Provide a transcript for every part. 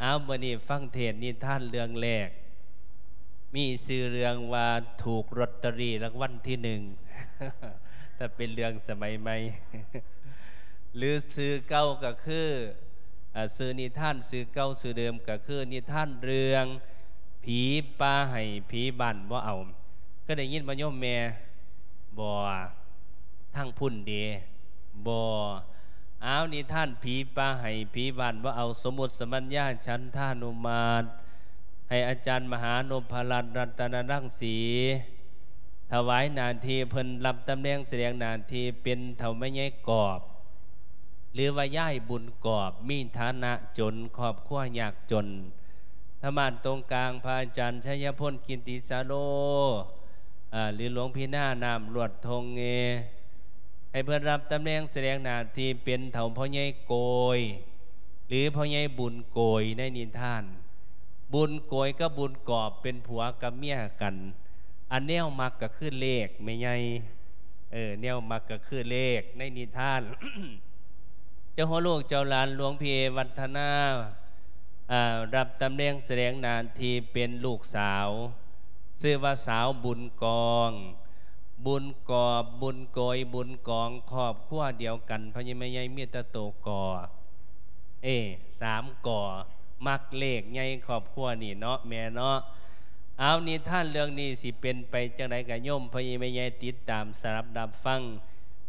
ອ້າວ ມື້ນີ້ຟັງເທດນິທານເລື່ອງແລກ ມີຊື່ເລື່ອງວ່າ ຖືກລອດເຕີຣີລາງວັນທີໜຶ່ງ ແຕ່ເປັນເລື່ອງສະໄໝໃໝ່ ຫຼືຊື່ເກົ່າກໍຄື ອາ ຊື່ນິທານຊື່ເກົ່າຊື່ເດີມກໍຄືນິທານເລື່ອງ ຜີປ່າໄຫ້ຜີບ້ານບໍ່ເອົາ. ເຄີຍໄດ້ຍິນບໍ່ໂຍມແມ່? ບໍ່. ທາງພຸ້ນເດ? ບໍ່. ອ້າວ ນິທານຜີປ່າໄຫ້ຜີບ້ານບໍ່ເອົາ ສົມມຸດສະບັນຍາ ສັນທານຸມາດ ໃຫ້ອາຈານມະຫານົບພະລັດ ລັດຕະນະລັງສີ ຖວາຍໜ້າທີ່ເພິ່ນ ຮັບຕຳແໜ່ງສະແດງໜ້າທີ່ເປັນເຖົ້າແມ່ໃຫຍ່ກອບ ຫຼືວ່າຍາຍບຸນກອບ ມີຖານະຈົນ ຄອບຄົວຍາກຈົນ. ທາງດ້ານຕົງກາງ ພະອາຈານໄຊຍະພົນ ກິດຕິສາໂລ ອາ ຫຼື ຫຼວງພີ່ນານ້ຳລວດທົ່ງເງ ໃຫ້ເພິ່ນຮັບຕຳແໜ່ງສະແດງໜ້າທີ່ເປັນເຖົ້າພໍ່ໃຫຍ່ໂກຍ ຫຼື ພໍ່ໃຫຍ່ບຸນໂກຍໃນນິທານ. ບຸນໂກຍກັບບຸນກອບເປັນຜົວກັບເມຍກັນ. ອັນແນວມັກກໍຄືເລກແມ່ໃຫຍ່ ເອີ ແນວມັກກໍຄືເລກໃນນິທານ. ເຈົ້າຫົວລູກເຈົ້າຫຼານ ຫຼວງພີ່ເອວັດທະນາ ອາ ຮັບຕຳແໜ່ງສະແດງໜ້າທີ່ເປັນລູກສາວ ຊື່ວ່າສາວບຸນກອງ ບຸນກອບ ບຸນໂກຍ ບຸນກອງ ຄອບຄົວດຽວກັນ ພໍ່ໃຫຍ່ແມ່ໃຫຍ່ມີແຕ່ໂຕກໍ ເອ ສາມກໍ ມັກເລກໃຫຍ່ຄອບຄົວນີ້ເນາະແມ່ເນາະ. ເອົາ ນິທານເລື່ອງນີ້ຊິເປັນໄປຈັ່ງໃດ ກໍໂຍມພໍ່ໃຫຍ່ແມ່ໃຫຍ່ຕິດຕາມສະດັບຮັບຟັງ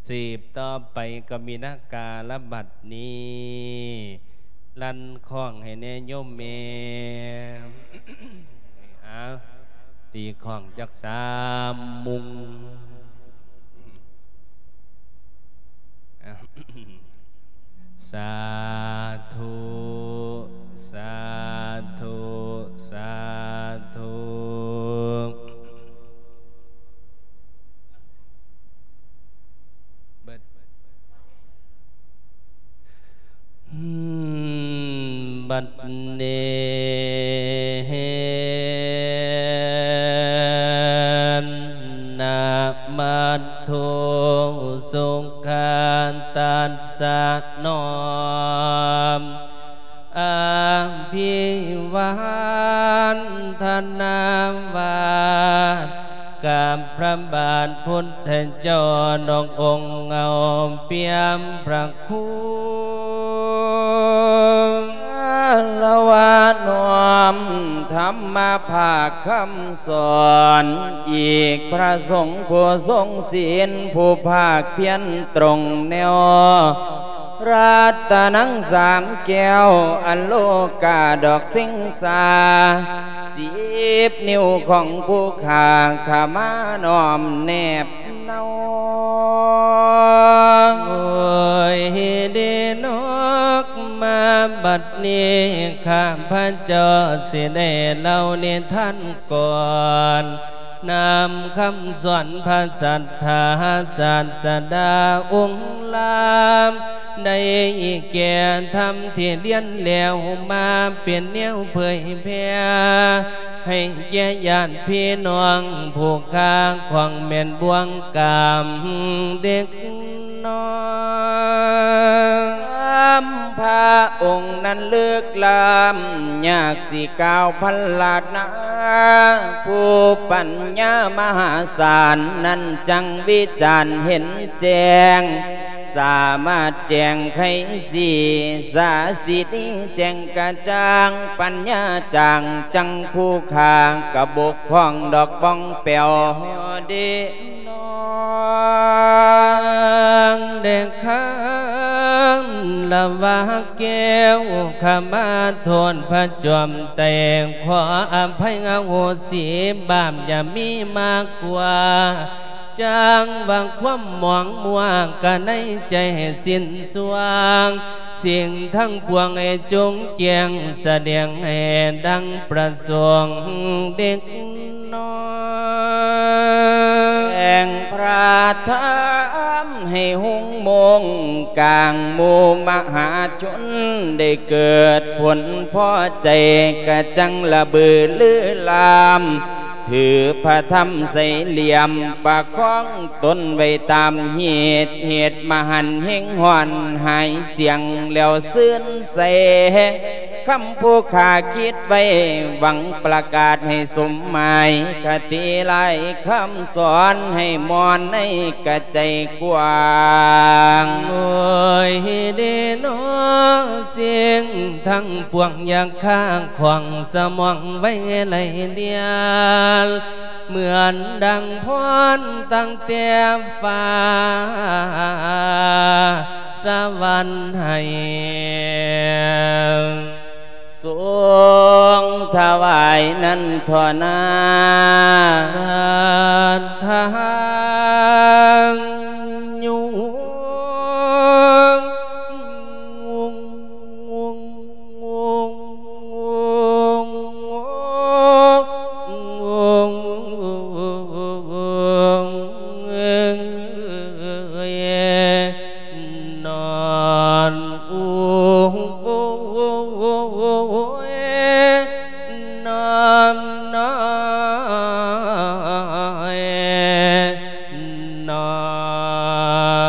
ສືບຕໍ່ໄປກໍມີນາກາລະບັດນີ້ ລັນຄ້ອງໃຫ້ແດ່ໂຍມແມ່. ເອົາ ຕີຄ້ອງຈັກສາມມຸງ. ສາທຸ ສາທຸ ສາທຸ. ບັດນີ້ ນະມະທຸ ສຸຂະຕັດສະ ນ້ອມ ອາພິວາທະນາ ວາດກັບພະບາດພຸດທະເຈົ້າ ດອກອົງເງົາປ່ຽມພະຄຸນ ລະວະນ້ອມທຳມະພາກຄຳສອນ ອີກພະສົງຜູ້ຊົງສິນ ຜູ້ພາກພຽນຕົງແນວ ລັດຕະນັງສາມແກ້ວ ອະໂລກາດອກສິງສາ ສິບນິ້ວຂອງຜູ້ຂ້າ ຂ້າມານ້ອມແນບເນົາ. ໂອ້ຍ ເດນອກ ມາບັດນີ້ ຂ້າພະເຈົ້າຊິໄດ້ເລົ່ານິທານກ່ອນ ນຳຄຳສອນພະສັດທາສາດສະດາອົງລາມ ໄດ້ແກ່ທຳທີ່ລຽນແລ້ວມາ ເປັນແນວເຜີຍແຜ່ ໃຫ້ແກ່ຍາດພີ່ນ້ອງ ຜູ້ຄ້າຂອງແມ່ນບ່ວງກາມເດັກນ້ອຍ. ພະອົງນັ້ນລຶກລ້ຳ ຍາກຊິກ່າວພັນລານາ ຜູ້ປັນຍາມະຫາສານນັ້ນ ຈັ່ງວິຈານເຫັນແຈ້ງ ສາມາດແຈ້ງໄຂສີ ສາສິນີແຈ້ງກະຈ່າງ ປັນຍາຈາງ ຈັ່ງຜູ້ຂ້າກະບົກຜ່ອງດອກປ່ອງແປວເດ ນາງເດັກຂ້າລະວາແກ້ວ ຂ້າມາໂທດພະຈອມໄຕ ຂໍອະໄພອະໂຫສິ ບາບຢ່າມີມາກກວ່າ ຈັ່ງວ່າຄວາມໝອງມົວກະໃນໃຈໃຫ້ສິ້ນສວາງ ສິ່ງທັງປວງໃຫ້ຈົງແຈ້ງ ສະແດງໃຫ້ດັ່ງປະສົງເດັກ ນ້ອຍ ແຫ່ງພະທຳໃຫ້ຮຸ່ງໂມງກາງໝູ່ມະຫາຊົນ ໄດ້ເກີດຜົນພໍໃຈ ກະຈັ່ງລະບືລືລາມ ຖືພະທຳໃສ່ຫຼ່ຽມ ປະຄອງຕົນໄວ້ຕາມຮີດ ເຫດມະຫັນເຮັງຮ້ອນຫາຍສຽງ ແລ້ວຊື່ນໃສ ຄຳຜູ້ຂ້າຄິດໄວ້ ຫວັງປະກາດໃຫ້ສົມໝາຍ ຄະຕິຫຼາຍຄຳສອນໃຫ້ມ່ວນໃນກະໃຈກວ້າງ. ໂອ້ຍເດເນາະ ສິ່ງທັງປວງ ຢ່າຄາຂວາງສະໝອງໄວ້ໄຫຼດຽວ ເໝືອນດັ່ງພອນຕັ້ງແຕ່ຟ້າສະຫວັນໃຫ້ ຊົງຖວາຍນັ້ນທໍ່ນາ. ສາທາຍຸ ນອນ ໂອ້ ນອນ ນອນ ນອ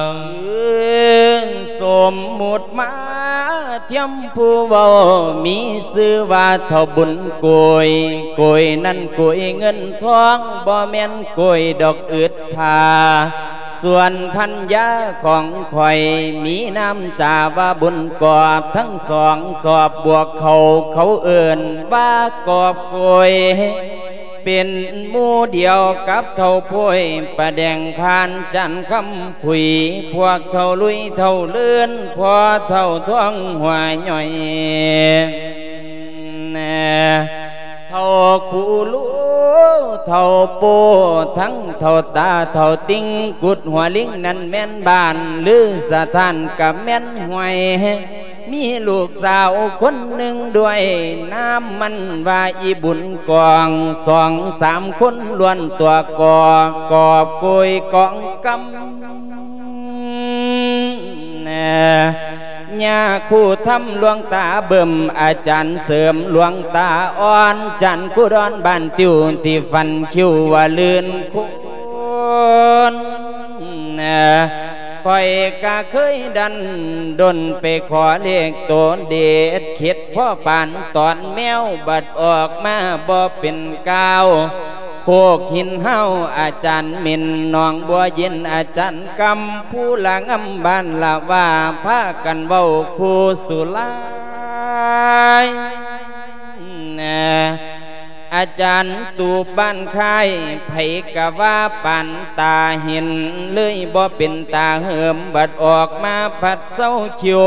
ນ. ສົມມຸດມາທຽມຜູ້ເວົ້າ ມີຊື່ວ່າເຖົ້າບຸນໂກຍ ໂກຍນັ້ນໂກຍເງິນທອງ ບໍ່ແມ່ນໂກຍດອກອຶດ ຖ້າສ່ວນພັນຍາຂອງຂ້ອຍ ມີນາມຈາວ່າບຸນກອບ ທັງສອງສອບບວກເຂົາ ເຂົາເອີ້ນວ່າກອບໂກຍ ເປັນໝູ່ດຽວກັບເຖົ້າໂພຍ ປະແດງຜ່ານຈັນຄຳຜຸຍ ພວກເຖົ້າລຸຍເຖົ້າເລີນ ພໍ່ເຖົ້າທ້ອງຫົວຫຍ້ອຍ ເຖົ້າຄູລູ ເຖົ້າໂປ້ ທັງເຖົ້າຕາ ເຖົ້າຕິງ ກຸດຫົວລິງນັ້ນແມ່ນບ້ານ ຫຼືສະຖານກະແມ່ນຫ້ວຍ ມີລູກສາວຄົນໜຶ່ງດ້ວຍ ນາມມັນວ່າອີບຸນກອງ ສອງສາມຄົນລ້ວນຕົວກອກ ກອບໂກຍກອງກຳ ຍາຄູທຳຫຼວງຕາເບິ່ມ ອາຈານເສີມຫຼວງຕາອ່ອນ ຈັນຄູດອນບ້ານຕິວ ທີ່ຟັນຄິ້ວວ່າລື່ນຄູນ ຂ້ອຍກະເຄີຍດັນດົນໄປຂໍເລກໂຕເດັດ ເຂັດພໍປານຕອນແມວ ບັດອອກມາບໍ່ເປັນກ່າວ ໂຄກຫີນຫ້າວອາຈານເໝັນ ໜອງບົວເຢັນອາຈານກຳ ພູລະງຳບ້ານລະວ່າ ພາກັນເວົ້າຄູ່ສຸລາຍ ອາຈານຕູບບ້ານຄ້າຍ ໃຜກະວ່າປານຕາເຫັນ ເລີຍບໍ່ເປັນຕາເຫີມ ບັດອອກມາພັດເຊົາຄິວ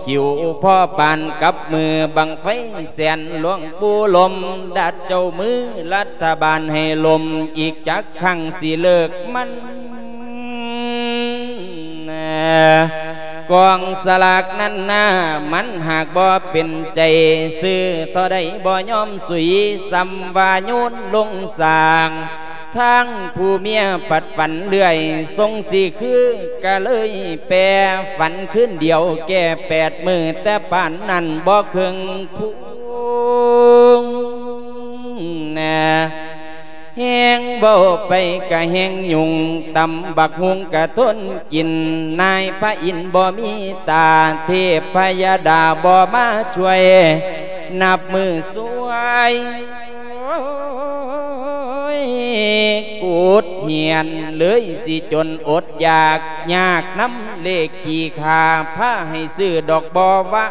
ຄິວພໍປານກັບມືບັ້ງໄຟແສນ ຫຼວງປູ່ລົມດັດເຈົ້າມື ລັດຖະບານໃຫ້ລົມ ອີກຈັກຄັ້ງຊິເລີກມັນ ກອງສະຫຼາກນັ້ນນາ ມັນຫາກບໍ່ເປັນໃຈ ຊື້ທໍ່ໃດບໍ່ຍອມສຸຍ ສ່ຳວ່າໂຍນລົງສາງ ທາງຜູ້ເມຍພັດຝັນເລື້ອຍ ຊົງຊິຄື ກະເລີຍແປຝັນຄືນດຽວ ແກ່ແປດມື້ ແຕ່ປານນັ້ນບໍ່ເຄິ່ງພຸງ ແຮງເວົ້າໄປກະແຮງຫຍຸ້ງ ຕຳບັກຫຸ່ງກະທົນກິນ ນາຍພະອິນບໍ່ມີຕາ ເທບພະຍາດາບໍ່ມາຊ່ວຍ ນັບມື້ສວຍ ກູດຫຽນເລີຍຊິຈົນອົດຢາກ ຍາກນຳເລກຂີ້ຂ້າ ພາໃຫ້ຊື້ດອກບໍ່ວາ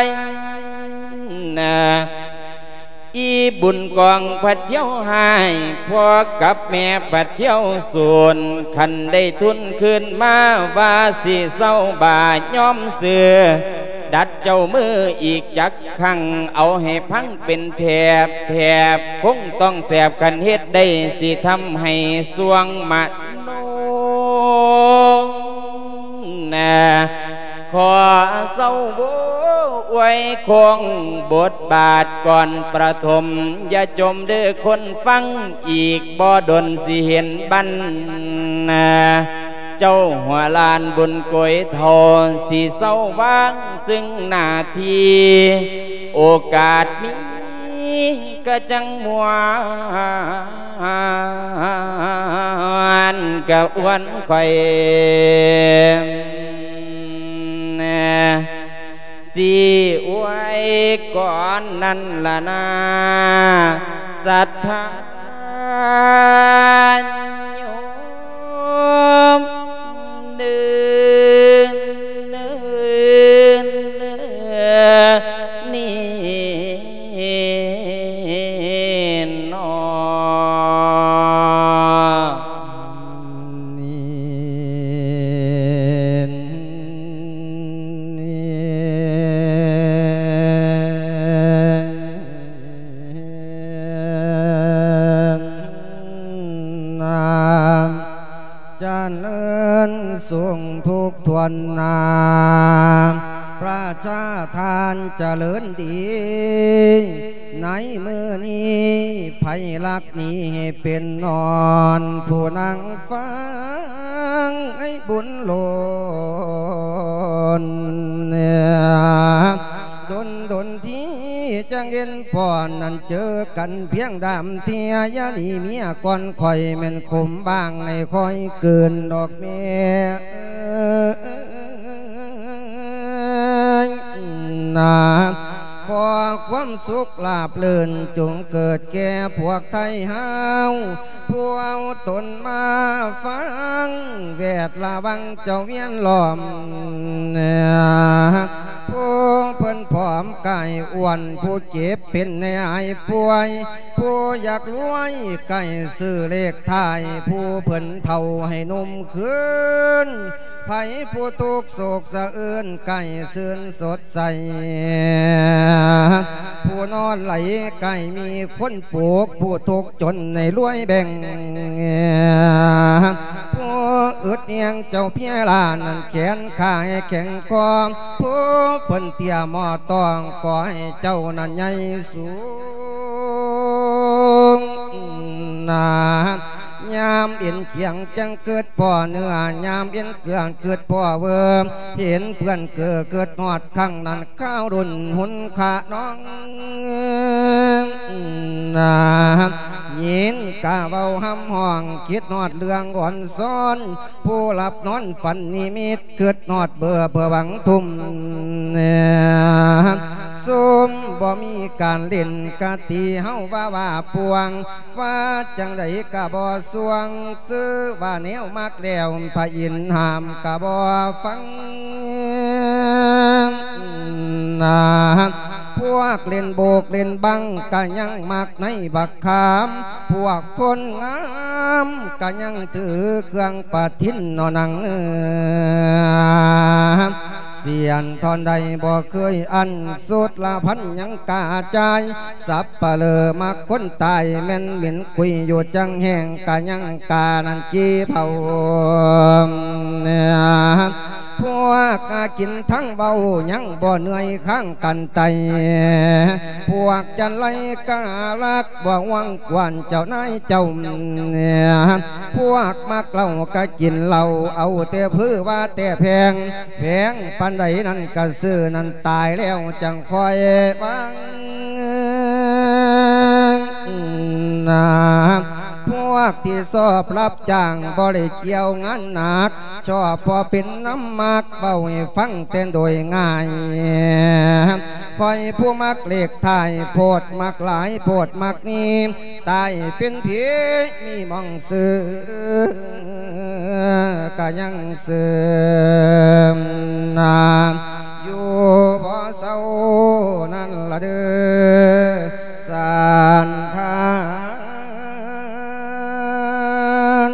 ຍ ອີບຸນກອງພັດທ່ຽວຮ້າຍ ພໍ່ກັບແມ່ພັດທ່ຽວສູນ ຄັນໄດ້ທຶນຄືນມາ ວ່າຊິເຊົາບາຍອມຊື້ ດັດເຈົ້າມືອີກຈັກຄັ້ງ ເອົາໃຫ້ພັງເປັນແຖບແຖບ ຄົງຕ້ອງແສບ ຄັນເຮັດໄດ້ ຊິທຳໃຫ້ສວງມະໂນ ຂໍເຊົາໂວອວຍຄົງບົດບາດກ່ອນປະຖົມ ຢ່າຈົ່ມເດີ້ຄົນຟັງ ອີກບໍ່ດົນຊິເຫັນບັນ ເຈົ້າຫົວລ້ານບຸນໂກຍເຖົ້າ ຊິເຊົາວາງຊຶ່ງໜ້າທີ່ ໂອກາດມີກະຈັ່ງມ່ວນ ກະອວນຂ້ອຍ ຊິອວຍກ່ອນນັ້ນລະນາ ສັດທາໂຍມເດີ ນີ້ນໍ ນີ້ ນີ້ ນາ ຈະເລີນສຸກທຸກທ່ວນນາ ປະຊາທ່ານຈະເລີນດີ ໃນມື້ນີ້ໃຜລັກນີ້ໃຫ້ເປັນນອນ ຜູ້ນັ່ງຟັງໃຫ້ບຸນລົ້ນ ດົນໆ ທີ່ຈະເຫັນພໍ່ນັ້ນເຈີກັນພຽງດາມເທື່ອ ຢ່າໜີເມຍກ່ອນຂ້ອຍແມ່ນຂົມບາງໃຫ້ຂ້ອຍກືນດອກແມ່ເອີຍ ນາ ຂໍຄວາມສຸກລາບລື່ນຈົ່ງເກີດແກ່ພວກໄທເຮົາ ຜູ້ເອົາຕົນມາຟັງ ແວດລະວັງເຈົ້າວຽນລ້ອມ ຜູ້ເພິ່ນຜອມກາຍອ້ວນ ຜູ້ເຈັບເປັນໃຫ້ຫາຍປ່ວຍ ຜູ້ຢາກລວຍໃກ້ຊື້ເລກທ້າຍ ຜູ້ເພິ່ນເຖົ້າໃຫ້ໜຸ່ມຄືນ ໃຜຜູ້ທຸກໂສກສະເອື້ອນໃກ້ຊື່ນສົດໃສ ຜູ້ນອນໄຫຼໃກ້ມີຄົນປູກ ຜູ້ທຸກຈົນໃຫ້ລວຍແບ່ງ ຜູ້ອຶດແຮງເຈົ້າເພຍລານັ້ນແຂນຂາໃຫ້ແຂງຄອ ຜູ້ເພິ່ນເຕ້ຍໝໍ້ຕ້ອງ ຂໍໃຫ້ເຈົ້ານັ້ນໃຫຍ່ສູງນາ ຍາມເອັນຂຽງຈັ່ງເກີດພໍເນື້ອ ຍາມເອັນເກືອງເກີດພໍເວີ ເຫັນເພື່ອນເກີດ ເກີດຮອດຄັ້ງນັ້ນ ຄາວລຸ້ນຮຸນຄານ້ອງນາ ຍິນກະເວົ້າຮຳຮ້ອງ ຄິດຮອດເລື່ອງອ່ອນຊອນ ຜູ້ຫຼັບນອນຝັນນິມິດ ຄິດຮອດເບີເພື່ອຫວັງທຸ່ມ ຊຸມບໍ່ມີການຫຼິ້ນ ກະຕີເຮົາວ່າວ່າປ່ວງ ວ່າຈັ່ງໃດກະບໍ່ຊ່ວງ ຊື່ວ່າແນວມັກແລ້ວ ພະອິນຫ້າມກະບໍ່ຟັງນາ ພວກຫຼິ້ນໂບກຫຼິ້ນບັງກະຍັງມັກໃນບັກຂາມ ພວກຄົນງາມກະຍັງຖືເຄື່ອງປະທິນເນາະນາງເອີຍ ສຽນທ່ອນໃດບໍ່ເຄີຍອັນ ສຸດລະພັນຍັງກາຈາຍ ສັບປະເລີມັກຄົນຕາຍ ແມ່ນເໝັນກຸຍຢູ່ຈັງແຮງ ກະຍັງການັ້ນກີ່ເຜົາເນຍ ພວກກະກິນທັງເວົ້າ ຍັງບໍ່ເມື່ອຍຄ້າງກັນໄຕ ພວກຈັນໄລກະລັກ ບໍ່ຫວງກວນເຈົ້ານາຍເຈົ້າ ພວກມັກເຫຼົ້າກະກິນເຫຼົ້າ ເອົາແຕ່ຜືວ່າແຕ່ແພງ ແພງປານໃດນັ້ນກະຊື້ນັ້ນ ຕາຍແລ້ວຈັ່ງຄ່ອຍຫວັງນາ ພວກທີ່ຊອບຮັບຈ້າງ ບໍ່ໄດ້ກ່ຽວງານໜັກ ຊອບພໍເປັນນຳມັກ ເວົ້າໃຫ້ຟັງແຕ່ໂດຍງ່າຍ ຂ້ອຍຜູ້ມັກເລກທ້າຍໂພດ ມັກຫຼາຍໂພດມັກນີ້ ຕາຍເປັນຜີມີໝ່ອງຊື່ ກະຍັງເຊື່ອນາ ຢູ່ບໍ່ເຊົານັ້ນລະເດີ ສານທານ.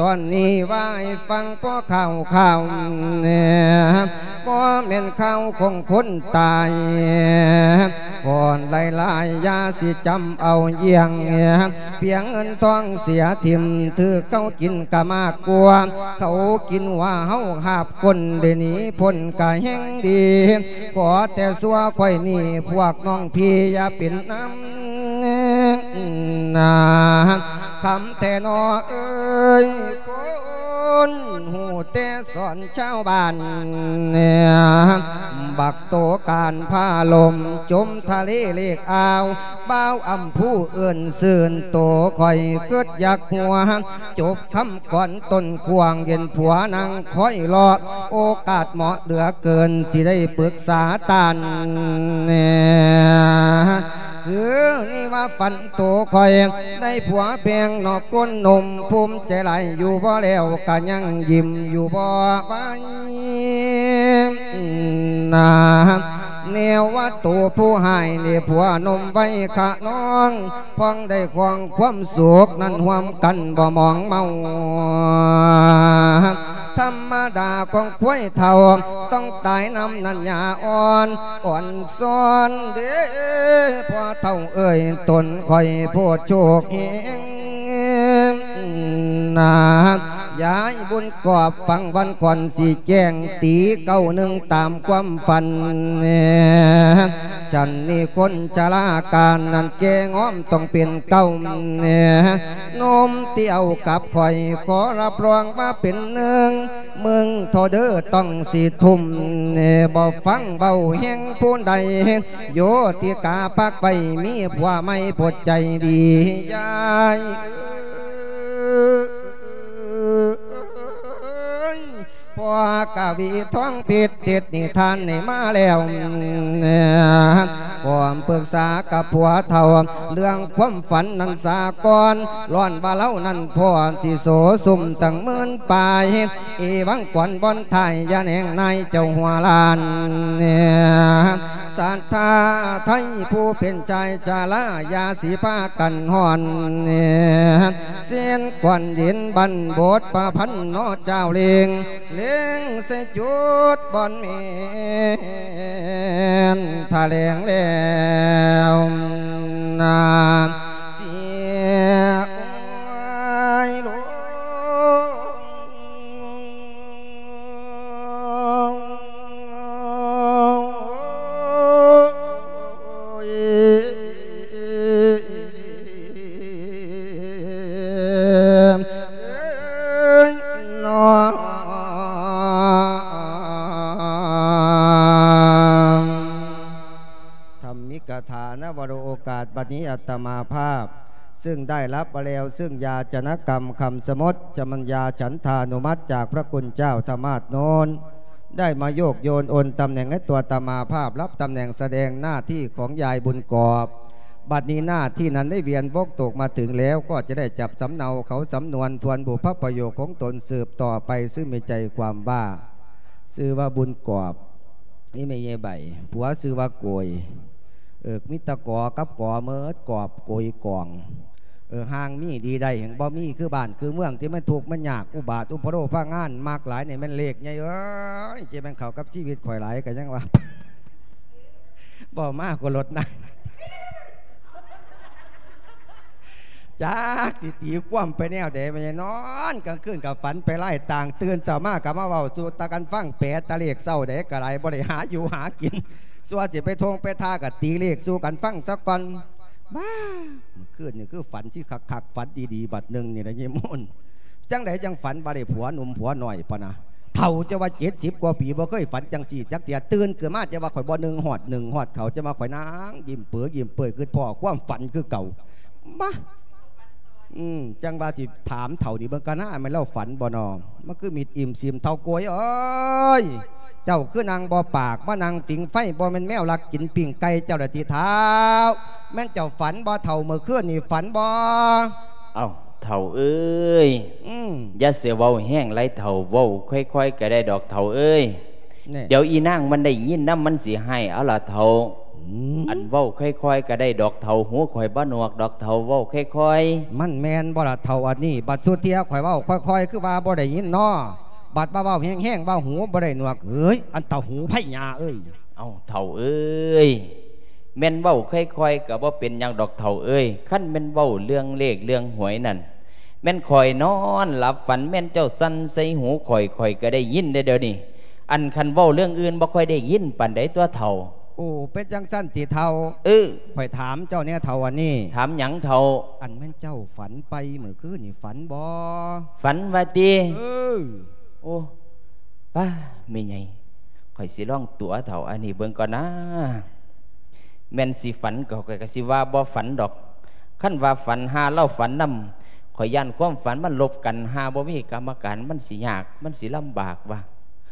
ຕອນນີ້ວ່າໃຫ້ຟັງພໍຂ່າວໆ ບໍ່ແມ່ນຂ່າວຂອງຄົນຕາຍ ຄ ກ່ອນຫຼາຍໆ ຢ່າຊິຈຳເອົາຢ່ຽງ ປຽງເງິນທອງເສຍຖິ້ມ ຖືກເຂົາກິນກະມາກກວ່າ ເຂົາກິນວ່າເຮົາຫາບກົ້ນ ໄດ້ໜີພົ້ນກະແຮ່ງດີ ຂໍແຕ່ຊົ່ວຂ້ອຍນີ້ ພວກນ້ອງພີ່ຢ່າເປັນນຳນາ ຄຳແທ້ນໍເອີຍ ຄົນຮູ້ແຕ່ສອນ ຊາວບ້ານ ບັກໂຕການພາລົມ ຈົມທະເລເລກອ່າວ ບ່າວອຳພູເອີ້ນຊື່ນໂຕ ຂ້ອຍຄິດຢາກຫົວ ຈົບຄຳກ່ອນຕົ້ນກວ້າງ ເຫັນຜົວນັ່ງຄອຍລໍ ໂອກາດເໝາະເຫຼືອເກີນ ຊິໄດ້ປຶກສາທ່ານ ຄືນີ້ວ່າຝັນໂຕຂ້ອຍ ໄດ້ຜົວແພງນອກກົ້ນນົມ ພູມໃຈຫຼາຍຢູ່ບໍ່ແລ້ວ ກະຍັງຍິ້ມຢູ່ບໍ່ໄຫວນາ ແນວວ່າໂຕຜູ້ຮ້າຍນີ້ ຜົວນົມໄວຂະນ້ອງ ພ້ອງໄດ້ຄອງຄວາມສຸກນັ້ນຮ່ວມກັນບໍ່ໝອງເມົາ ທຳມະດາຂອງຄວາຍເຖົ້າ ຕ້ອງຕາຍນຳນັ້ນຫຍ້າອ່ອນ ອ່ອນຊອນເດ້ ພໍ່ເຖົ້າເອີຍ ຕົນຂ້ອຍໂພດໂຊກເຮງນາ ຍາຍບຸນກອບ ຟັງວັນກ່ອນຊິແຈ້ງ ຕີເກົ້າໜຶ່ງຕາມຄວາມຝັນ ຊັ້ນນີ້ຄົນຊະລາການນັ້ນແກ່ງອມຕ້ອງເປັນເກົ້າ ນົມທີ່ເອົາກັບຂ້ອຍ ຂໍຮັບຮອງວ່າເປັນໜຶ່ງ ມຶງທໍ່ເດີຕ້ອງຊິທຸ່ມ ບໍ່ຟັງເວົ້າແຮງຜູ້ໃດ ໂຍຕິກາປັກໄວ້ ມີຜົວໃໝ່ປົດໃຈດີ ຍາຍເອີຍ ພໍ່ກະວີທອງພິດ ຕິດນິທານໃຫ້ມາແລ້ວ ພ້ອມປຶກສາກັບຜົວເຖົ້າ ເລື່ອງຄວາມຝັນນັ້ນສາກ່ອນ ຍ້ອນວ່າລາວນັ້ນພໍຊິໂສຊຸມຕັ້ງໝື່ນປາຍ ເອວັງກອນບ່ອນທ້າຍ ຢ່າແໜງນາຍເຈົ້າຫົວລ້ານ ສັດທາໄທຜູ້ເປັນຊາຍຊາລາ ຢ່າຊິພາກັນຮ້ອນ ເຊັ່ນກ່ອນເຢັນບັນບົດປະພັນເນາະ ເຈົ້າເລັງ ເລັງໃສ່ຈຸດບ່ອນແມ່ນ ຖ້າແລງແລ້ວນາ ເສຍໂອຍໂລ ທຳມິກະຖານະວະໂລ ໂອກາດບັດນີ້ອາດຕະມາພາບ ຊຶ່ງໄດ້ຮັບມາແລ້ວ ຊຶ່ງຢາຈະນະກຳຄຳສະໝົດ ຈະມັນຍາສັນທານຸມັດຈາກພະຄຸນເຈົ້າທະມາດໂນນ ໄດ້ມາໂຍກໂຍນໂອນຕຳແໜ່ງໃຫ້ຕົວອາດຕະມາພາບ ຮັບຕຳແໜ່ງສະແດງໜ້າທີ່ຂອງຍາຍບຸນກອບ. ບັດນີ້ໜ້າທີ່ນັ້ນໄດ້ວຽນວົງຕົກມາເຖິງແລ້ວ ກໍຈະໄດ້ຈັບສຳເນົາເຂົ້າສຳນວນ ທວນບຸບພະປະໂຫຍກຂອງຕົນສືບຕໍ່ໄປ ຊື່ມີໃຈຄວາມວ່າ ຊື່ວ່າບຸນກອບ ນີ້ແມ່ໃຫຍ່ໃບ ຜົວຊື່ວ່າໂກຍ ເອີ ມີແຕ່ກອກັບກອເໝິດ ກອບໂກຍກອງ ເອີ ຫ່າງມີດີໄດ້ ແຮ່ງບໍ່ມີຄືບ້ານຄືເມືອງທີ່ມັນທຸກມັນຍາກ ອຸບາດອຸປະໂລພະງານ ມັກຫຼາຍນີ້ແມ່ນເລກໃຫຍ່ເອີຍ ຊິແມ່ນເຂົ້າກັບຊີວິດຂ້ອຍຫຼາຍ ກໍຍັງວ່າ ເວົ້າມາກໍລົດນະ ຈັກຊິຕີຄວາມໄປແນວໃດ ແມ່ນນອນກາງຄືນກໍຝັນໄປຫຼາຍຕ່າງ ຕື່ນເຊົ້າມາກໍມາເວົ້າສູ່ຕາກັນຟັງ ແປຕາເລກເຊົ້າໃດກໍໄດ້ ບໍ່ໄດ້ຫາຢູ່ຫາກິນ ຊົ່ວຊິໄປທົ່ງໄປທ່າກໍຕີເລກສູ່ກັນຟັງຊະກ່ອນ. ບ້າ ມື້ຄືນນີ້ຄືຝັນຊິຄັກໆ ຝັນດີໆ ບັດໜຶ່ງນີ້ລະຍາຍໂມນ ຈັ່ງໃດຈັ່ງຝັນວ່າໄດ້ຜົວໜຸ່ມຜົວນ້ອຍປະນະ ເຖົ້າຈະວ່າເຈັດສິບກວ່າປີ ບໍ່ເຄີຍຝັນຈັ່ງຊີ້ຈັກເທື່ອ ຕື່ນຂຶ້ນມາຈະວ່າຂ້ອຍບໍ່ໜຶ່ງຮອດ ໜຶ່ງຮອດເຂົາ ຈະວ່າຂ້ອຍນັ່ງຍິ້ມເປີຍິ້ມເປີຍ ຄິດພໍຄວາມຝັນຄືເກົ່າ ມາ ອືມ ຈັ່ງວ່າຊິຖາມເຖົ້ານີ້ເບິ່ງກະນາ ແມ່ນລາວຝັນບໍ່ນໍ ມັນຄືມິດອີ່ມຊີມ ເຖົ້າໂກຍເອີຍ ເຈົ້າຄືນັ່ງບໍ່ປາກ ມານັ່ງຜິງໄຟ ບໍ່ແມ່ນແມວລັກກິນປີ້ງໄກ່ເຈົ້າລະຕິເຖົ້າ ແມ່ນເຈົ້າຝັນບໍ່ເຖົ້າ ມື້ຄືນນີ້ຝັນບໍ່? ເອົ້າ ເຖົ້າເອີຍ ອືມ ຢ່າຊິເວົ້າແຮງຫຼາຍເຖົ້າ ເວົ້າຄ່ອຍໆກໍໄດ້ດອກເຖົ້າເອີຍ ແນ່ ດຽວອີນາງມັນໄດ້ຍິນນຳ ມັນຊິຮ້າຍເອົາລະເຖົ້າ ອືມ ອັນເວົ້າຄ່ອຍໆກໍໄດ້ດອກເຖົ້າ ຫູຂ້ອຍບໍ່ໜວກດອກເຖົ້າ ເວົ້າຄ່ອຍໆ ມັນແມ່ນບໍ່ລະເຖົ້າ ອັນນີ້ ບັດສຸເທື່ອຂ້ອຍເວົ້າຄ່ອຍໆ ຄືວ່າບໍ່ໄດ້ຍິນນໍ ບັດວ່າເວົ້າແຮງໆ ວ່າຫູບໍ່ໄດ້ໜວກ ເອີຍ ອັນເຖົ້າຫູໄພຍາເອີຍ ເອົ້າ ເຖົ້າເອີຍ ແມ່ນເວົ້າຄ່ອຍໆກໍບໍ່ເປັນຫຍັງດອກເຖົ້າເອີຍ, ຄັນແມ່ນເວົ້າເລື່ອງເລກເລື່ອງຫວຍນັ້ນ ແມ່ນຂ້ອຍນອນຫຼັບຝັນ ແມ່ນເຈົ້າສັ່ນໃສ່ຫູຂ້ອຍ ຂ້ອຍກໍໄດ້ຍິນເດ້ດຽວນີ້. ອັນຄັນເວົ້າເລື່ອງອື່ນບໍ່ຄ່ອຍໄດ້ຍິນປານໃດຕົວະເຖົ້າ. ໂອ້ ເປັນຈັ່ງຊັ້ນຕິເຖົ້າ? ເອີ ຂ້ອຍຖາມເຈົ້າແດ່ເຖົ້າ ອັນນີ້. ຖາມຫຍັງເຖົ້າ? ອັນແມ່ນເຈົ້າຝັນໄປມື້ຄືນນີ້ ຝັນບໍ່? ຝັນວ່າຕິ? ເອີ. ໂອ້ ປ້າ ແມ່ໃຫຍ່ ຂ້ອຍຊິລອງຕົວະເຖົ້າອັນນີ້ເບິ່ງກ່ອນນາ. ແມ່ນຊິຝັນກໍ ຂ້ອຍກໍຊິວ່າບໍ່ຝັນດອກ. ຄັນວ່າຝັນ ຫາລາວຝັນນຳ ຂ້ອຍຢ້ານຄວາມຝັນມັນລົບກັນ, ຫາບໍ່ມີກຳມະການ ມັນຊິຍາກ ມັນຊິລຳບາກວ່າ.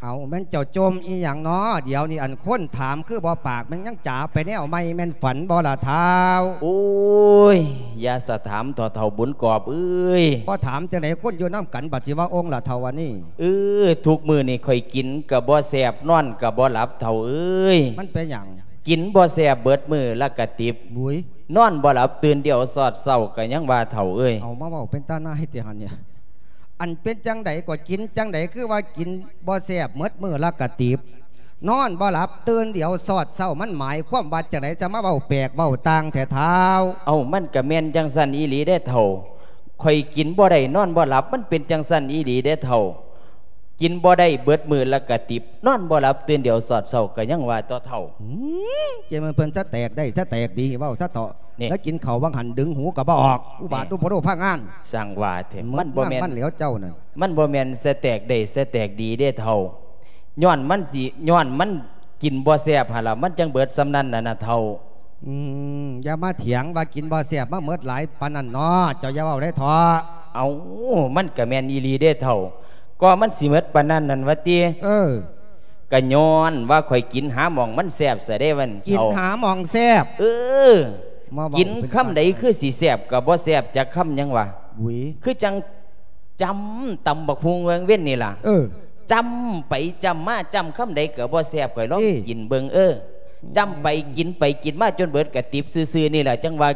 ເອົາ ແມ່ນເຈົ້າຈົ່ມອີ່ຫຍັງນໍ? ດຽວນີ້ອັນຄົນຖາມຄືບໍ່ປາກ ແມ່ນຍັງຈາໄປແນວໃໝ່ ແມ່ນຝັນບໍ່ລະທ້າວ? ໂອ້ຍ ຢ່າສະຖາມເຖົ້າ ເຖົ້າບຸນກອບເອີຍ. ບໍ່ຖາມຈັ່ງໃດ ຄົນຢູ່ນຳກັນ ບັດຊິວ່າອົງລະເຖົ້າອັນນີ້. ເອີ ທຸກມື້ນີ້ຂ້ອຍກິນກໍບໍ່ແຊບ ນອນກໍບໍ່ຫຼັບເຖົ້າເອີຍ. ມັນເປັນຫຍັງ? ກິນບໍ່ແຊບເບິດມື້ລະກະຕິບ. ຫຸຍ. ນອນບໍ່ຫຼັບ ຕື່ນດຽວຊອດເຊົ້າກໍຍັງວ່າເຖົ້າເອີຍ. ເອົາມາເວົ້າເປັນຕານາຍແທ້ຫັ້ນເນຍ. ອັນເປັນຈັ່ງໃດກໍກິນຈັ່ງໃດ ຄືວ່າກິນບໍ່ແຊບ ເບິດມື້ລະກະຕິບ ນອນບໍ່ຫຼັບ ຕື່ນດຽວຊອດເຊົ້າ ມັນໝາຍຄວາມວ່າຈັ່ງໃດ? ຈະມາເວົ້າແປກເວົ້າຕ່າງແທ້ທ້າວ. ເອົ້າ ມັນກະແມ່ນຈັ່ງຊັ້ນອີ່ຫຼີເດ້ເຖົ້າ. ຂ້ອຍກິນບໍ່ໄດ້ ນອນບໍ່ຫຼັບ ມັນເປັນຈັ່ງຊັ້ນອີ່ຫຼີເດ້ເຖົ້າ. ກິນບໍ່ໄດ້ເບິດມື້ລະກະຕິບ ນອນບໍ່ຫຼັບ ຕື່ນດຽວຊອດເຊົ້າ ກໍຍັງວ່າຕົວະເຖົ້າ. ຫືມ ເຈົ້າແມ່ນເພິ່ນສະແຕກໄດ້ສະແຕກດີ ເວົ້າຊະເຖາະ. ນີ້ ແລ້ວກິນເຂົ້າຫວ່າງຫັ້ນດຶງຫູກໍບໍ່ອອກ ອຸບາດ ນີ້ ອຸປະໂລພະງານ. ຊ່າງວ່າແທ້ ມັນບໍ່ແມ່ນ ມັນແລ້ວເຈົ້ານັ້ນ. ມັນບໍ່ແມ່ນສະແຕກໄດ້ສະແຕກດີເດ້ເຖົ້າ. ຍ້ອນມັນຊິ ຍ້ອນມັນກິນບໍ່ແຊບຫັ້ນລະ ມັນຈັ່ງເບິດສ່ຳນັ້ນນະນະເຖົ້າ. ອືມ ຢ່າມາຖຽງວ່າກິນບໍ່ແຊບ ມາເໝິດຫຼາຍປານນັ້ນເນາະ ເຈົ້າຢ່າເວົ້າໄດ້ເຖາະ. ເອົ້າ ມັນກະແມ່ນອີ່ຫຼີເດ້ເຖົ້າ. ກໍມັນຊິເໝິດປານນັ້ນນັ້ນຫວາຕິ? ເອີ ກະຍ້ອນວ່າຂ້ອຍກິນຫາໝ່ອງມັນແຊບຊະເດ້ ວ່າ ກິນ ເຖົ້າ ຫາໝ່ອງແຊບ. ເອີ ມາເວົ້າ ກິນຄຳໃດຄືຊິແຊບ ກໍບໍ່ແຊບຈັກຄຳຫຍັງຫວາ. ຫຸຍ ຄືຈັ່ງຈ້ຳຕຳບັກຫຸ່ງເວັງເວັນນີ້ລະ. ເອີ ຈ້ຳໄປຈ້ຳມາ ຈ້ຳຄຳໃດກໍບໍ່ແຊບ ຂ້ອຍລອງ ເອີ ກິນເບິ່ງ. ເອີ ຈ້ຳໄປກິນໄປກິນມາຈົນເບິດກະຕິບຊື່ໆນີ້ລະ ຈັ່ງວ່າ.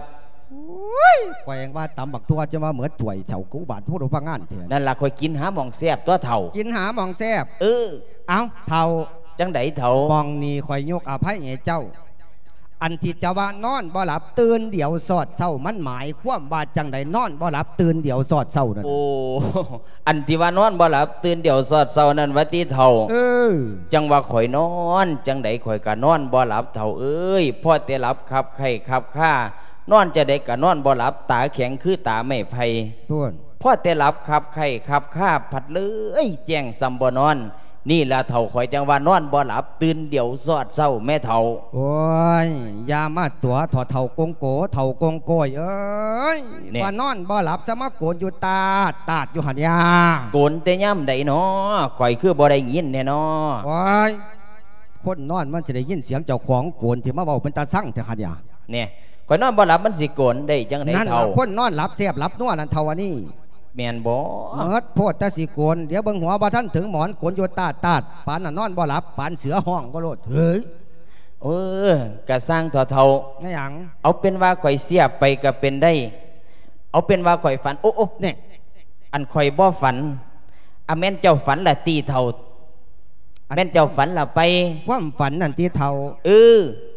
ໂອ້ຍ ຂ້ອຍຍັງວ່າຕຳບັກຖົ່ວ ຈະມາເໝິດຖ້ວຍເຖົ້າ ອຸບາດໂພດພະງານແທ້. ນັ້ນລະ ຂ້ອຍກິນຫາໝ່ອງແຊບຕົວະເຖົ້າ. ກິນຫາໝ່ອງແຊບ. ເອີ ເອົ້າ ເຖົ້າ. ຈັ່ງໃດເຖົ້າ? ໝ່ອງນີ້ຂ້ອຍຍົກອະໄພໃຫ້ເຈົ້າ. ອັນທີ່ເຈົ້າວ່ານອນບໍ່ຫຼັບ ຕື່ນດຽວຊອດເຊົ້າ ມັນໝາຍຄວາມວ່າຈັ່ງໃດ? ນອນບໍ່ຫຼັບ ຕື່ນດຽວຊອດເຊົ້ານັ້ນ. ໂອ້ ອັນທີ່ວ່ານອນບໍ່ຫຼັບ ຕື່ນດຽວຊອດເຊົ້ານັ້ນຫວາຕິເຖົ້າ? ເອີ ຈັ່ງວ່າຂ້ອຍນອນຈັ່ງໃດ ຂ້ອຍກະນອນບໍ່ຫຼັບເຖົ້າເອີຍ. ພໍແຕ່ຫຼັບຄັບໄຂ້ຄັບຄາ ນອນຈັ່ງໃດກະນອນບໍ່ຫຼັບ ຕາແຂງຄືຕາໄມ້ໄຜ່. ພຸ້ນ ພໍແຕ່ຫຼັບຄັບໄຂ້ຄັບຄາ ພັດເລີຍແຈ້ງສ່ຳບໍ່ນອນ. ນີ້ລະເຖົ້າ ຂ້ອຍຈັ່ງວ່ານອນບໍ່ຫຼັບ ຕື່ນດຽວຊອດເຊົ້າແມ້ເຖົ້າ. ໂອ້ຍ ຢ່າມາຕົວະເຖົ້າ ເຖົ້າກົງໂກ ເຖົ້າກົງໂກຍເອີຍ. ນີ້ ວ່ານອນບໍ່ຫຼັບ ສະມາໂກນຢູ່ຕາດຕາດຢູ່ຫັ້ນຫຍັງ? ໂກນແຕ່ຍາມໃດນໍ? ຂ້ອຍຄືບໍ່ໄດ້ຍິນແທ້ນໍ? ໂອ້ຍ ຄົນນອນມັນຊິໄດ້ຍິນສຽງເຈົ້າຂອງໂກນ ທີ່ມາເວົ້າເປັນຕາຊັງແທ້ຫັ້ນຫຍັງ? ນີ້ ຂ້ອຍນອນບໍ່ຫຼັບ ມັນຊິໂກນໄດ້ຈັ່ງໃດເຖົ້າ? ນັ້ນລະ ຄົນນອນຫຼັບແຊບຫຼັບນົວນັ້ນເຖົ້າ ອັນນີ້. ແມ່ນບໍ່? ເໝິດໂພດແຕ່ຊິໂກນ ດຽວເບິ່ງຫົວບໍ່ທັນເຖິງໝອນ ໂກນຢູ່ຕາດຕາດ ປານນັ້ນນອນບໍ່ຫຼັບ ປານເສືອຮ້ອງບໍ່ໂລດ. ເຮີ້ຍ ເອີ ກະຊ່າງເຖາະເຖົ້າ. ແມ່ນຫຍັງ? ເອົາເປັນວ່າຂ້ອຍເສຍບໄປກະເປັນໄດ້. ເອົາເປັນວ່າຂ້ອຍຝັນ. ໂອ້ ໂອ້ ແນ່ ອັນຂ້ອຍບໍ່ຝັນ. ອາ ແມ່ນເຈົ້າຝັນລະຕິເຖົ້າ? ແມ່ນເຈົ້າຝັນລະໄປ? ຄວາມຝັນນັ້ນຕິເຖົ້າ? ເອີ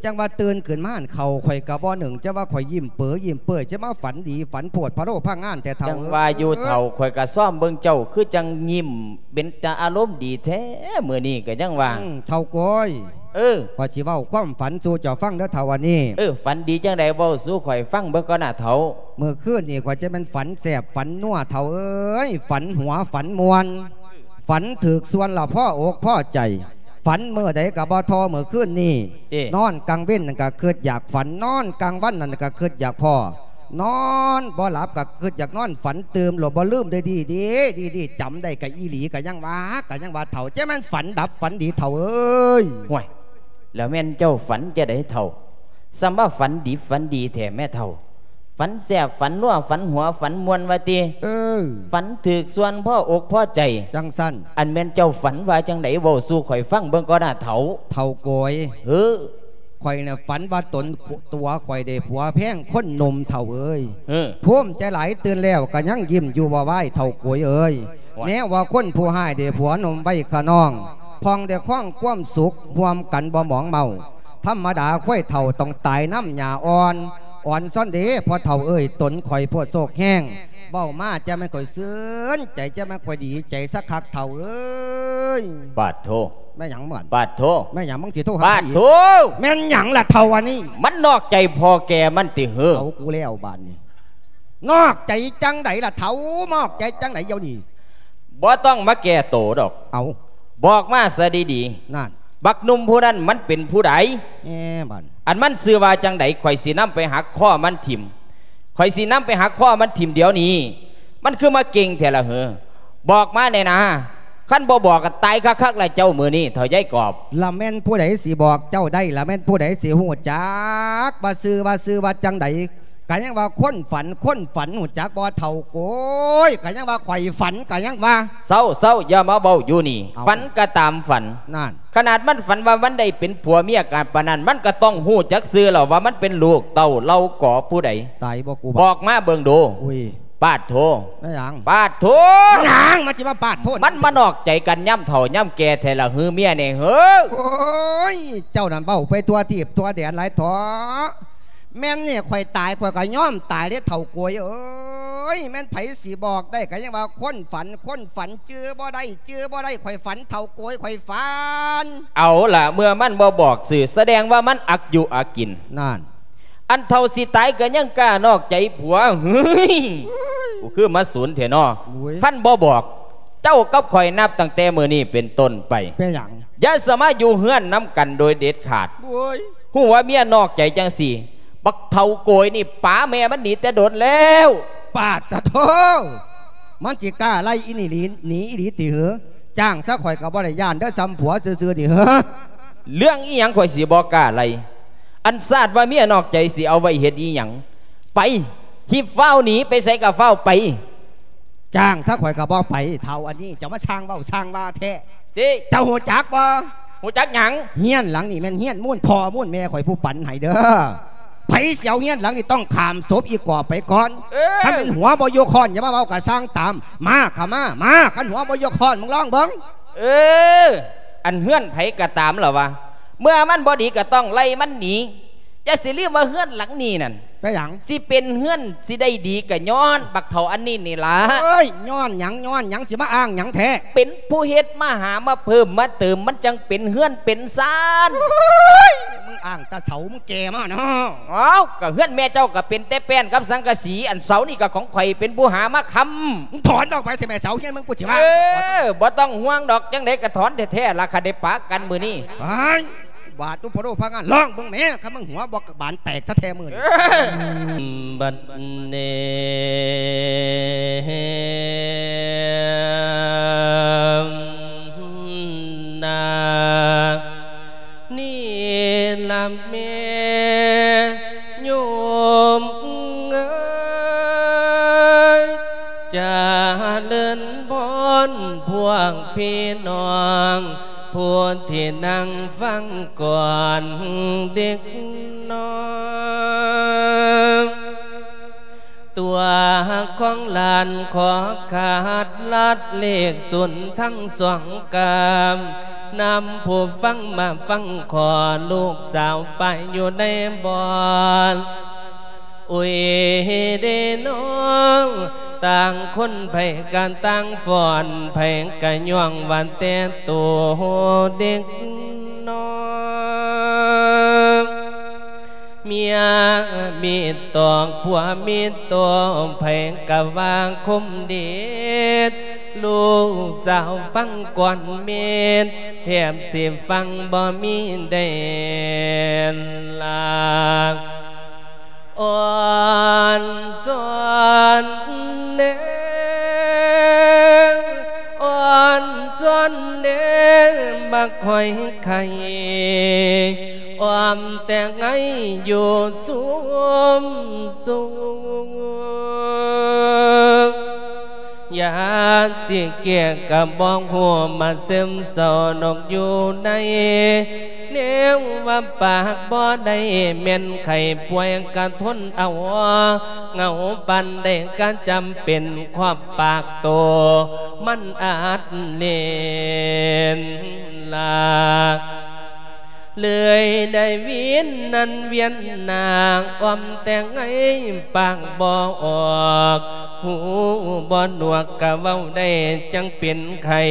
ຈັ່ງວ່າຕື່ນຂຶ້ນມາຫັ້ນ ເຂົ້າຂ້ອຍກະບໍ່ໜຶ້ງ ຈັ່ງວ່າຂ້ອຍຍິ້ມເປີຍິ້ມເປີຍ ຈະມາຝັນດີຝັນໂພດພະໂລພະງານແທ້ເຖົ້າ. ຈັ່ງວ່າຢູ່ເຖົ້າ ຂ້ອຍກະຊອມເບິ່ງເຈົ້າ ຄືຈັ່ງຍິ້ມເປັນຕາອາລົມດີແທ້ມື້ນີ້ ກະຍັງວ່າ. ອືມ ເຖົ້າໂກຍ. ເອີ ຂ້ອຍຊິເວົ້າຄວາມຝັນສູ່ເຈົ້າຟັງເດີເຖົ້າ ອັນນີ້. ເອີ ຝັນດີຈັ່ງໃດ ເວົ້າສູ່ຂ້ອຍຟັງເບິ່ງກ່ອນນະເຖົ້າ. ມື້ຄືນນີ້ຂ້ອຍຈະແມ່ນຝັນແຊບຝັນນົວເຖົ້າເອີຍ ຝັນຫົວຝັນມ່ວນ ຝັນຖືກສ່ວນລະພໍອົກພໍໃຈ ຝັນມື້ໃດກະບໍ່ທໍ່ມື້ຄືນນີ້. ເອີ ນອນກາງເວັນນັ້ນກະຄຶດຢາກຝັນ ນອນກາງວັນນັ້ນກະຄຶດຢາກພໍ້ ນອນບໍ່ຫຼັບກະຄຶດຢາກນອນ ຝັນຕື່ມໂລດບໍ່ລືມເດີ ດີໆ ດີໆ ຈຳໄດ້ກະອີ່ຫຼີ ກະຍັງວ່າ ກະຍັງວ່າເຖົ້າ ຈະແມ່ນຝັນດັບຝັນດີເຖົ້າເອີຍ. ຫ້ວຍ ແລ້ວແມ່ນເຈົ້າຝັນຈັ່ງໃດເຖົ້າ? ສ່ຳວ່າຝັນດີຝັນດີແທ້ແມ້ເຖົ້າ. ຝັນແຊບຝັນນົວ ຝັນຫົວຝັນມ່ວນວ່າຕິ? ເອີ ຝັນຖືກສ່ວນພໍອົກພໍໃຈ. ຈັ່ງຊັ້ນ ອັນແມ່ນເຈົ້າຝັນວ່າຈັ່ງໃດ ເວົ້າສູ່ຂ້ອຍຟັງເບິ່ງກ່ອນນະເຖົ້າ. ເຖົ້າໂກຍ. ເອີ ຂ້ອຍນະຝັນວ່າຕົນ ຕົວຂ້ອຍໄດ້ຜົວແພງຄົນໜຸ່ມເຖົ້າເອີຍ. ເອີ ພູມໃຈຫຼາຍ ຕື່ນແລ້ວກະຍັງຍິ້ມຢູ່ບໍ່ວາຍເຖົ້າໂກຍເອີຍ. ແນວວ່າຄົນຜູ້ຮ້າຍໄດ້ຜົວໜຸ່ມໄວ້ຂະນ້ອງ ພ້ອງໄດ້ຄອງຄວາມສຸກຮ່ວມກັນບໍ່ໝອງເມົາ. ທຳມະດາຄວາຍເຖົ້າຕ້ອງຕາຍນຳຫຍ້າອ່ອນ. ອ່ອນຊອນເດ ພໍ່ເຖົ້າເອີຍ, ຕົນຂ້ອຍໂພດໂຊກແຮງ, ເວົ້າມາຈະແມ່ນຂ້ອຍຊື່ນໃຈ, ຈະແມ່ນຂ້ອຍດີໃຈສະຄັກເຖົ້າເອີຍ. ປາດໂທ ແມ່ນຫຍັງມັນ? ປາດໂທ ແມ່ນຫຍັງ? ມຶງຊິໂທຫາ ປາດໂທ ແມ່ນຫຍັງລະເຖົ້າອັນນີ້? ມັນນອກໃຈພໍ່ແກ່ມັນຕິເຫີ? ເອົາກູແລ້ວບາດນີ້. ນອກໃຈຈັ່ງໃດລະເຖົ້າ? ນອກໃຈຈັ່ງໃດດຽວນີ້? ບໍ່ຕ້ອງມາແກ້ໂຕດອກ. ເອົາ ບອກມາຊະດີໆ. ນັ້ນ ບັກໜຸ່ມຜູ້ນັ້ນມັນເປັນຜູ້ໃດ? ແນ່ບາດ ອັນມັນຊື່ວ່າຈັ່ງໃດ? ຂ້ອຍຊິນຳໄປຫັກຄໍມັນຖິ້ມ, ຂ້ອຍຊິນຳໄປຫັກຄໍມັນຖິ້ມດຽວນີ້. ມັນຄືມາເກັ່ງແທ້ລະເຫີ? ບອກມາແດ່ນາ. ຄັນບໍ່ບອກກໍຕາຍຄັກໆລະເຈົ້າມື້ນີ້ ເຖົ້າຍາຍກອບ. ລະແມ່ນຜູ້ໃດຊິບອກເຈົ້າໄດ້? ລະແມ່ນຜູ້ໃດຊິຮູ້ຈັກວ່າຊື່ ວ່າຊື່ວ່າຈັ່ງໃດ? ກະຍັງວ່າຄົນຝັນ ຄົນຝັນ ຮູ້ຈັກບໍ່ເຖົ້າໂກຍ? ກະຍັງວ່າຂ້ອຍຝັນ ກະຍັງວ່າ. ເຊົາໆ ຢ່າມາເວົ້າຢູ່ນີ້. ເອົ້າ ຝັນກະຕາມຝັນ. ນັ້ນ ຂະໜາດມັນຝັນວ່າມັນໄດ້ເປັນຜົວເມຍກັນປານນັ້ນ ມັນກະຕ້ອງຮູ້ຈັກຊື່ແລ້ວວ່າມັນເປັນລູກເຕົ້າເຫຼົ່າກໍຜູ້ໃດ. ຕາຍບໍ່ກູບາດ ບອກມາເບິ່ງດູ. ອຸ້ຍ ປາດໂທ ແມ່ນຫຍັງ? ປາດໂທ ຫຍັງ? ມັນຊິມາປາດໂທ ມັນມານອກໃຈກັນຍາມເຖົ້າຍາມແກ່ແທ້ລະເຫີ ເມຍນີ້ເຫີ? ໂອ້ຍ ເຈົ້ານັ້ນເວົ້າໄປທົ່ວທີບທົ່ວແດນຫຼາຍເຖາະ. ແມ່ນນີ້ ຂ້ອຍຕາຍ ຂ້ອຍກໍຍອມຕາຍເດ້ເຖົ້າໂກຍເອີຍ. ແມ່ນໃຜຊິບອກໄດ້? ກໍຍັງວ່າຄົນຝັນ ຄົນຝັນ ຈື່ບໍ່ໄດ້ ຈື່ບໍ່ໄດ້. ຂ້ອຍຝັນເຖົ້າໂກຍ ຂ້ອຍຝັນ. ເອົາລະ ເມື່ອມັນບໍ່ບອກຊື່ ສະແດງວ່າມັນອັກຍຸອັກກິນ. ນັ້ນ ອັນເຖົ້າຊິຕາຍກໍຍັງກ້ານອກໃຈຜົວ. ເຮີ້ຍ ກູຄືມາສູນແທ້ນໍ. ໂອ້ຍ ຄັນບໍ່ບອກ ເຈົ້າກັບຂ້ອຍນັບຕັ້ງແຕ່ມື້ນີ້ເປັນຕົ້ນໄປ ເປັນຫຍັງ? ຢ່າສາມາດຢູ່ເຮືອນນຳກັນໂດຍເດັດຂາດ. ໂອ້ຍ ຮູ້ວ່າເມຍນອກໃຈຈັ່ງຊີ້ ບັກເຖົ້າໂກຍນີ້ປາແມ່ມັນໜີແຕ່ດົນແລ້ວ. ປາດສະໂທ ມັນຊິກ້າໄລ່ອີ່ນີ້ຫຼີ ໜີອີ່ຫຼີຕິເຫີ? ຈ້າງຊະ ຂ້ອຍກໍບໍ່ໄດ້ຢ້ານເດີ ສ່ຳຜົວຊື່ໆນີ້ເຫີ. ເລື່ອງອີ່ຫຍັງຂ້ອຍຊິບໍ່ກ້າໄລ່? ອັນຊາດວ່າເມຍນອກໃຈຊິເອົາໄວ້ເຮັດອີ່ຫຍັງ? ໄປ ຮີບຟ້າວໜີ ໄປໃສກໍຟ້າວໄປ. ຈ້າງຊະ ຂ້ອຍກໍບໍ່ໄປ. ເຖົ້າອັນນີ້ ເຈົ້າມາຊ່າງເວົ້າຊ່າງວ່າແທ້. ຕິ ເຈົ້າຮູ້ຈັກບໍ່? ຮູ້ຈັກຫຍັງ? ເຮືອນຫຼັງນີ້ແມ່ນເຮືອນມູນພໍ່ມູນແມ່ຂ້ອຍຜູ້ປັນໃຫ້ເດີ. ໃຜຊິເອົາເຮືອນຫຼັງນີ້ຕ້ອງຂ້າມສົບອີກອບໄປກ່ອນ. ເອີ ຄັນແມ່ນຫົວບໍ່ຍົກຄ້ອນ ຢ່າມາເວົ້າກະຊ່າງຕາມ. ມາຂະມາ ມາ ຄັນຫົວບໍ່ຍົກຄ້ອນ ມຶງລອງເບິ່ງ. ເອີ ອັນເຮືອນໃຜກໍຕາມລະວະ ເມື່ອມັນບໍ່ດີກໍຕ້ອງໄລ່ມັນໜີ. ຢ່າຊິລືມວ່າເຮືອນຫຼັງນີ້ນັ້ນ ເປັນຫຍັງ? ຊິເປັນເຮືອນ ຊິໄດ້ດີກໍຍ້ອນບັກເຖົ້າອັນນີ້ນີ້ລະ. ເອີຍ ຍ້ອນຫຍັງ? ຍ້ອນຫຍັງ? ຊິມາອ້າງຫຍັງແທ້? ເປັນຜູ້ເຮັດມາຫາມາເພີ່ມມາເຕີມ ມັນຈັ່ງເປັນເຮືອນເປັນຊານ. ໂອ້ຍ ມຶງອ້າງແຕ່ເສົາ ມຶງແກ່ມາເນາະ. ເອົ້າ ກໍເຮືອນແມ່ເຈົ້າກໍເປັນແຕ່ແປ້ນກັບສັງກະສີ, ອັນເສົານີ້ກໍຂອງຂ້ອຍເປັນຜູ້ຫາມາຄ້ຳ. ມຶງຖອນອອກໄປຊະແມ່ ເສົາເຮືອນມຶງ ກູຊິວ່າ. ເອີ ບໍ່ຕ້ອງຫ່ວງດອກ, ຈັ່ງໃດກໍຖອນແທ້ໆລະ ຄັນໄດ້ປະກັນມື້ນີ້. ໄປ ບາດ ອຸປະໂລພະງານ ລອງເບິ່ງແໝ່ ຄັນມຶງຫົວບໍ່ບານແຕກຊະແທ້ມື້ນີ້. ບັດນີ້ ນາ ນີ້ລະແມ່ໂຍມເອີຍ ຈະເລີນພອນພວກພີ່ນ້ອງ ຜູ້ທີ່ນັ່ງຟັງກ່ອນເດັກນ້ອຍ ຕົວຂອງຫຼານຂໍຂາດລັດເລກສູນທັງສອງກາມ ນຳຜູ້ຟັງມາຟັງຂໍ ລູກສາວໄປຢູ່ໃນບ່ອນ ອຸຍເດນ້ອງ ຕ່າງຄົນໃຜກະຕ່າງຟ້ອນ ໃຜກະຍ້ອງວ່າແຕ່ໂຕເດັກນ້ອຍ ເມຍມີຕອກ ຜົວມີໂຕ ໃຜກະວ່າຄົມເດັດ ລູກສາວຟັງກ່ອນເມັດ ແທບຊິຟັງບໍ່ມີແດນລາ ອ່ອນຊອນແດ່ ອ່ອນຊອນແດ່ ບັກຫອຍໄຂ່ ອ້ອມແຕ່ໄງຢູ່ຊຸມຊຸມ ຢາກຊິແກ້ກໍບໍ່ຮູ້ ມາຊຶມເສົ້ານົກຢູ່ໃນ ແນວວ່າປາກບໍ່ໄດ້ ແມ່ນໄຂ້ປ່ວຍກະທົນເອົາ ເຫງົາປານໃດກະຈຳເປັນ ຄວາມປາກໂຕ ມັນອາດເຫຼັນລາ ເລີຍໄດ້ວຽນນັ້ນວຽນນາ ອອມແຕ່ໄງປາກບໍ່ອອກ ຫູບໍ່ໜວກກະເວົ້າໄດ້ ຈັ່ງເປັນໄຂ້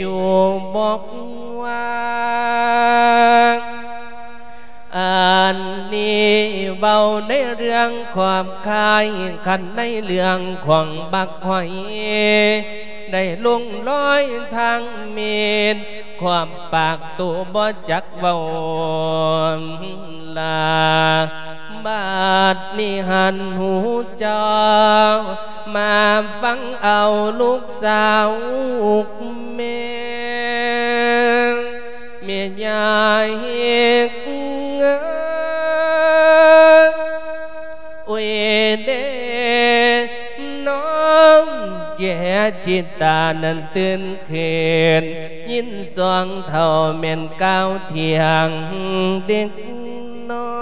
ຢູ່ບໍ່ວ່າ. ອັນນີ້ເວົ້າໃນເລື່ອງຂອບຄາຍ ຄັນໃນເລື່ອງຂອງບັກຫອຍ ໄດ້ລົງລອຍທາງເມດ ຂອບປາກໂຕບໍ່ຈັກເວົ້າລາ. ບາດນີ້ຫັນຫູເຈົ້າ ມາຟັງເອົາລູກສາວແມ່ ແມ່ຍາຍເຮັດ ໂອ້ຍເດ ນ້ອງເຈຍຈິດຕານັ້ນຕື່ນຂຶ້ນ ຍິນສອງເຖົ້າແມ່ນກ່າວທ່ຽງເດັກນ້ອ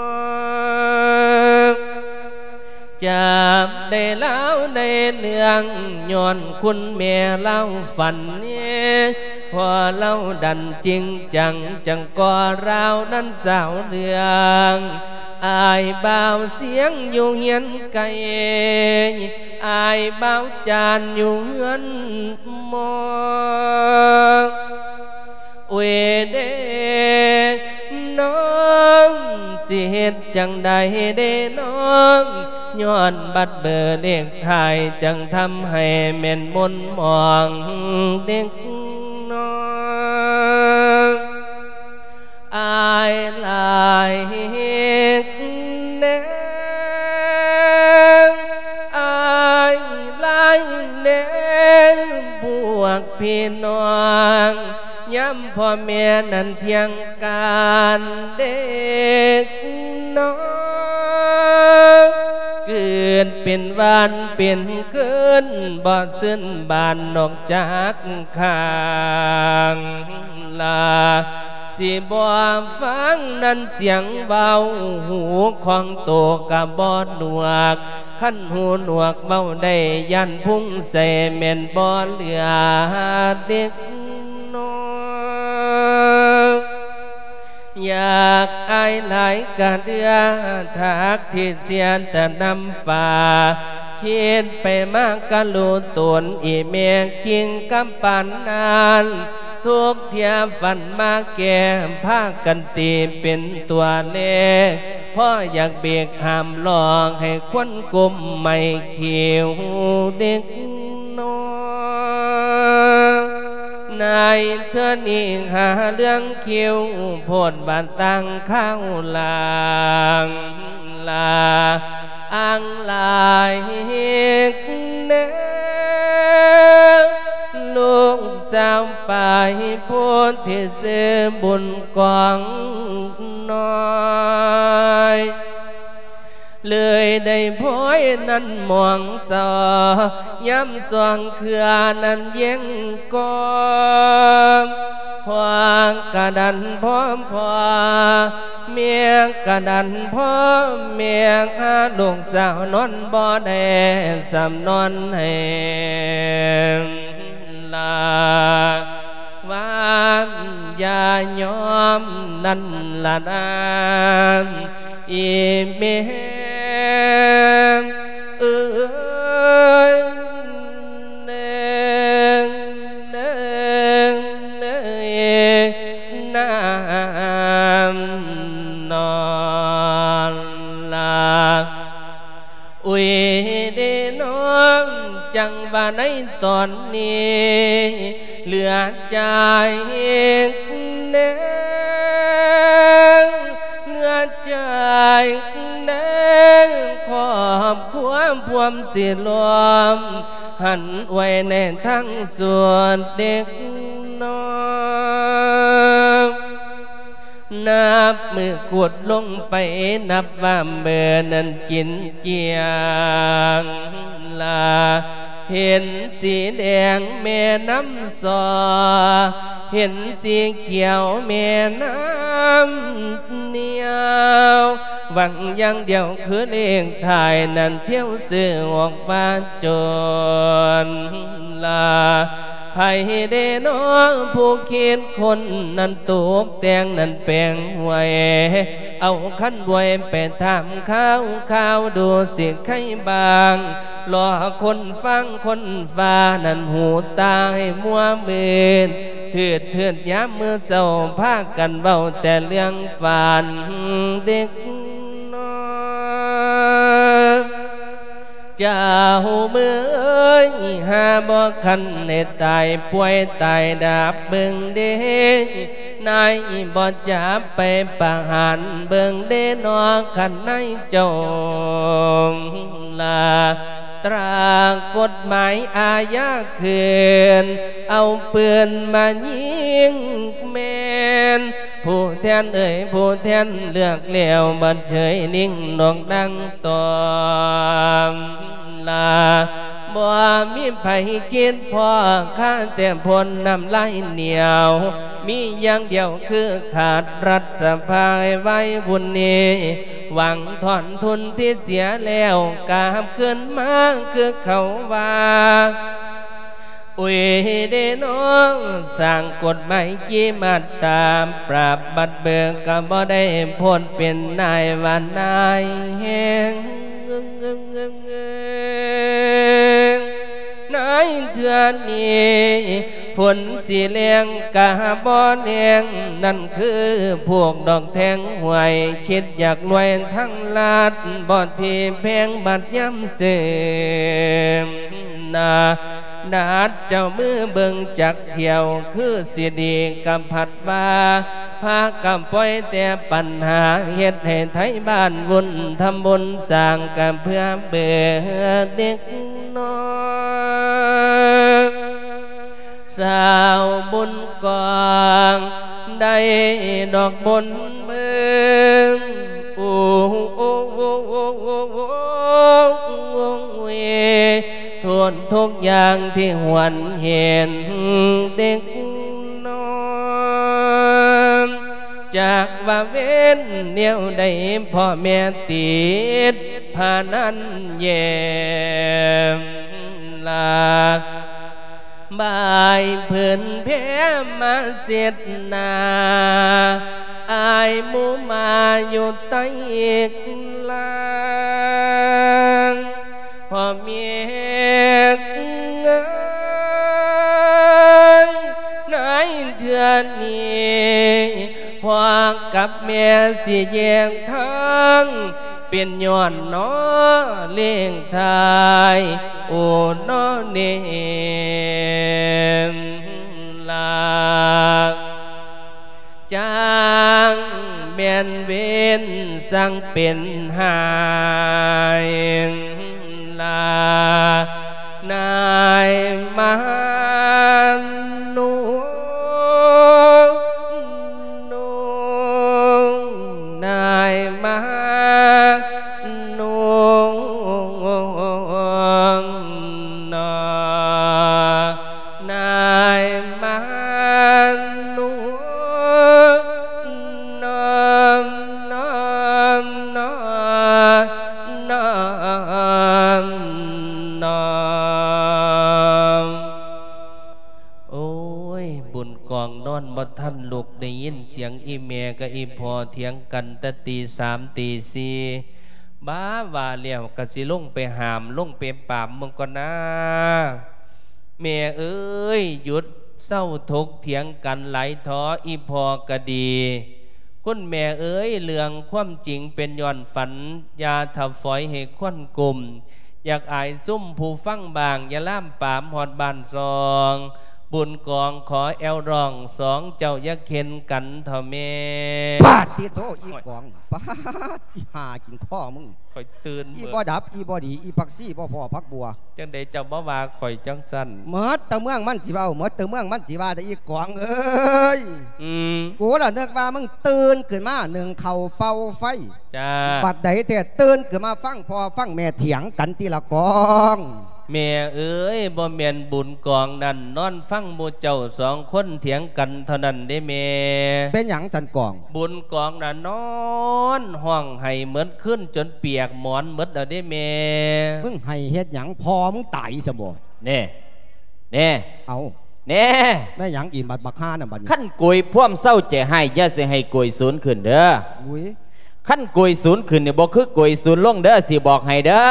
ຍ ຈຳໄດ້ລາວໃນເລື່ອງ ຍ້ອນຄຸນແມ່ລາວຝັນເນ ພໍລາວດັນຈິງຈັງ ຈັ່ງກໍລາວນັ້ນສາວເລື່ອງ ອ້າຍບ່າວສຽງຢູ່ເຮືອນໄກ ອ້າຍບ່າວຈານຢູ່ເຮືອນໝໍ. ໂອ້ຍເດ ນ້ອງ ຊິເຮັດຈັ່ງໃດເດນ້ອງ ຍ້ອນບັດເບີເລກທ້າຍ ຈັ່ງທຳໃຫ້ແມ່ນມົນໝອງເດັກນ້ອຍ. ອ້າຍຫຼາຍເຮັດແນງ ອ້າຍຫຼາຍແນງ ພວກພີ່ນ້ອງ ຍາມພໍ່ແມ່ນັ້ນທ່ຽງການເດັກນ້ອຍ ເກີດເປັນວັນເປັນຄືນ ບໍ່ຊື່ນບານນອກຈາກຂ້າງ ລາ ຊິບໍ່ຟັງນັ້ນສຽງເວົ້າ ຫູຂອງໂຕກະບໍ່ໜວກ ຄັນຫູໜວກເວົ້າໄດ້ ຢ້ານພຸງໃສ່ແມ່ນບໍ່ເຫຼືອເດັກນ້ອຍ. ຢາກອາຍຫຼາຍກະເດືອ ທາກທີ່ເສຍແຕ່ນ້ຳຟ້າ ຄິດໄປມາກະຮູ້ຕົນ ອີແມ່ຄິງກຳປານນັ້ນ ທຸກເທື່ອຝັນມາແກ່ ພາກັນຕີເປັນຕົວເລກ ພໍຢາກເບກຫ້າມລອກ ໃຫ້ຄົນກົ້ມໄມ້ຄິ້ວເດັກນ້ອຍ. ໃນເທື່ອນີ້ຫາເລື່ອງຄິ້ວ ໂພດວ່າຕັ້ງຄາວຫຼາງ ລາ ອ່າງຫຼາຍເຮັດແນວ ລູກສາວປາຍໂພດທີ່ຊື່ບຸນກອງນ້ອຍ ເລີຍໄດ້ພອຍນັ້ນມອງສ່ອ ຍາມສ່ອງເຄືອນັ້ນແຍງກອງ ພໍ່ກະດັນພໍ່ພໍ່ ແມ່ກະດັນພໍ່ແມ່ ຫາລູກສາວນອນບໍ່ໄດ້ ສ່ຳນອນໃຫ້ລາ ວ່າຢ່າຍອມນັ້ນລະນາ ອີແມ່ເອີຍ ເອີຍ ເອີຍ ນາມນອນລາ. ອຸຍເດນ້ອງ ຈັ່ງວ່າໃນຕອນນີ້ ເຫຼືອໃຈແນງ ເຫຼືອໃຈແນງ ຄອບຄົວພວມຊິລວມ ຫັນໄວ້ໃນທາງສວນເດັກນ້ອຍ. ນັບມື້ຂຸດລົງໄປ ນັບວ່າເມີນັ້ນຈິນຈຽງລາ ເຫັນສີແດງແມ່ນ້ຳຊໍ ເຫັນສີຂຽວແມ່ນ້ຳນຽວ ຫວັງຢ່າງດຽວຄືເລກທ້າຍນັ້ນ ທ່ຽວຊື້ອອກມາຈົນລາ. ໃຜເດນໍຜູ້ຄິດຄົ້ນນັ້ນ ຕົກແຕ່ງນັ້ນແປງຫວຍ ເອົາຂັນບວຍໄປຖາມຂ່າວ ຂ່າວດູຊິໄຄບາງ ລໍຄົນຟັງຄົນຟ້ານັ້ນ ຫູຕາໃຫ້ມົວມືດ ຖືດໆ ຍາມມື້ເຊົ້າ ພາກັນເວົ້າແຕ່ເລື່ອງຝັນເດັກນ້ອຍ. ເຈົ້າເອີຍ ຫາບໍ່ຄັນໃຫ້ຕາຍປ່ວຍຕາຍດາບເບິ່ງເດ້ ນາຍບໍ່ຈັບໄປປະຫານເບິ່ງເດ້ນໍ ຄັນນາຍເຈົ້າລາ ຕາກົດໝາຍອາຍາຄືນ ເອົາປືນມາຍິງແມ່ນ ຜູ້ແທນເອີຍ ຜູ້ແທນເລືອກແລ້ວ ບໍ່ເຊີຍນິ່ງນົກດັງຕອມລາ ບໍ່ມີໃຜຄິດພໍ ຄາແຕ່ພົ້ນນ້ຳລາຍໜຽວ ມີຢ່າງດຽວຄືຂາດລັດສະພາໃຫ້ໄວວຸ່ນນີ້ ຫວັງຖອນທຶນທີ່ເສຍແລ້ວ ກາບຄືນມາຄືເຂົາວ່າ ໂອ້ຍເດ້ນ້ອງ ສ້າງກົດໝາຍຈີມາດຕາ ປາບບັດເບີກະບໍ່ໄດ້ພົ້ນ ເປັນນາຍວ່ານາຍແຮງ ນາຍເທື່ອນີ້ ຝົນຊິແລ້ງກະບໍ່ແລ້ງ ນັ້ນຄືພວກດອກແທງຫວຍ ຄິດຢາກລວຍທາງລັດ ບໍ່ທີ່ແພງບັດຍາມເສີມນາ ນັດເຈົ້າມືເບິ່ງຈັກທ່ຽວ ຄືຊິດີກະພັດວ່າ ພາກັນປ່ອຍແຕ່ປັນຫາ ເຮັດໃຫ້ໄທບ້ານວຸ່ນ ທຳບຸນສ້າງກະເພື່ອເບີເດັກນ້ອຍ ຊາວບຸນກອງ ໄດ້ດອກບົນເບິ່ງ ໂອ້ ໂອ້ຍ ໂທດທຸກຢ່າງທີ່ຫວນເຫັນເດັກນ້ອຍ ຈັກວ່າເວັນແນວໃດ ພໍ່ແມ່ຕິດພະນັນແຍມລາ ບາຍຜືນແພມາເຊັດໜ້າ ອາຍໝູ່ມາຢູ່ໃຕ້ກລາງ ພໍ່ແມ່ເອີຍ ໃນເທື່ອນີ້ ພໍ່ກັບແມ່ຊິແຍກທາງ ເປັນຍ້ອນໜໍເລກທ້າຍ ໂອ ໜໍເນມລາ ຈັ່ງແມ່ນເວນ ຊ່າງເປັນຫາຍລາ ນາຍມາໂນ ໂນ ນາຍມາໂນ ນາ ນາຍມາໂນ ນອມ ນອມ ນອ ນອມ ນອມ. ໂອ້ຍ ບຸນກອງນອນບໍ່ທັນລຸກ ໄດ້ຍິນສຽງອີ່ແມ່ກັບອີ່ພໍ່ຖຽງກັນແຕ່ຕີສາມຕີສີ່ ບ້າ ວ່າແລ້ວກະຊິລົງໄປຫ້າມ ລົງໄປປາບເບິ່ງກ່ອນນາ. ແມ່ເອີຍ ຢຸດເຊົາຖົກຖຽງກັນຫຼາຍເຖາະ ອີ່ພໍ່ກະດີ. ຄຸນແມ່ເອີຍ ເລື່ອງຄວາມຈິງເປັນຍ້ອນຝັນ ຢ່າຖ້າຝອຍໃຫ້ຄວັນກຸມ ຢາກອາຍຊຸມຜູ້ຟັງບ້າງ ຢ່າລາມປາມຮອດບ້ານຊ່ອງ. ບຸນກອງຂໍແອວຮ້ອງ ສອງເຈົ້າຢ່າເຂັນກັນເຖາະແມ່. ປາດຕິໂທ ອີກອງ ປາດ ອີຫ່າກິນຄໍມຶງ ຂ້ອຍຕື່ນ ອີບໍ່ດັບ ອີບໍ່ດີ ອີຜັກຊີບໍ່ພໍຜັກບົວ. ຈັ່ງໃດເຈົ້າມາວ່າຂ້ອຍຈັ່ງຊັ້ນ? ໝົດແຕ່ເມືອງມັນຊິເວົ້າ ໝົດແຕ່ເມືອງມັນຊິວ່າ ແຕ່ອີກອງເອີຍ ອືມ ກູລະນຶກວ່າມຶງຕື່ນຂຶ້ນມາໜຶ້ງເຂົ້າເປົ່າໄຟ. ຈ້າ ບັດໃດແທ້ຕື່ນຂຶ້ນມາຟັງພໍ່ຟັງແມ່ຖຽງກັນຕິລະກອງ. ແມ່ເອີຍ ບໍ່ແມ່ນບຸນກອງນັ້ນນອນຟັງໝູ່ເຈົ້າສອງຄົນຖຽງກັນເທົ່ານັ້ນເດ້ແມ່. ເປັນຫຍັງຊັ້ນກອງ? ບຸນກອງນະນອນຮ້ອງໄຫ້ໝົດຄືນຈົນປຽກໝອນໝົດແລ້ວເດ້ແມ່. ມຶງໄຫ້ເຮັດຫຍັງ? ພໍ່ມຶງຕາຍຊະບໍ? ແນ່ ແນ່ ເອົາ ແນ່ ແມ່ນຫຍັງອີກ ບັກ ບັກຫ່ານັ້ນບັດນີ້? ຄັນໂກຍພວມເຊົາໃຈຮ້າຍ ຢ່າຊິໃຫ້ໂກຍສູນຂຶ້ນເດີ້. ອຸ້ຍ ຄັນໂກຍສູນຂຶ້ນນີ້ ບໍ່ຄືໂກຍສູນລົງເດີ້ ຊິບອກໃຫ້ເດີ້.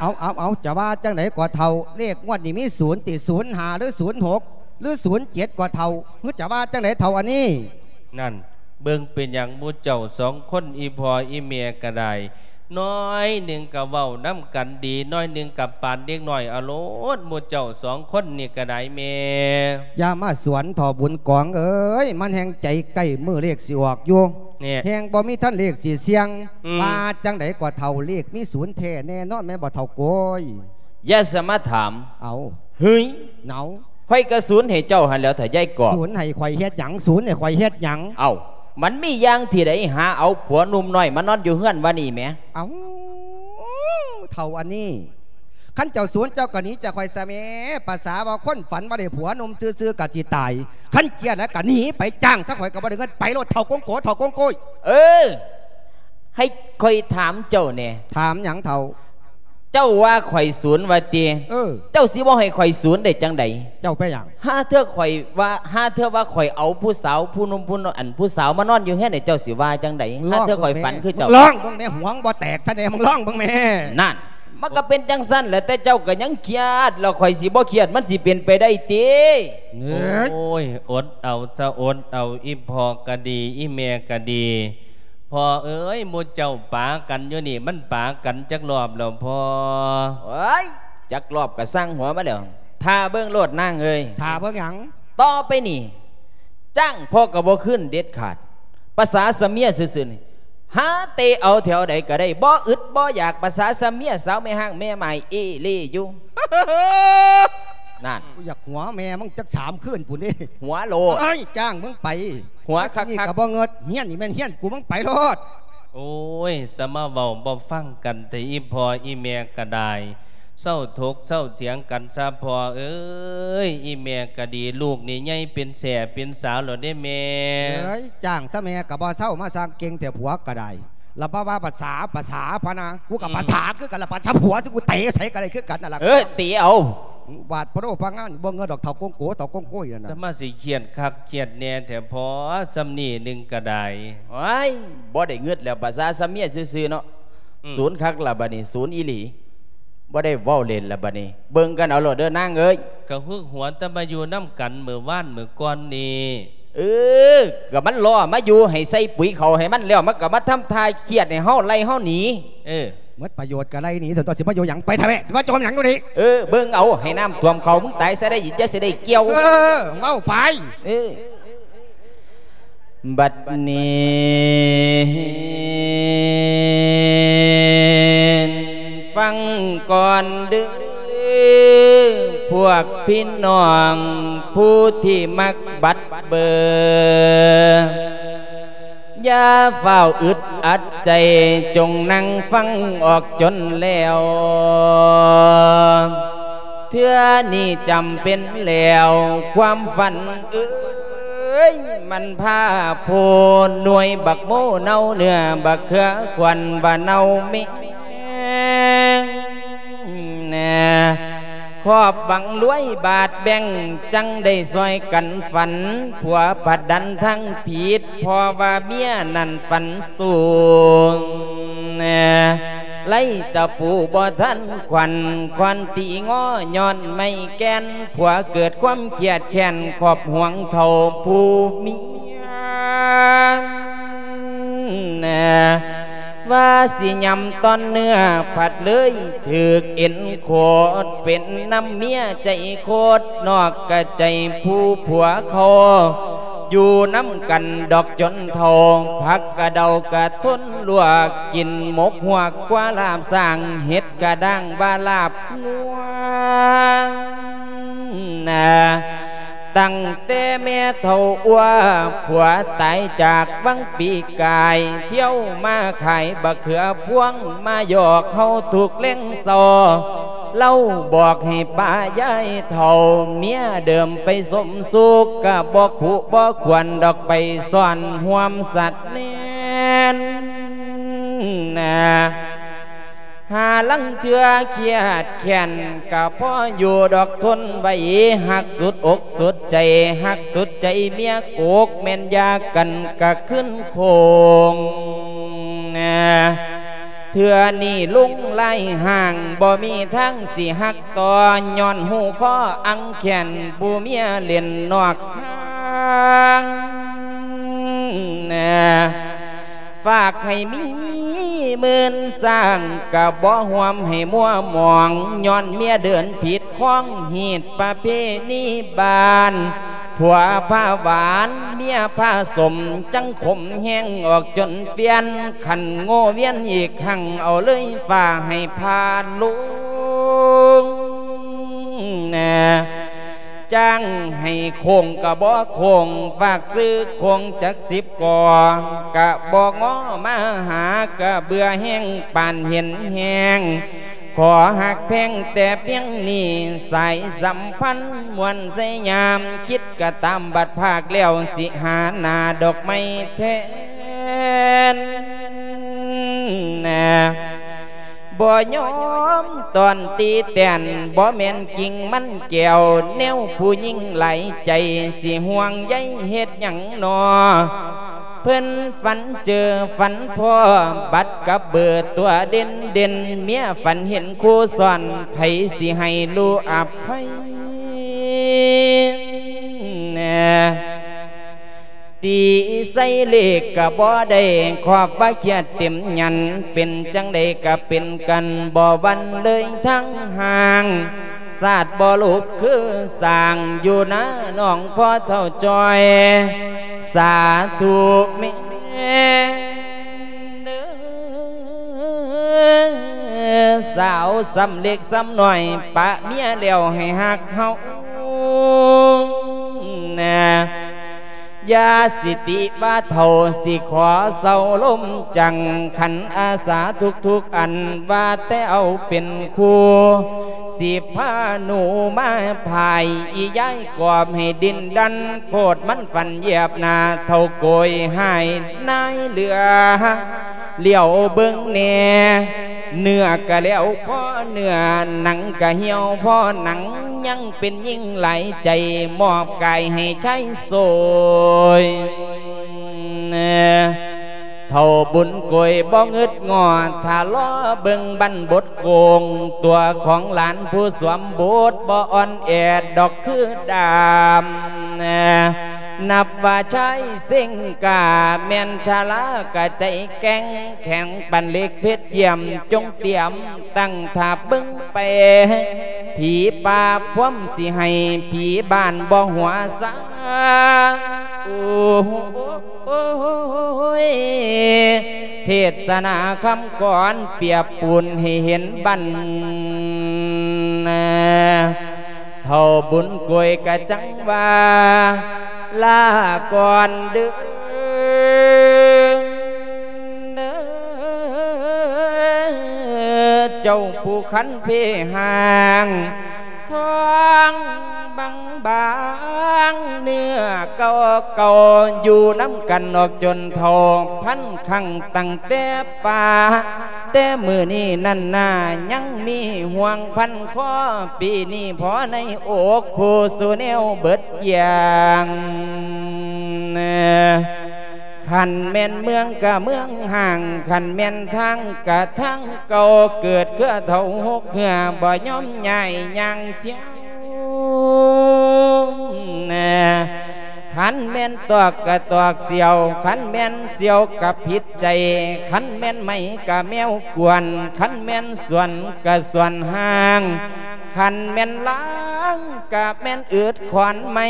ເອົາ ເອົາ ເອົາ ຈະວ່າຈັ່ງໃດກໍເຖົ້າ ເລກງວດນີ້ມີສູນຕິ ສູນຫ້າ ຫຼື ສູນຫົກ ຫຼື ສູນເຈັດກໍເຖົ້າ ຫຼືຈະວ່າຈັ່ງໃດເຖົ້າອັນນີ້? ນັ້ນ ເບິ່ງເປັນຫຍັງໝູ່ເຈົ້າສອງຄົນ ອີ່ພໍ່ອີ່ແມ່ກໍໄດ້ ໜ້ອຍໜຶ່ງກໍເວົ້ານຳກັນດີ ໜ້ອຍໜຶ່ງກໍປານເດັກນ້ອຍເອົາໂລດ ໝູ່ເຈົ້າສອງຄົນນີ້ກໍໄດ້ແມ່. ຢ່າມາສວນເຖົ້າບຸນກອງເອີຍ ມັນແຮ່ງໃຈໃກ້ມື້ເລກຊິອອກຢູ່ ແນ່ ແຮ່ງບໍ່ມີທັນເລກຊິສ່ຽງ. ອືມ ວ່າຈັ່ງໃດກໍເຖົ້າ ເລກມີສູນແທ້ແນ່ນອນແມ່ນບໍ່ເຖົ້າໂກຍ? ຢ່າສະມາຖາມ. ເອົາ ເຮີ້ຍ ເອົາ ຂ້ອຍກະສູນໃຫ້ເຈົ້າຫັ້ນແຫຼ້ວ ຖ້າຍາຍກອບ. ສູນໃຫ້ຂ້ອຍເຮັດຫຍັງ? ສູນໃຫ້ຂ້ອຍເຮັດຫຍັງ? ເອົ້າ ມັນມີຢ່າງທີ່ໃດ ຫາເອົາຜົວໜຸ່ມນ້ອຍມານອນຢູ່ເຮືອນວ່ານີ້ແໝ. ເອົ້າ ເຖົ້າອັນນີ້ ຄັນເຈົ້າສູນເຈົ້າກະໜີຈາກຂ້ອຍຊະແໝ. ປະສາວ່າຄົນຝັນວ່າໄດ້ຜົວໜຸ່ມຊື່ໆກະຊິຕາຍ ຄັນເກຍດແລ້ວກະໜີໄປ ຈ້າງຊະ ຂ້ອຍກະບໍ່ໄດ້ເງິນ. ໄປໂລດ ເຖົ້າກົງໂກ ເຖົ້າກົງໂກຍ. ເອີ ໃຫ້ຂ້ອຍຖາມເຈົ້າແດ່. ຖາມຫຍັງເຖົ້າ? ເຈົ້າວ່າຂ້ອຍສູນວ່າຕິ? ເອີ ເຈົ້າຊິບໍ່ໃຫ້ຂ້ອຍສູນໄດ້ຈັ່ງໃດ? ເຈົ້າໄປຫຍັງ? ຫາເທື່ອຂ້ອຍວ່າ ຫາເທື່ອວ່າຂ້ອຍເອົາຜູ້ສາວ ຜູ້ໜຸ່ມ ຜູ້ນ- ອັນ ຜູ້ສາວມານອນຢູ່ເຮືອນນີ້ ເຈົ້າຊິວ່າຈັ່ງໃດ? ຫາເທື່ອຂ້ອຍຝັນຄືເຈົ້າ. ລອງເບິ່ງແມ່ ຫົວບໍ່ແຕກຊະແດ່ ມຶງລອງເບິ່ງແມ່. ນັ້ນ ມັນກໍເປັນຈັ່ງຊັ້ນແຫຼະ ແຕ່ເຈົ້າກໍຍັງຄຽດ ແລ້ວຂ້ອຍຊິບໍ່ຄຽດ ມັນຊິເປັນໄປໄດ້ຕິ? ເອີຍ ໂອ້ຍ ອົດເອົາຊະ ອົດເອົາ ອີ່ພໍ່ກໍດີ ອີ່ແມ່ກໍດີ. ພໍ່ເອີຍ ໝູ່ເຈົ້າປາກັນຢູ່ນີ້ ມັນປາກັນຈັກລອບແລ້ວພໍ່? ໂອ້ຍ ຈັກລອບກໍຊ່າງຫົວມັນແຫຼ້ວ ຖ້າເບິ່ງໂລດນາງເອີຍ. ຖ້າເບິ່ງຫຍັງ? ຕໍ່ໄປນີ້ ຈ້າງພໍ່ກໍບໍ່ຄືນເດັດຂາດ ປະສາຊະເມຍຊື່ໆນີ້ ຫາເຕະເອົາແຖວໃດກໍໄດ້ ບໍ່ອຶດບໍ່ຢາກ ປະສາຊະເມຍ ສາວແມ່ຮ້າງແມ່ໝ້າຍເອເລຢູ່. ນັ້ນ ກູຢາກຫົວແມ່ມຶງຈັກສາມຄືນພຸ້ນເດ້. ຫົວໂລດ ເອີຍ ຈ້າງມຶງໄປ ຫົວຄັກໆ ມາທີ່ນີ້ກໍບໍ່ເງິດ ເຮືອນນີ້ແມ່ນເຮືອນກູ ມຶງໄປໂລດ. ໂອ້ຍ ສະມາເວົ້າບໍ່ຟັງກັນແທ້ ອີ່ພໍ່ອີ່ແມ່ກໍໄດ້. ເຊົາຖົກເຊົາຖຽງກັນຊະພໍ່ເອີຍ ອີ່ແມ່ກໍດີ ລູກນີ້ໃຫຍ່ເປັນແສ້ເປັນສາວແລ້ວເດ້ແມ່. ເອີຍ ຈ້າງຊະແມ່ກໍບໍ່ເຊົາ ມາສ້າງເກັ່ງແທ້ ຜົວກໍໄດ້. ລະບໍ່ວ່າພາສາ ພາສາພະນາ ກູກໍພາສາຄືກັນລະ ພາສາຜົວ ຊິກູເຕະໃສກໍໄດ້ຄືກັນນັ້ນລະ. ເອີ ເຕະເອົາ ບາດໂພໂດພະງານ ບໍ່ເງິດດອກ ເຖົ້າກົງໂກ ເຖົ້າກົງໂກຍນັ້ນນະ. ສະມາຊິຄຽດຄັກຄຽດແນ່ແທ້ພໍ່ ຊ່ຳນີ້ໜຶ່ງກໍໄດ້. ໂອ້ຍ ບໍ່ໄດ້ເງິດແລ້ວ ພາສາຊະເມຍຊື່ໆເນາະ. ອືມ ສູນຄັກລະບາດນີ້ ສູນອີ່ຫຼີ. ບໍ່ໄດ້ເວົ້າເລ່ນລະບາດນີ້ ເບິ່ງກັນເອົາໂລດເດີນາງເອີຍ. ກະຫຶກຫົວແຕ່ມາຢູ່ນຳກັນມື້ວານມື້ກ່ອນນີ້. ເອີ ກະມັນລໍມາຢູ່ ໃຫ້ໃສ່ປຸຍເຂົ້າໃຫ້ມັນແລ້ວ ມັນກະມາທຳທ່າຄຽດໃຫ້ເຮົາ ໄລ່ເຮົາໜີ. ເອີ ໝົດປະໂຫຍດກະໄລ່ໜີ ຕົວ ຕົວ ຊິມາຢູ່ຫຍັງ ໄປທະແວະ ຊິມາຈົ່ມຫຍັງຢູ່ນີ້. ເອີ ເບິ່ງເອົາ ໃຫ້ນ້ຳຖ້ວມເຂົ້າ ມຶງຕາຍຊະໄດ້ ຢ່າຊິໄດ້ກ່ຽວ. ເອີ ເວົ້າໄປ. ເອີ ບັດນີ້ຟັງກ່ອນເດີ້ ພວກພີ່ນ້ອງຜູ້ທີ່ມັກບັດເບີ ຢ່າຟ້າວອຶດອັດໃຈ ຈົ່ງນັ່ງຟັງອອກຈົນແລ້ວ. ເທື່ອນີ້ຈຳເປັນແລ້ວ ຄວາມຝັນເອີຍ ມັນພາໂພ ໜ່ວຍບັກໂມເນົ່າເນື້ອ ບັກເຂືອຂວັນວ່າເນົ່າແມງແນ່ ຄອບຫວັງລວຍບາດແບ່ງ ຈັ່ງໄດ້ຊ່ອຍກັນຝັນ ຜົວພັດດັນທາງຜິດ ເພາະວ່າເມຍນັ້ນຝັນສູງແນ່ ໄລ່ຕະປູບໍ່ທັນຂວັນ ຄ້ອນຕີງໍຍ້ອນໄມ້ແກ່ນ ຜົວເກີດຄວາມຄຽດແຄ້ນ ຄອບຫ່ວງເຖົ້າຜູ້ເມຍ ວ່າຊິຫຍ້ຳຕ່ອນເນື້ອ ພັດເລີຍຖືກເອັນໂຄດ ເປັນນຳເມຍໃຈໂຄດ ນອກກະໃຈຜູ້ຜົວເຂົາ ຢູ່ນຳກັນດອກຈົນເຖົ້າ ຜັກກະເດົາກະທົນລວກ ກິນໝົກຮວກກວ່າລາບຊ້າງ ເຫັດກະດ້າງວ່າລາບງົວ ຕັ້ງແຕ່ແມ່ເຖົ້າອົວ ຜົວຕາຍຈາກວັງປີກາຍ ທ່ຽວມາຂາຍບັກເຂືອພວງ ມາຢອກເຮົາທຸກແລງເຊົ້າ ເລົ່າບອກໃຫ້ປ້າຍາຍເຖົ້າ ເມຍເດີມໄປສົມສຸກ ກະບໍ່ຄຸບໍ່ຄວນດອກໄປຊ້ອນຮ່ວມສັດແນນນາ. ຫາລາງເທື່ອຄຽດແຄ້ນກະພໍຢູ່ດອກ ທົນໄຫວ. ຮັກສຸດອົກສຸດໃຈ ຮັກສຸດໃຈເມຍກົກ ແມ່ນຢາກັນກະຄືນຄົງ. ເທື່ອນີ້ລຸງລາຍຮ່າງ ບໍ່ມີທາງຊິຮັກຕໍ່ ຍ້ອນຮູ້ຂໍອັງແຄ້ນ ຜູ້ເມຍເລ່ນນອກທາງ. ຝາກໃຫ້ມີໝື່ນຊ້າງ ກະບໍ່ຮ່ວມໃຫ້ມົວໝອງ ຍ້ອນເມຍເດີນຜິດຄອງ ຮີດປະເພນີບ້ານ. ຜົວພາຫວານ ເມຍພາສົມ ຈັ່ງຂົມແຮງອອກຈົນປ່ຽນ ຄັນໂງ່ວຽນອີກຄັ້ງ ເອົາເລີຍຟ້າໃຫ້ພາດລົງ. ຈ້າງໃຫ້ໂຄ້ງກະບໍ່ໂຄ້ງ ຝາກຊື້ໂຄ້ງຈັກສິບກໍ ກະບໍ່ງໍມາຫາ ກະເບື່ອແຮງປານເຫັນແຮງ. ຂໍຮັກແພງແຕ່ພຽງນີ້ ສາຍສຳພັນມ່ວນໄຊຍາມ ຄິດກະຕາມບັດພາກແລ້ວ ຊິຫາໜ້າດອກໄມ້ແທນ. ບໍ່ຍອມຕ້ອນຕີແຕນ ບໍ່ແມ່ນກິ່ງມັນແກ້ວ ແນວຜູ້ຍິງຫຼາຍໃຈ ຊິຫ່ວງໃຍເຮັດຫຍັງນໍ. ເພິ່ນຝັນເຈີຝັນພໍ້ ບັດກັບເບີຕົວເດັ່ນໆ ເມຍຝັນເຫັນຄູ່ຊ້ອນ ໃຜຊິໃຫ້ຮູ້ອະໄພ. ຕີໃສ່ເລກກະບໍ່ໄດ້ ຄອບວ່າຄຽດເຕັມຫຍັນ ເປັນຈັ່ງໃດກະເປັນກັນ ບໍ່ຫວັ່ນເລີຍທັງຫ່າງ. ຊາດບໍ່ລຸກຄືສ້າງ ຢູ່ນານ້ອງພໍ່ເຖົ້າຈ່ອຍ ສາທຸແມ່. ສາວສ່ຳເລັກສ່ຳນ້ອຍ ປະເມຍແລ້ວໃຫ້ຮັກເຮົານະ. ຢ່າຊິຕິວ່າເຖົ້າ ຊິຂໍເຊົາລົມຈັງ ຂັນອາສາທຸກໆອັນ ວ່າແຕ່ເອົາເປັນຄູ່ ຊິພາໜູມາພາຍ ອີຍາຍກອບໃຫ້ດິນດັນ ໂພດມັນຝັນຢຽບໜ້າ ເຖົ້າໂກຍຫາຍນາຍເຫຼືອ ຫຼຽວເບິ່ງແດ່ ເນື້ອກະແລ້ວພໍເນື້ອ ໜັງກະຫ່ຽວພໍໜັງ ຍັງເປັນຍິງຫຼາຍໃຈ ມອບກາຍໃຫ້ຊາຍໂສຍ. ເຖົ້າບຸນໂກຍບໍ່ງຶດງໍ້ ຖ້າລໍເບິ່ງບັ້ນບົດໂກງ ຕົວຂອງຫຼານຜູ້ສວມບົດ ບໍ່ອ່ອນແອດດອກຄືດາມ. ນັບວ່າຊາຍເສັງກ້າ ແມ່ນຊາລາກະໃຈແກ່ງ ແຂງປັນເຫຼັກເພັດຢ້ຽມ ຈົ່ງຕຽມຕັ້ງຖ້າເບິ່ງແປ ຜີປ່າພວມຊິໃຫ້ ຜີບ້ານບໍ່ຫົວຊາ. ໂອ້ຍ ເທດສະໜາຄຳກອນ ປຽບປູນໃຫ້ເຫັນບັ້ນ. ເຖົ້າບຸນໂກຍກະຈັ່ງວ່າ ລາກ່ອນເດີ ເຈົ້າຜູ້ຄັນເພຮ່າງ ທ້ອງບາງໆ ເນື້ອເກົ່າໆ ຢູ່ນຳກັນອອກຈົນເຖົ້າພັນຄັ້ງ ຕັ້ງແຕ່ ປາ ແຕ່ມື້ນີ້ນັ້ນນາ ຍັງມີຫ່ວງພັນຄໍ ປີນີ້ພໍໃນອົກ ຄູ່ສູ່ແນວເບິດຢ່າງ. ຄັນແມ່ນເມືອງກະເມືອງຮ້າງ ຄັນແມ່ນທາງກະທາງເກົ່າ ເກີດເຄືອເຖົ້າຫົກເຫື່ອ ບໍ່ຍອມຍ້າຍຍ່າງຈຽວ. ຄັນແມ່ນຕອກກະຕອກສ່ຽວ ຄັນແມ່ນສ່ຽວກະຜິດໃຈ ຄັນແມ່ນໄມ້ກະແມວກວນ ຄັນແມ່ນສວນກະສວນຮ້າງ ຄັນແມ່ນລາງກະແມ່ນອຶດຂອນໄມ້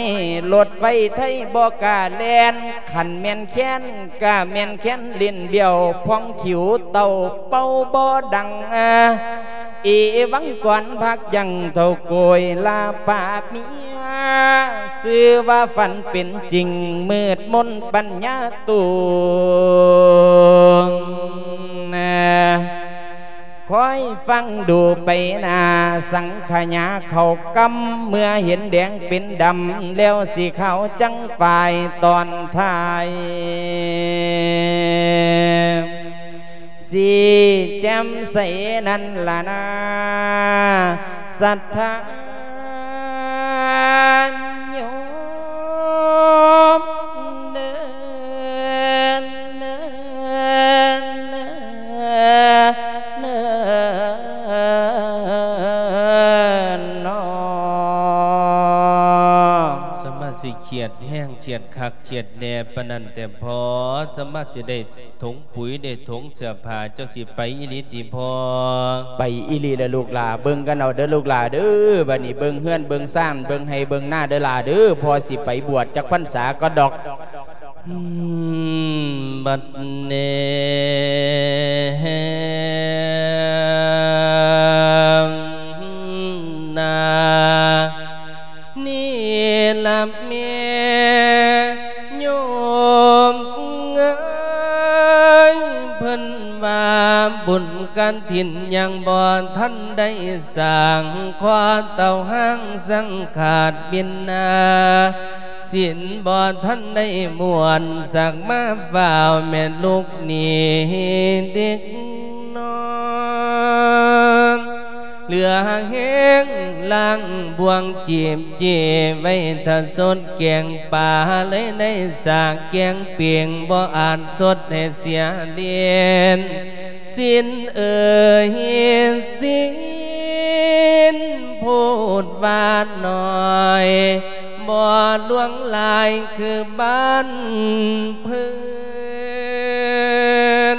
ລົດໄຟໄທບໍ່ກ້າແລ່ນ ຄັນແມ່ນແຄນກະແມ່ນແຄນຫຼິ້ນບ້ຽວ ພອງຂິວເຕົ້າເປົ່າບໍ່ດັງ ອີວັງກ່ອນພັກຢັ້ງເຖົ້າໂກຍລາປາກເມຍ ຊື່ວ່າຝັນເປັນຈິງ ມືດມົນປັນຍາຕົວງ. ຄອຍຟັງດູໄປໜ້າ ສັງຂະຫຍາເຂົ້າກຳ ເມື່ອເຫັນແດງເປັນດຳ ແລ້ວຊິຂາວຈັ່ງຝ້າຍຕອນທ້າຍ. ສີແຈ່ມໃສນັ້ນລະນາ ສັດທາໂຍມເດີ ເດີ ເດີ ເດີເນາະ. ສາມາດຊິຄຽດແຮງ ຄຽດຄັກຄຽດແນ່ປານນັ້ນແຕ່ພໍ ສາມາດຊິໄດ້ຖົງປຸ໋ຍ ໄດ້ຖົງເສື້ອຜ້າ ເຈົ້າຊິໄປອີ່ຫຼີຕິພໍ່? ໄປອີ່ຫຼີລະລູກຫຼ້າ ເບິ່ງກັນເອົາເດີລູກຫຼ້າເດີ ບັດນີ້ເບິ່ງເຮືອນເບິ່ງຊານ ເບິ່ງໄຮ່ເບິ່ງນາເດີຫຼ້າເດີ ພໍ່ຊິໄປບວດຈັກພັນສາກໍດອກ. ອືມ ບັດນີ້ນາ ນີ້ລະແມ່ໂຍມເອີຍ ເພິ່ນວ່າບຸນກະຖິນຍັງບໍ່ທັນໄດ້ສ້າງ ຂໍເຕົ້າຫ້າງສັງຂາດບິນນາ ສິນບໍ່ທັນໄດ້ມ່ວນ ສັກມາຟ້າວແມ່ລູກນີ້ເດັກນ້ອຍ ເຫຼືອແຮງລ້າງບ່ວງຈີບຈີໄວ້ ຖ້າສົດແກງປາ ເລີຍໄດ້ສາແກງເປງ ບໍ່ອາດສົດໃຫ້ເສຍເລນ ສິນເອີຍ ສິນໂພດວ່າໜ້ອຍ ບໍ່ຫຼວງຫຼາຍຄືບ້ານເພິ່ນ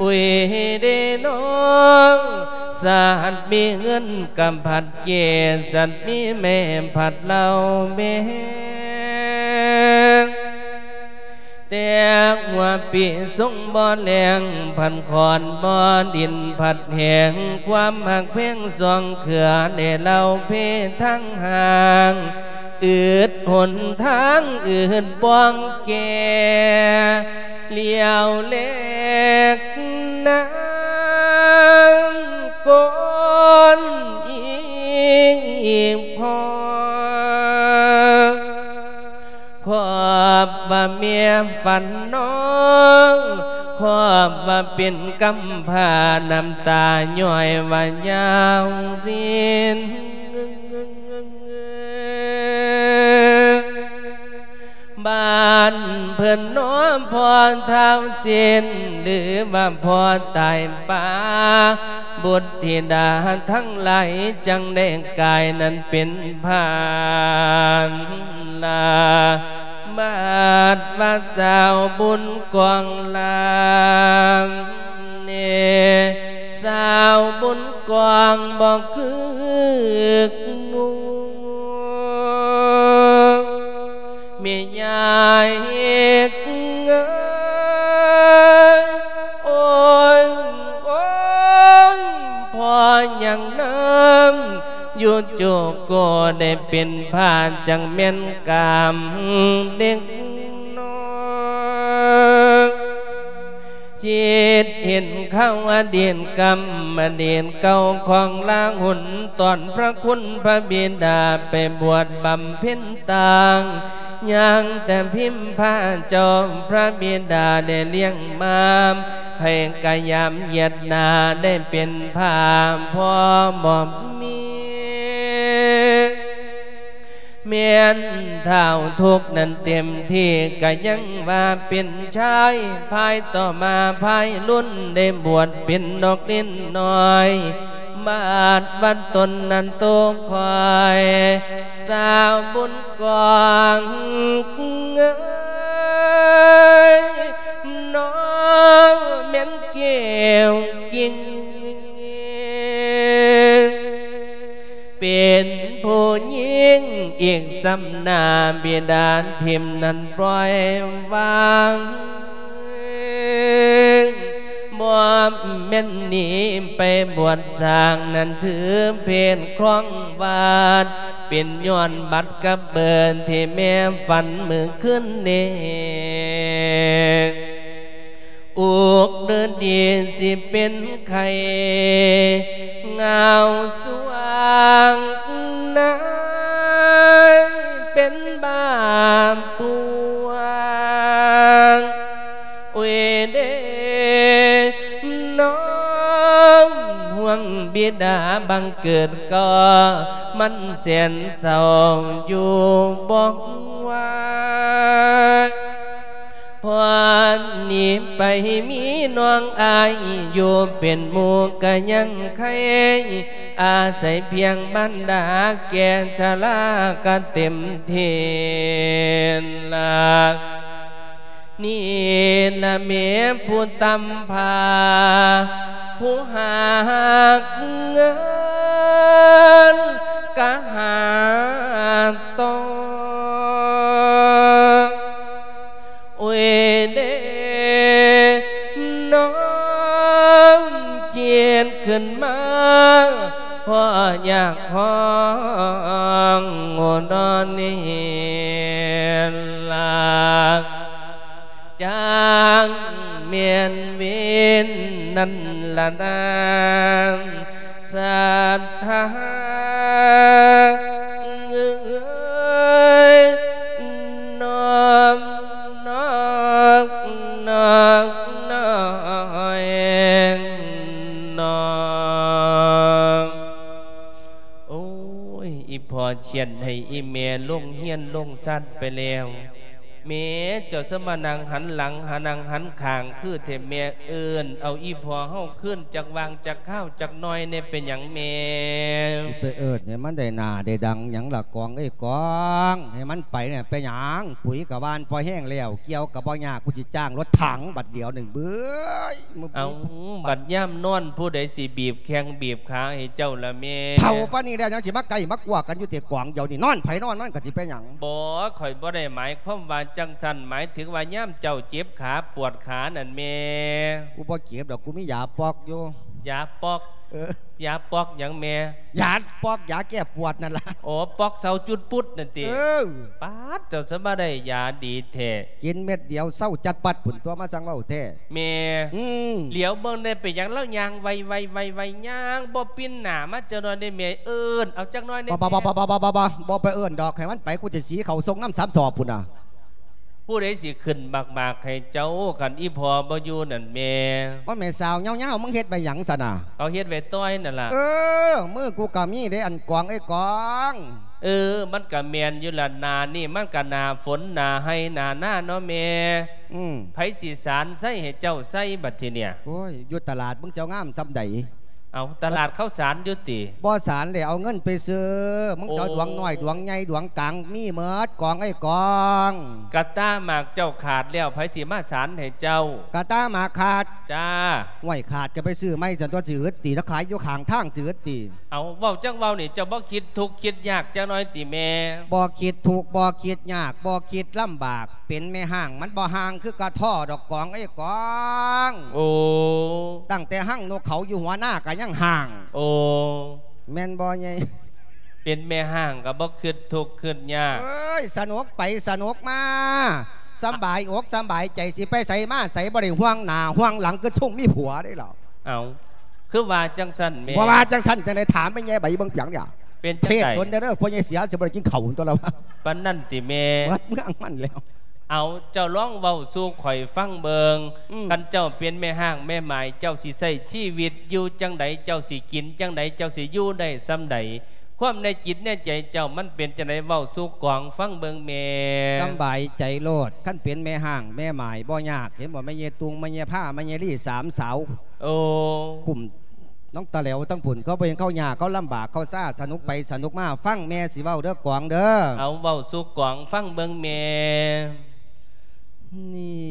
ອຸຍເດນ້ອງ ສັດມີເງິນກຳພັດເກ ສັດມີແມ່ພັດເລົ່າແມງ ແຕ່ຫົວປີຊົງບໍ່ແລ້ງ ພັດຂອນບໍ່ດິນພັດແຫ້ງ ຄວາມຮັກແພງສອງເຄືອ ແດ່ເລົ່າເພທາງຫ່າງ ອືດຫົນທາງ ອືດປ່ອງແກ່ ຫຼຽວແລກນາງກ່ອນອີກພໍ ຄອບວ່າແມ່ຝັນນ້ອງ ຄອບວ່າເປັນກຳພ້າ ນ້ຳຕາຍ້ອຍວ່າຍາວລິນ ບ້ານເພິ່ນເນາະ ພໍ່ທ້າວເຊນ ຫຼືວ່າພໍ່ຕາຍປ່າ ບຸດທິດາທັງຫຼາຍ ຈັ່ງໄດ້ກາຍນັ້ນເປັນພານລາ ບາດວ່າສາວບຸນກອງລາມເນ ສາວບຸນກອງບໍ່ຄືກໝູ່ ແມ່ຍາຍເອີຍ ໂອ້ຍ ໂອ້ຍ ພໍຍັງນຳ ຢູ່ໂຈໂກໄດ້ເປັນພາດ ຈັ່ງແມ່ນກາມເດັກນ້ອຍ ຈິດເຫັນຂ່າວອະດີດກຳ ອະດີດເກົ່າຂອງລາຫຸນ ຕອນພະຄຸນພະບິດາໄປບວດບຳເພັນຕ່າງ ຍ່າງແຕ່ພິມພະເຈົ້າ ພະບິດາໄດ້ລ້ຽງມາ ໃຜກະຢາມຢຽດໜ້າ ໄດ້ເປັນພາພໍ່ບໍ່ມີ ແມ່ນທ້າວທຸກນັ້ນເຕັມທີ່ ກະຍັງວ່າເປັນຊາຍ ພາຍຕໍ່ມາພາຍລຸນ ໄດ້ບວດເປັນນອກນິນນ້ອຍ ບາດວັດຕົນນັ້ນໂຕຄອຍ ສາວບຸນກອງເອີຍ ນ້ອງແມ່ນແກ້ວກິ່ງ ເປັນຜູ້ຍິງອີກຊ້ຳໜ້າ ບິດາຖິ້ມນັ້ນປ່ອຍວາງ ບໍ່ແມ່ນໜີໄປບວດສ້າງ ນັ້ນຖືເພດຄອງວາດ ເປັນຍ້ອນບັດກັບເບີນ ທີ່ແມ່ຝັນມື້ຄືນນີ້ ອຸກດືດດີຊິເປັນໄຂ້ ງາວສວງນາຍເປັນບາບປວງ ອຸຍເດ ຫ່ວງບິດາບັງເກີດກໍ ມັນແສນເສົ້າຢູ່ບໍ່ວ່າ ພອນໜີໄປມີນ້ອງອ້າຍຢູ່ເປັນໝູ່ກະຍັງໄຄ ອາໄສພຽງມານດາແກ່ຊະລາກະເຕັມເທລະ ນີ້ລະແມ່ຜູ້ຕຳພາ ຜູ້ຫາກເງິນກະຫາຕໍ່ ໂອ້ຍເດ ນ້ອງຈິດຂຶ້ນມາ ເພາະຢາກຮ້ອງໂອ້ນອນເຮລາ ຈັ່ງແມ່ນເວນນັ້ນລະນາ ສັດທາເອີຍ ນ້ອມ ນ້ອມ ນ້ອມ ນ້ອມ ນ້ອມ ໂອ້ຍ ອີພໍ່ຂຽນໃຫ້ອີແມ່ລົງຮຽນລົງຊັ້ນໄປແລ້ວ ແມ່ເຈົ້າສະມານັ່ງຫັນຫຼັງ ຫານັ່ງຫັນຂ້າງຄືແທ້ ແມ່ເອີ້ນເອົາອີພໍ່ເຮົາຄືນຈັກຫວ່າງຈັກຄາວຈັກໜ່ອຍແດ່ ເປັນຫຍັງແມ່? ຊິໄປເອີ້ນໃຫ້ມັນໄດ້ໜ້າໄດ້ດັງຫຍັງລະກອງເອີຍກອງ ໃຫ້ມັນໄປແດ່ ເປັນຫຍັງ? ປຸ໋ຍກະຫວ່ານພໍແຮງແລ້ວ ກ່ຽວກະບໍ່ຍາກ ກູຊິຈ້າງລົດຖັງບັດດຽວໜຶ່ງເບິ່ງ ເອົ້າ ບັດຍາມນອນຜູ້ໃດຊິບີບແຂ້ງບີບຂາໃຫ້ເຈົ້າລະແມ່? ເຖົ້າປານນີ້ແລ້ວຍັງຊິມາໃກ້ມາກົວກັນຢູ່ຕິກອງດຽວນີ້ ນອນໃຜນອນມັນກະຊິເປັນຫຍັງ? ບໍ່ ຂ້ອຍບໍ່ໄດ້ໝາຍຄວາມວ່າຈັ່ງຊັ້ນ ໝາຍເຖິງວ່າຍາມເຈົ້າເຈັບຂາປວດຂານັ້ນແມ່. ກູບໍ່ເຈັບດອກ ກູມີຢາປ໋ອກຢູ່. ຢາປ໋ອກ? ເອີ ຢາປ໋ອກຫຍັງແມ່? ຢາປ໋ອກ ຢາແກ້ປວດນັ້ນລະ. ໂອ້ ປ໋ອກເຊົາຈຸດປຸດນັ້ນຕິ? ເອີ ປາດ ເຈົ້າສະມາໄດ້ຢາດີແທ້. ກິນເມັດດຽວເຊົາຈັດປັດພຸ້ນຕົວະ ມາຊ່າງເວົ້າແທ້. ແມ່ ອືມ ຫຼຽວເບິ່ງແດ່ ເປັນຫຍັງລາວຍ່າງໄວໆໆໆ ຍ່າງບໍ່ປິ່ນໜ້າມາຈັກໜ່ອຍເດ້ແມ່ ເອີ້ນເອົາຈັກໜ່ອຍແດ່ແມ່. ບໍ່ ບໍ່ ບໍ່ ບໍ່ ບໍ່ ບໍ່ ບໍ່ໄປເອີ້ນດອກ ໃຫ້ມັນໄປ ກູຊິສີເຂົ້າຊົງນຳສາມສອບພຸ້ນນະ. ຜູ້ໃດຊິຂຶ້ນໝາກໆໃຫ້ເຈົ້າ ຄັນອີພໍ່ບໍ່ຢູ່ນັ້ນແມ່? ບໍ່ ແມ່ສາວຍາວໆ ມຶງເຮັດໄວ້ຫຍັງຊັ້ນນະ? ເຂົາເຮັດໄວ້ຕ່ອຍນັ້ນລະ. ເອີ ມືກູກະມີເດ້ ອັນກອງເອີຍກອງ. ເອີ ມັນກະແມ່ນຢູ່ລະ ໜ້ານີ້ມັນກະໜ້າຝົນ ໜ້າໄຮ່ໜ້ານາເນາະແມ່. ອືມ ໃຜຊິສານໄຊໃຫ້ເຈົ້າໃສ່ບັດທີເນີ້ຍ? ໂອ້ຍ ຢູ່ຕະຫຼາດມຶງຊິເອົາງາມສ່ຳໃດ? ເອົາ ຕະຫຼາດເຂົາສານຢູ່ຕິ? ບໍ່ສານແລ້ວ ເອົາເງິນໄປຊື້. ມຶງຈະເອົາ ໂອ້ ດວງນ້ອຍດວງໃຫຍ່ດວງກາງມີເໝິດ ກອງເອີຍກອງ. ກະຕ່າໝາກເຈົ້າຂາດແລ້ວ ໃຜຊິມາສານໃຫ້ເຈົ້າ? ກະຕ່າໝາກຂາດ? ຈ້າ. ຫ້ວຍ ຂາດກະໄປຊື້ໃໝ່ຊັ້ນຕົວະ ຊິອຶດຕິ ລະຂາຍຢູ່ຂ້າງທາງຊິອຶດຕິ. ເອົາ ເວົ້າຈັກເວົ້ານີ້ ເຈົ້າບໍ່ຄິດທຸກຄິດຍາກຈັກໜ້ອຍຕິແມ່? ບໍ່ຄິດທຸກບໍ່ຄິດຍາກ ບໍ່ຄິດລຳບາກ ເປັນແມ່ຮ້າງມັນບໍ່ຮ້າງຄືກະທໍ້ດອກ ກອງເອີຍກອງ. ໂອ້ ຕັ້ງແຕ່ຮັງນົກເຂົາຢູ່ຫົວນາກະຍັງຮ້າງ. ໂອ້ ແມ່ນບໍ່ໃຫຍ່? ເປັນແມ່ຮ້າງກະບໍ່ຄິດທຸກຄິດຍາກ. ເອີຍ ສະໜຸກໄປສະໜຸກມາ ສຳບາຍອົກສຳບາຍໃຈ ຊິໄປໃສມາໃສ ບໍ່ໄດ້ຫ່ວງໜ້າຫ່ວງຫຼັງ ຄືຊົງມີຜົວເດ້ລະ. ເອົ້າ ຄືວ່າຈັ່ງຊັ້ນແມ່? ບໍ່ວ່າຈັ່ງຊັ້ນຈັ່ງໃດ ຖາມແມ່ໃຫຍ່ໃບເບິ່ງເປັນຫຍັງ? ເປັນຈັ່ງໃດ? ເທດດົນແດ່ເດີ ພໍ່ໃຫຍ່ເສຍຊິບໍ່ໄດ້ກິນເຂົ້າຕົວະລະວ່າ. ປານນັ້ນຕິແມ່? ເໝິດເມືອງມັນແລ້ວ. ເອົາ ເຈົ້າລອງເວົ້າສູ່ຂ້ອຍຟັງເບິ່ງ. ອືມ ຄັນເຈົ້າເປັນແມ່ຮ້າງແມ່ໝ້າຍ ເຈົ້າຊິໃຊ້ຊີວິດຢູ່ຈັ່ງໃດ? ເຈົ້າຊິກິນຈັ່ງໃດ? ເຈົ້າຊິຢູ່ໄດ້ສ່ຳໃດ? ຄວາມໃນຈິດໃນໃຈເຈົ້າມັນເປັນຈັ່ງໃດ? ເວົ້າສູ່ກອງຟັງເບິ່ງແມ່. ສຳບາຍໃຈໂລດ ຄັນເປັນແມ່ຮ້າງແມ່ໝ້າຍບໍ່ຍາກ. ເຫັນບໍ່ ແມ່ໃຫຍ່ຕຸງ ແມ່ໃຫຍ່ພາ ແມ່ໃຫຍ່ລີ ສາມສາວ. ໂອ້ ກຸ່ມ ນ້ອງຕາແຫຼວທັງພຸ້ນ ເຂົາບໍ່ເຫັນເຂົາຍາກ ເຂົາລຳບາກ ເຂົາຊາ ສະໜຸກໄປສະໜຸກມາ. ຟັງແມ່ຊິເວົ້າເດີກອງເດີ. ເອົາ ເວົ້າສູ່ກອງຟັງເບິ່ງແມ່. ນີ້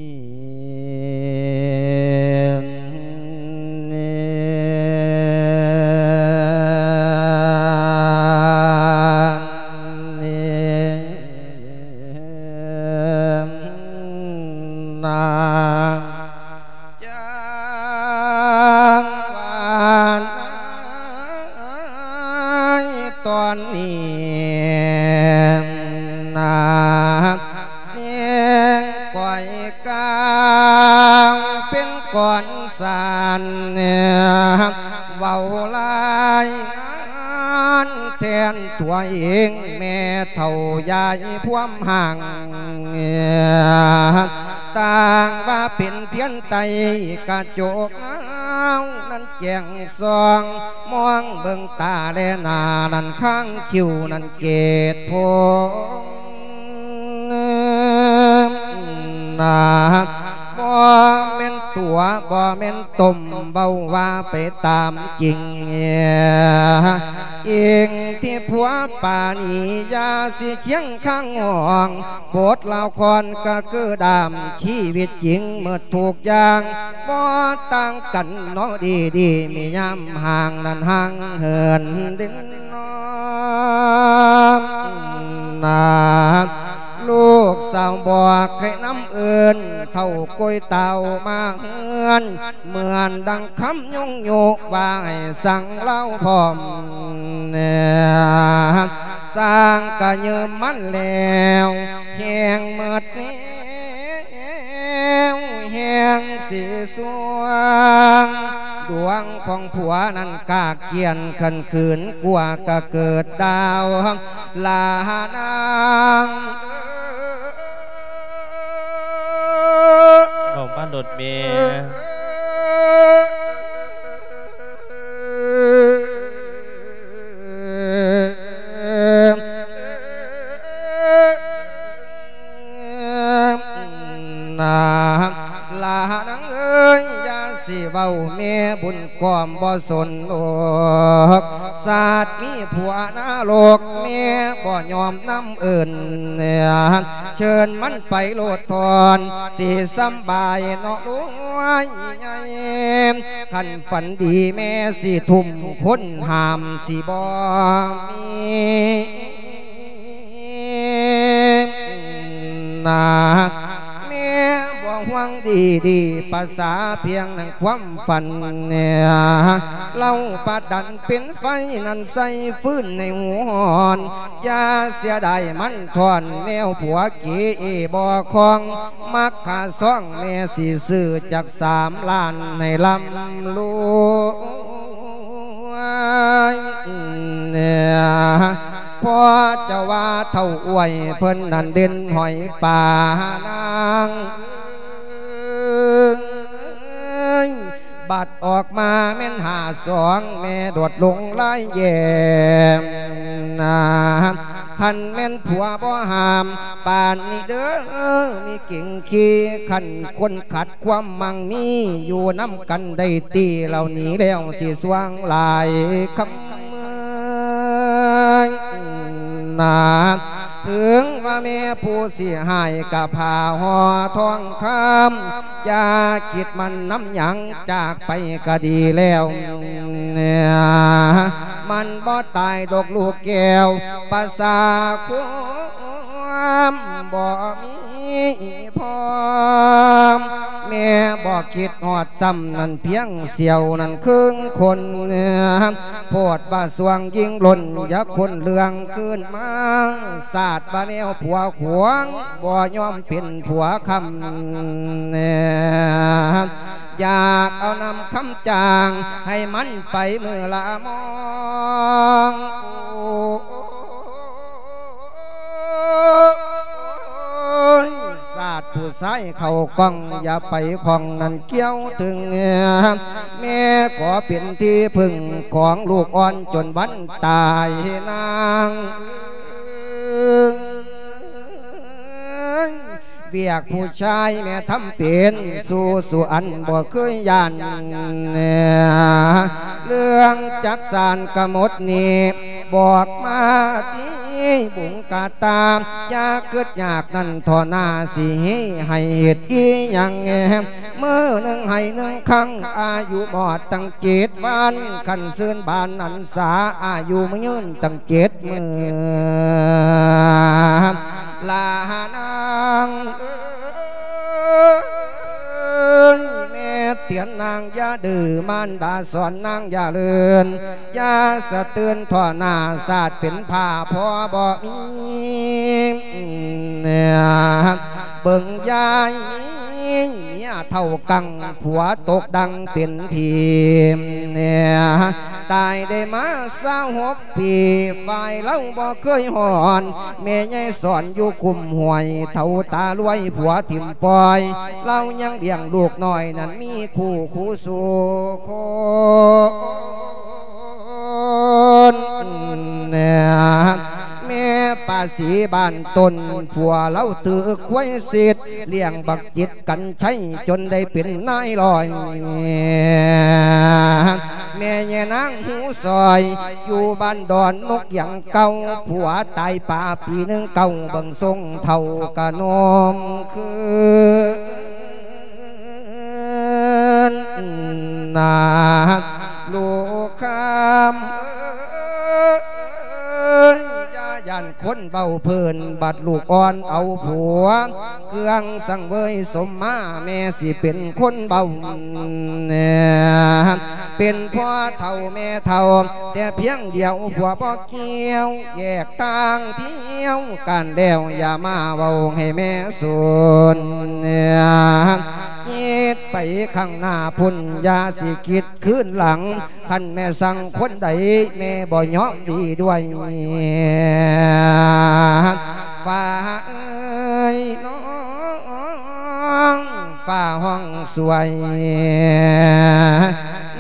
ນີ້ ນີ້ ນາ ຈັ່ງວ່ານາຍຕອນນີ້ນາ ສຽງກ້ອຍກາງເປັນກ້ອນສານ ເວົ້າລາຍງານແທນຕົວເອງ ແມ່ເຖົ້າຍາຍພວມຮ່າງ ຕ່າງວ່າເປັນພຽງໄຕກະຈົກເງົານັ້ນ ແຈ້ງສ່ອງ ມອງເບິ່ງຕາແລໜ້ານັ້ນ ຂ້າງຄິ້ວນັ້ນເກດຜົມນາ ບໍ່ແມ່ນຕົວະ ບໍ່ແມ່ນຕົມ ເວົ້າວ່າໄປຕາມຈິງ ອິງທີ່ຜົວປານີ ຢ່າຊິຄຽງຄາງຫ້ອງ ບົດລາວຄອນກະຄືດາມ ຊີວິດຈິງໝົດທຸກຢ່າງ ບໍ່ຕ່າງກັນເນາະ ດີໆ ມີຍາມຫ່າງນັ້ນຫ່າງເຫີນເດັ່ນນອນນາ ລູກສາວບອກໃຫ້ນຳເອີ້ນ ເຖົ້າໂກຍເຕົ້າມາເຮືອນ ເໝືອນດັ່ງຄຳຍົງໂຍກວ່າໃຫ້ສັ່ງລາວພ້ອມແນ່ ສ້າງກະຢືມມັນແລ້ວ ແຮງໝົດແນວ ແຮງຊິສວງ ດວງຂອງຜົວນັ້ນກາກກຽນຂັນຂືນ ກວ່າກະເກີດດາວ ລານາງ ເວົ້າມາໂລດແມ່ ນາ ລານາງເອີຍ ຢ່າຊິເວົ້າແມ່ບຸນກອມບໍ່ສົນໂລກ ຊາດນີ້ຜົວນະລົກ ແມ່ບໍ່ຍອມນຳເອີ້ນ ເຊີນມັນໄປໂລດທ່ອນ ຊິສຳບາຍເນາະລູກເອີຍ ຄັນຝັນດີແມ່ຊິທຸ່ມ ຄົນຫ້າມຊິບໍ່ມີ ນາ ແມ່ບໍ່ຫວັງດີໆ ປະສາພຽງໜັງຄວາມຝັນ ເລົາປະດັນເປັນໄຟນັ້ນໃສ່ຟືນໃນຫົວຮ້ອນ ຢ່າເສຍດາຍມັນທ່ອນ ແນວຜົວເກເອບໍ່ຄອງ ມັກຄ່າຊອງແມ່ຊິຊື້ຈັກສາມລ້ານໃຫ້ລ່ຳລວຍ ພໍຈະວ່າເຖົ້າອວຍເພິ່ນນັ້ນເດັ່ນຫອຍປານາງເອີຍ ບັດອອກມາແມ່ນຫ້າສອງ ແມ່ໂດດລົງລາຍແຍມນາ ຄັນແມ່ນຜົວບໍ່ຫ້າມ ປານນີ້ເດີ ມີກິ່ງຄີ ຄັນຄົນຂັດຄວາມໝັ່ງມີ ຢູ່ນຳກັນໄດ້ຕີ ເຫຼົ່ານີ້ແລ້ວຊິສວ່າງຫຼາຍຄຳເມືອງນາ ເຖິງວ່າແມ່ຜູ້ຊິຮ້າຍກະຜ້າຫໍ່ທອງຄຳ ຢ່າຄິດໝັ້ນນຳຫຍັງ ຈາກໄປກະດີແລ້ວ ມັນບໍ່ຕາຍດອກລູກແກ້ວ ປະສາຄວາມບໍ່ມີພ້ອມ ແມ່ບໍ່ຄິດຮອດຊ້ຳ ນັ້ນພຽງສ່ຽວນັ້ນເຄິ່ງຄົນ ໂພດວ່າຊ່ວງຍິ່ງລົ້ນ ຢ່າຄົ້ນເລື່ອງຄືນມາ ຊາດວ່າແນວຜົວຂວາງ ບໍ່ຍອມເປັນຜົວຄຳ ຢາກເອົານຳຄຳຈ້າງ ໃຫ້ມັນໄປມື້ລະມອງ ໂອ້ຍ ຊາດຜູ້ຊາຍເຂົ້າກ້ອງ ຢ່າໄປຂ້ອງນັ້ນກ່ຽວເຖິງ ແມ່ຂໍເປັນທີ່ເພິ່ງຂອງລູກອ່ອນ ຈົນວັນຕາຍນາງເອີຍ ວຽກຜູ້ຊາຍແມ່ທຳເປັນ ສູ້ສູ່ອັນບໍ່ເຄີຍຢ້ານ ເລື່ອງຈັກສານກະໝົດນີ້ ບອກມາຕິບຸງກະຕາ ຢ່າຄຶດຍາກນັ້ນທໍ່ໜ້າ ຊິເຮໃຫ້ເຮັດອີ່ຫຍັງ ມື້ໜຶ່ງໃຫ້ໜຶ່ງຄັ້ງ ອາຍຸໝອດຕັ້ງເຈັດວັນ ຄັນຊື່ນບານອັນສາ ອາຍຸຍືນຕັ້ງເຈັດມື້ ລານາງເອີຍ ແມ່ເຕືອນນາງຢ່າດື້ ມານດາສອນນາງຢ່າເລີນ ຢ່າສະເຕີນທໍ່ໜ້າ ຊາດເປັນຜ້າພໍບໍ່ມີ ເບິ່ງຍາຍມີເມຍເຖົ້າກັງ ຜົວຕົກດັງເປັນຜີ ອາຍໄດ້ມາຊາວຫົກປີ ຝ່າຍລາວບໍ່ເຄີຍຮ້ອນ ແມ່ຍາຍສອນຢູ່ຄຸ້ມຫ້ວຍ ເຖົ້າຕາລວຍ ຜົວຖິ້ມປ່ອຍ ລາວຍັງລ້ຽງລູກນ້ອຍ ນັ້ນມີຄູ່ຄູ່ສູ່ຄົນ. ແມ່ປາສີບ້ານຕົ້ນ ຜົວລາວຖືຄວາຍສິດ ລ້ຽງບັກຈິດກັນໄຊ ຈົນໄດ້ເປັນນາຍຮ້ອຍ. ແມ່ຍານາງຫູຊອຍ ຢູ່ບ້ານດອນນົກຫຍັງເກົ່າ ຜົວຕາຍປາປີໜຶ່ງເກົ້າ ເບິ່ງຊົງເຖົ້າກະໜຸ່ມຄືນນາ ລູກຄຳເອີຍ ຢ່າຢ້ານຄົນເວົ້າເພີ້ນ ບັດລູກອ່ອນເອົາຜົວ ເຄື່ອງສັງເຫວີຍສົມມາ ແມ່ຊິເປັນຄົນເວົ້າ ເປັນພໍ່ເຖົ້າແມ່ເຖົ້າ ແຕ່ພຽງດຽວຜົວບໍ່ກ່ຽວ ແຍກທາງທ່ຽວກັນແລ້ວ ຢ່າມາເວົ້າໃຫ້ແມ່ສົນ ຄິດໄປຂ້າງໜ້າພຸ້ນ ຢ່າຊິຄິດຄືນຫຼັງ ຄັນແມ່ສັ່ງຄົນໃດ ແມ່ບໍ່ຍອມດີດ້ວຍ ຟ້າເອີຍນ້ອງ ຟ້າຮ້ອງຊ່ວຍ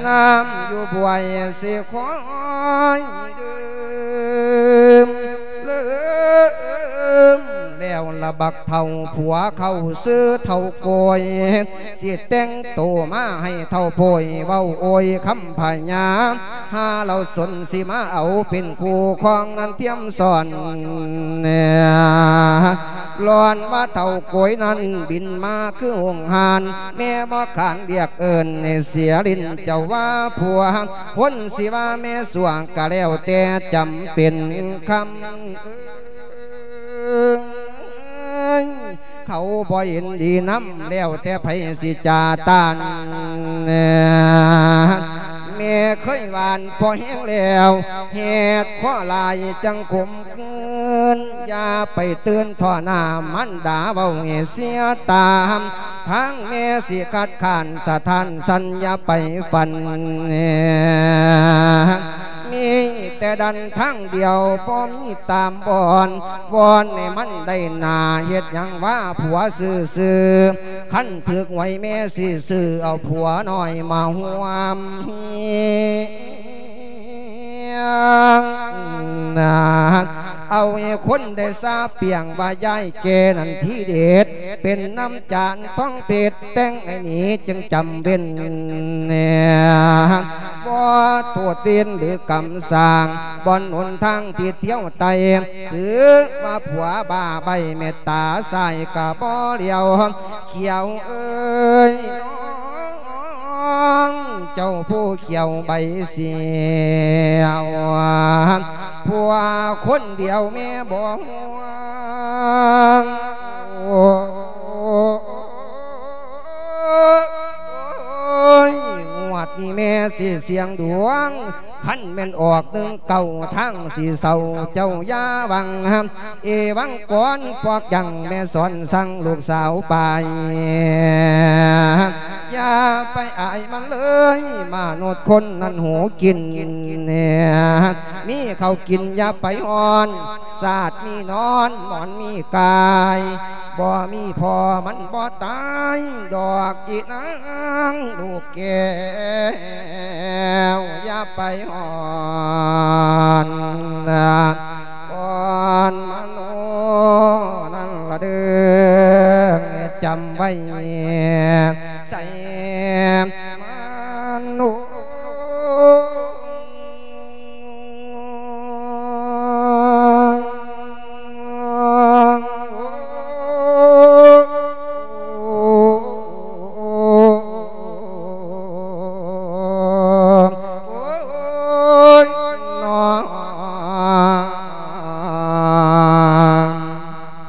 ນ້ຳຢູ່ບວຍຊິຄອຍດື່ມ ລືມແລ້ວລະບັກເຖົ້າ ຜົວເຂົ້າຊື່ເຖົ້າໂກຍ ຊິແຕ່ງໂຕມາໃຫ້ເຖົ້າໂພຍ ເວົ້າໂອຍຄຳພະຍາ ຫາລາວສົນຊິມາເອົາເປັນຄູ່ຄອງ ນັ້ນຕຽມສອນ ລອນວ່າເຖົ້າໂກຍນັ້ນ ບິນມາຄືອົງຫານ ແມ່ບໍ່ຂານລຽກເອີ້ນ ໃຫ້ເສຍຫຼິ້ນເຈົ້າວ່າຜົວ ຄົນຊິວ່າແມ່ຊົ່ວ ກະແລ້ວແຕ່ຈຳເປັນຄຳ ເອີຍ ເຂົາບໍ່ເຫັນດີນຳ ແລ້ວແຕ່ໃຜຊິຈາຕ້ານ ແມ່ເຄີຍຫວານພໍແຮງແລ້ວ ແຮດຄໍຫຼາຍຈັ່ງຂົມ ຄືນ ຢ່າໄປຕື່ນທໍ່ໜ້າມານດາ ເວົ້າໃຫ້ເສຍຕາ ທາງແມ່ຊິຄັດຄ້ານສະທ້ານສັ່ນ ຢ່າໄປຝັນ ມີແຕ່ດັນທາງດຽວ ບໍ່ມີຕາມບ່ອນ ວອນໃຫ້ມັນໄດ້ໜ້າ ເຮັດຫຍັງວ່າຜົວຊື່ໆ ຄັນຖືກຫວຍແມ່ຊິຊື້ເອົາຜົວນ້ອຍມາຮ່ວມ ເອົາໃຫ້ຄົນໄດ້ຊາບປຽງວ່າຍາຍແກ່ນັ້ນທີເດັດ ເປັນນ້ຳຈານທອງເພັດ ແຕ່ງໃຫ້ໜີຈຶ່ງຈຳເວັນ ບໍ່ໂທດເວນຫຼືກຳສ້າງ ບ່ອນຫົນທາງທີ່ທ່ຽວໄຕ່ ຖືວ່າຜົວບ້າໃບ້ເມດຕາ ຊ້າຍກະບໍ່ຫຼຽວ ຂຽວເອີຍ ນ້ອງເຈົ້າຜູ້ຂຽວໃບສຽວ ຜົວຄົນດຽວແມ່ບໍ່ຫ່ວງ ໂອ້ຍ ງວດນີ້ແມ່ຊິສ່ຽງດວງ ຄັນແມ່ນອອກໜຶ່ງເກົ້າ ທາງຊິເຊົາ ເຈົ້າຢ່າຫວັງ ເອວັງກອນ ປອກຍັງແມ່ສອນສັ່ງລູກສາວໄປ ຢ່າໄປອາຍມັນເລີຍ ມະນຸດຄົນນັ້ນຫູກິນ ມີເຂົ້າກິນຢ່າໄປຮ້ອນ ຊາດມີນອນ ໝອນມີກາຍ ບໍ່ມີພໍ່ມັນບໍ່ຕາຍ ດອກອີນາງລູກແກ້ວ ຢ່າໄປຮ້ອນ ອ່ອນມະໂນນັ້ນລະເດີ ຈຳໄວ້ໃສ່ມະໂນ.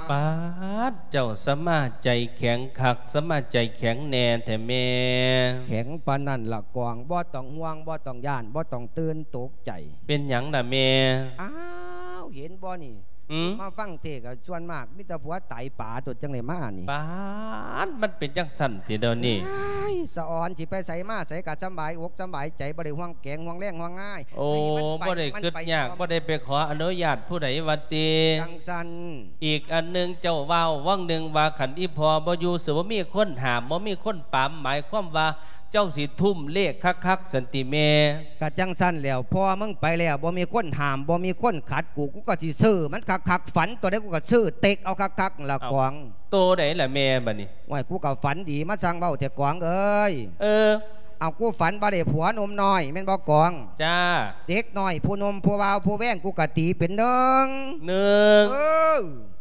ປາດ ເຈົ້າສະມາໃຈແຂງຄັກ ສະມາໃຈແຂງແນ່ແທ້ແມ່. ແຂງປານນັ້ນລະກອງ ບໍ່ຕ້ອງຫ່ວງ ບໍ່ຕ້ອງຢ້ານ ບໍ່ຕ້ອງຕື່ນຕົກໃຈ. ເປັນຫຍັງລະແມ່? ອ້າວ ເຫັນບໍ່ນີ້? ອືມ ມາຟັງເທດກໍສ່ວນມາກມີແຕ່ຜົວຕາຍປາຕົວ ຈັ່ງໄດ້ມານີ້. ປາດ ມັນເປັນຈັ່ງຊັ້ນຕິດຽວນີ້. ອ້າຍ ສະອອນ ຊິໄປໃສມາໃສກໍສຳບາຍອົກສຳບາຍໃຈ ບໍ່ໄດ້ຫ່ວງແກງຫ່ວງແລງຫ່ວງງາຍ. ໂອ້ ໃຫ້ມັນໄປ ບໍ່ໄດ້ ມັນ ຄິດຍາກ ໄປ ບໍ່ໄດ້ໄປຂໍອະນຸຍາດຜູ້ໃດວ່າຕິ. ຈັ່ງຊັ້ນ. ອີກອັນໜຶ່ງ ເຈົ້າເວົ້າຫວ່າງໜຶ່ງວ່າ ຄັນອີ່ພໍ່ບໍ່ຢູ່ ຊິບໍ່ມີຄົນຫ້າມ ບໍ່ມີຄົນປາມ ໝາຍຄວາມວ່າ ເຈົ້າຊິທຸ່ມເລກຄັກໆ ຊັ້ນຕິແມ່? ກະຈັ່ງຊັ້ນແຫຼ້ວ ພໍ່ມຶງໄປແລ້ວ ບໍ່ມີຄົນຫ້າມ ບໍ່ມີຄົນຂັດກູ ກູກໍຊິຊື້ມັນຄັກໆ ຝັນໂຕໃດ ກູກໍຊື້ເຕັກເອົາຄັກໆ ລະກອງ. ໂຕໃດລະແມ່ບາດນີ້? ໂອ້ຍ ກູກໍຝັນດີ ມາຊ່າງເວົ້າແທ້ກອງເອີຍ. ເອີ ເອົາ ກູຝັນວ່າໄດ້ຜົວໜຸ່ມນ້ອຍ ແມ່ນບໍ່ກອງ? ຈ້າ. ເດັກນ້ອຍຜູ້ໜຸ່ມຜູ້ບ່າວຜູ້ແວງ ກູກໍຕີເປັນໜຶ່ງ ໜຶ່ງ. ເອີ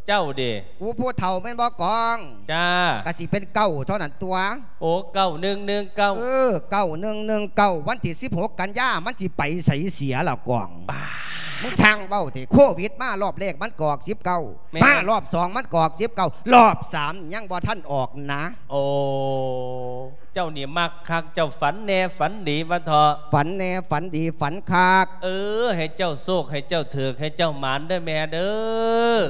ເຈົ້າເດ? ກູຜູ້ເຖົ້າແມ່ນບໍ່ກອງ? ຈ້າ. ກະຊິເປັນເກົ້າເທົ່ານັ້ນຕົວະ. ໂອ້ ເກົ້າໜຶ່ງໜຶ່ງເກົ້າ. ເອີ ເກົ້າໜຶ່ງໜຶ່ງເກົ້າ ວັນທີສິບຫົກກັນຍາ ມັນຊິໄປໃສເສຍລະກອງ? ປາດ ມຶງຊ່າງເວົ້າເຖາະ. ໂຄວິດມາລອບແລກມັນກໍອອກສິບເກົ້າ ແມ່ນ ມາລອບສອງມັນກໍອອກສິບເກົ້າ ລອບສາມຍັງບໍ່ທັນອອກນະ. ໂອ້ ເຈົ້ານີ້ມັກຄັກ ເຈົ້າຝັນແນ່ຝັນດີວ່າເຖາະ. ຝັນແນ່ຝັນດີຝັນຄັກ. ເອີ ໃຫ້ເຈົ້າໂຊກ ໃຫ້ເຈົ້າຖືກ ໃຫ້ເຈົ້າໝານເດີແມ່ເດີ.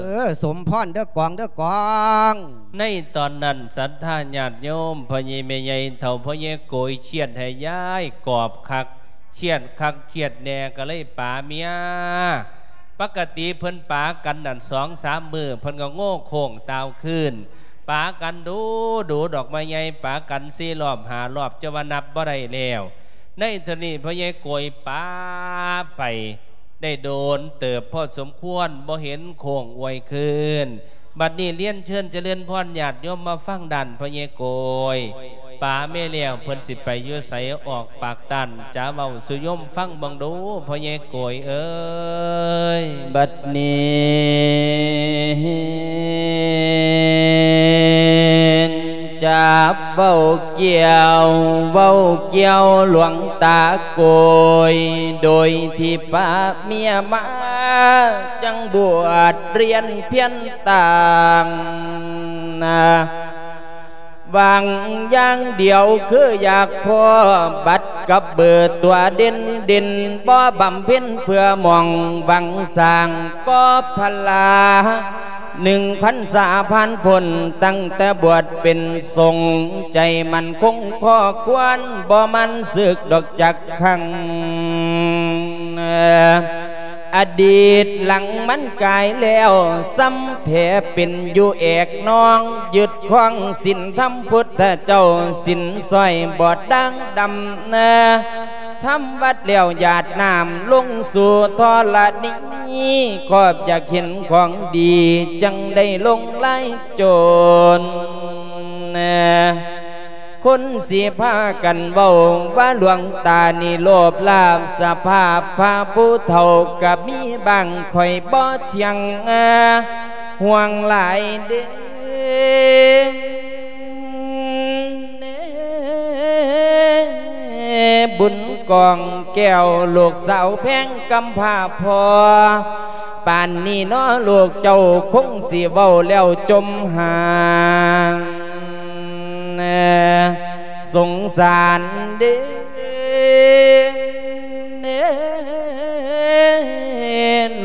ເອີ ສົມພອນເດີກອງ ເດີກອງ. ໃນຕອນນັ້ນ ສັດທາຍາດໂຍມ ພໍ່ໃຫຍ່ແມ່ໃຫຍ່ເຖົ້າ ພໍ່ໃຫຍ່ໂກຍ ຄຽດໃຫ້ຍາຍກອບຄັກ ຄຽດຄັກຄຽດແນ່ ກໍເລີຍປາເມຍ. ປົກກະຕິເພິ່ນປາກັນນັ້ນ ສອງສາມມື້ ເພິ່ນກໍໂງ່ໂຄ້ງຕ່າວຄືນ. ປາກັນດູໆ ດອກໄມ້ໃຫຍ່ ປາກັນສີ່ລອບຫ້າລອບ ຈົນວ່ານັບບໍ່ໄດ້ແລ້ວ. ໃນເທື່ອນີ້ພໍ່ໃຫຍ່ໂກຍປາໄປ ໄດ້ໂດນເຕີບພໍສົມຄວນ ບໍ່ເຫັນໂຄ້ງອວຍຄືນ. ບັດນີ້ລຽນເຊີນຈະເລີນພອນຍາດໂຍມມາຟັງດ້ານພໍ່ໃຫຍ່ໂກຍ. ປາເມຍແລ້ວ ເພິ່ນຊິໄປຢູ່ໃສ ອອກປາກຕ້ານ ຈະເວົ້າສູ່ໂຍມຟັງເບິ່ງດູ ພໍ່ໃຫຍ່ໂກຍເອີຍ. ບັດນີ້ຈະເວົ້າກ່ຽວ ເວົ້າກ່ຽວຫຼວງຕາໂກຍ ໂດຍທີ່ປາເມຍມາ ຈັ່ງບວດຮຽນພຽນຕ່າງນາ. ຫວັງຢ່າງດຽວຄືຢາກພໍບັດກັບເບີຕົວເດັ່ນໆ ບໍ່ບຳເພັນເພື່ອໝອງຫວັງສ້າງກໍພະລາ ໜຶ່ງພັນສາຜ່ານພົ້ນ ຕັ້ງແຕ່ບວດເປັນສົງ ໃຈໝັ້ນຄົງຂໍ້ຄວນ ບໍ່ໝັ່ນສຶກດອກຈັກຄັ້ງ. ອະດີດຫຼັງມັນກາຍແລ້ວ ຊ້ຳແຜເປັນຢູ່ແອກໜອງ ຍຶດຄອງສິນທຳພຸດທະເຈົ້າ ສິນສ້ອຍບອດດ່າງດຳນາ ທຳວັດແລ້ວຫຍາດນ້ຳລົງສູ່ທໍລະນີ ຄອບຢາກເຫັນຂອງດີ ຈັ່ງໄດ້ລົງລາຍໂຈນນາ. ຄົນຊິພາກັນເວົ້າວ່າຫຼວງຕານີ້ໂລບລາບສະພາບພະຜູ້ເຖົ້າກະມີບາງ ຂ້ອຍບໍ່ທ່ຽງຫ່ວງຫຼາຍເດ້. ບຸນກອງແກ້ວລູກສາວແພງກຳພ້າພໍ່ ປານນີ້ນໍ ລູກເຈົ້າຄົງຊິເວົ້າແລ້ວຈົມຫາ ສົງສານເດ້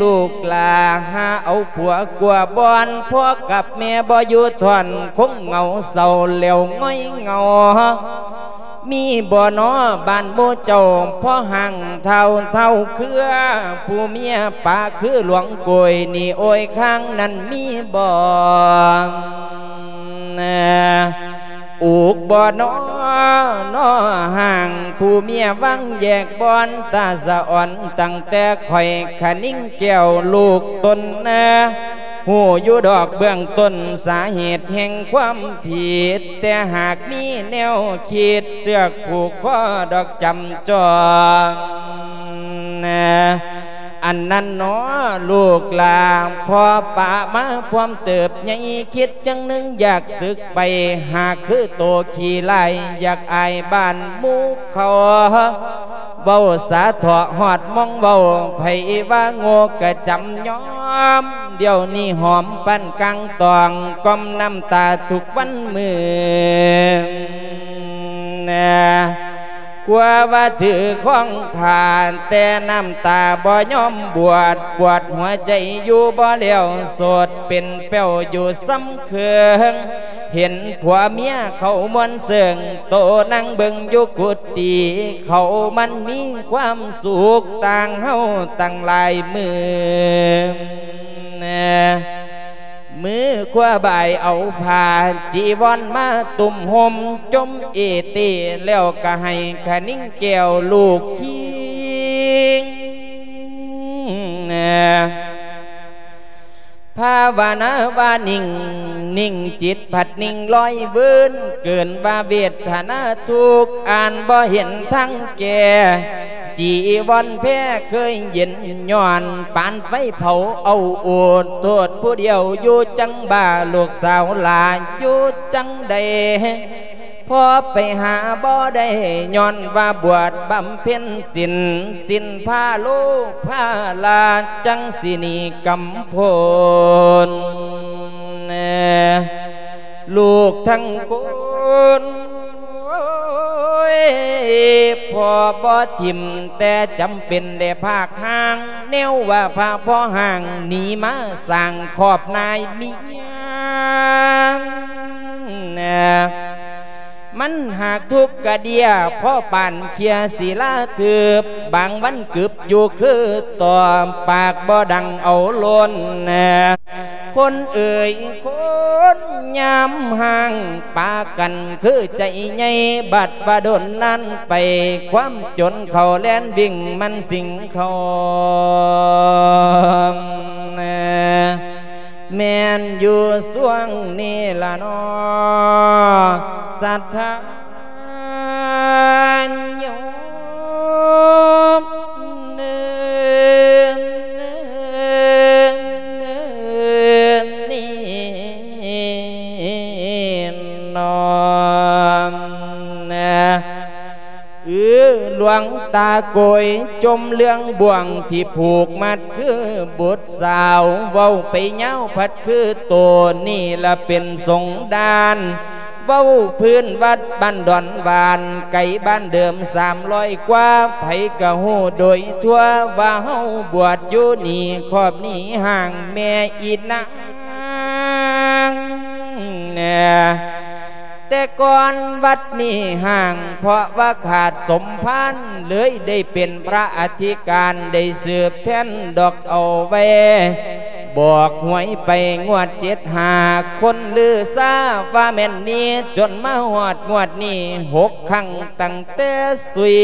ລູກຫຼ້າຫາເອົາຜົວກວ່າບ່ອນ ພໍ່ກັບແມ່ບໍ່ຢູ່ທອນ ຄົງເຫງົາເສົ້າແລ້ວຫງອຍເຫງົາ. ມີບໍ່ນໍບ້ານໝູ່ເຈົ້າ ພໍ່ຫ້າງທ້າວທ້າວເຄືອ ຜູ້ເມຍປາຄືຫຼວງໂກຍນີ້ ໂອຍ ຂ້າງນັ້ນມີບໍ່? ອຸກບໍ່ນໍ ນໍຫ້າງ ຜູ້ເມຍວັງແຍກບ່ອນ ຕາສະອອນ ຕັ້ງແຕ່ຂ້ອຍຄະນິງແກ້ວລູກຕົນນາ ຮູ້ຢູ່ດອກເບື້ອງຕົ້ນສາເຫດແຫ່ງຄວາມຜິດ ແຕ່ຫາກມີແນວຄິດເຊືອກຜູກຄໍດອກຈຳຈອງ ອັນນັ້ນໜໍ ລູກຫຼ້າ ພໍ່ປະມາພວມເຕີບໃຫຍ່ ຄິດຈັ່ງໜຶ່ງຢາກສຶກໄປ ຫາກຄືໂຕຂີ້ລ້າຍ ຢາກອາຍບ້ານໝູ່ເຂົາ ເວົ້າສາເທາະຮອດມອງເວົ້າ ໃຜວ່າໂງ່ກະຈຳຍອມ ດຽວນີ້ຫອມປານກາງຕອງ ກ່ອມນ້ຳຕາທຸກວັນມື້ ກວ່າວ່າຖືຄອງຜ້າ ແຕ່ນ້ຳຕາບໍ່ຍອມບວດ ບວດຫົວໃຈຢູ່ບໍ່ແລ້ວ ໂສດເປັນແປ້ວຢູ່ສ່ຳເຄິ່ງ ເຫັນຜົວເມຍເຂົາມ່ວນເຊິ່ງ ໂຕນັ່ງເບິ່ງຢູ່ກຸຕິ ເຂົາມັນມີຄວາມສຸກ ຕ່າງເຮົາຕັ້ງຫຼາຍມື້ ມືຂວາບ່າຍເອົາຜ້າຈີວອນມາຕຸ້ມຫົ່ມ ຈົ່ມເອເຕ ແລ້ວກໍໃຫ້ຂະນິງແກ້ວລູກຄີງ ພາວະນາວ່ານິ່ງ ນິ່ງຈິດພັດນິ່ງລອຍເວີນ ເກີນວ່າເວທະນາທຸກ ອ່ານບໍ່ເຫັນທາງແກ້ ຈີວອນແພເຄີຍເຢັນ ຍ້ອນປານໄຟເຜົາເອົາໂອດ ໂທດຜູ້ດຽວຢູ່ຈັ່ງບ້າ ລູກສາວຫຼ້າຢູ່ຈັ່ງໃດ ພໍໄປຫາບໍ່ໄດ້ ຍ້ອນວ່າບວດບຳເພັນສິນ ສິ້ນພາໂລພາລາ ຈັ່ງຊິໜີກຳພົນ ລູກທັງຄົນ ໂອ້ຍ ພໍ່ບໍ່ຖິ້ມ ແຕ່ຈຳເປັນໄດ້ພາກຮ່າງ ແນວວ່າພະພໍ່ຮ່າງ ໜີມາສ້າງຄອບນາຍເມຍ ມັນຫາກທຸກກະເດຍ ພໍປານເຄຍສິລາເທີບ ບາງວັນກຶບຢູ່ຄືຕໍ່ ປາກບໍ່ດັງເອົາລົ້ນ ຄົນເອີຍຄົນ ຍາມຮ່າງປາກັນຄືໃຈໃຫຍ່ ບັດວ່າດົນນານໄປ ຄວາມຈົນເຂົ້າແລ່ນວິ່ງມັນສິງເຂົ້າ ແມ່ນຢູ່ຊ່ວງນີ້ລະນໍ ສັດທາໂຍມ ນີ້ນອນ ເອີ ຫຼວງຕາໂກຍ ຈົ່ມເລື່ອງບ່ວງທີ່ຜູກມັດຄືບຸດສາວ ເວົ້າໄປຍາວພັດຄືໂຕ ນີ້ລະເປັນສົງດານ ເວົ້າພື້ນວັດບ້ານດອນຫວານ ໄກບ້ານເດີມສາມຮ້ອຍກວ່າ ໃຜກະຮູ້ໂດຍທົ່ວ ວ່າເຮົາບວດຢູ່ນີ້ ຄອບນີ້ຮ່າງແມ່ອີນາງ ແຕ່ກ່ອນວັດນີ້ຮ່າງ ເພາະວ່າຂາດສົມພານ ເລີຍໄດ້ເປັນພະອະທິການ ໄດ້ສືບແທນດອກເອົາໄວ້ ບອກຫວຍໄປງວດເຈັດຫ້າ ຄົນລືຊາວ່າແມ່ນນີ້ ຈົນມາຮອດງວດນີ້ຫົກຄັ້ງ ຕັ້ງແຕ່ສຸຍ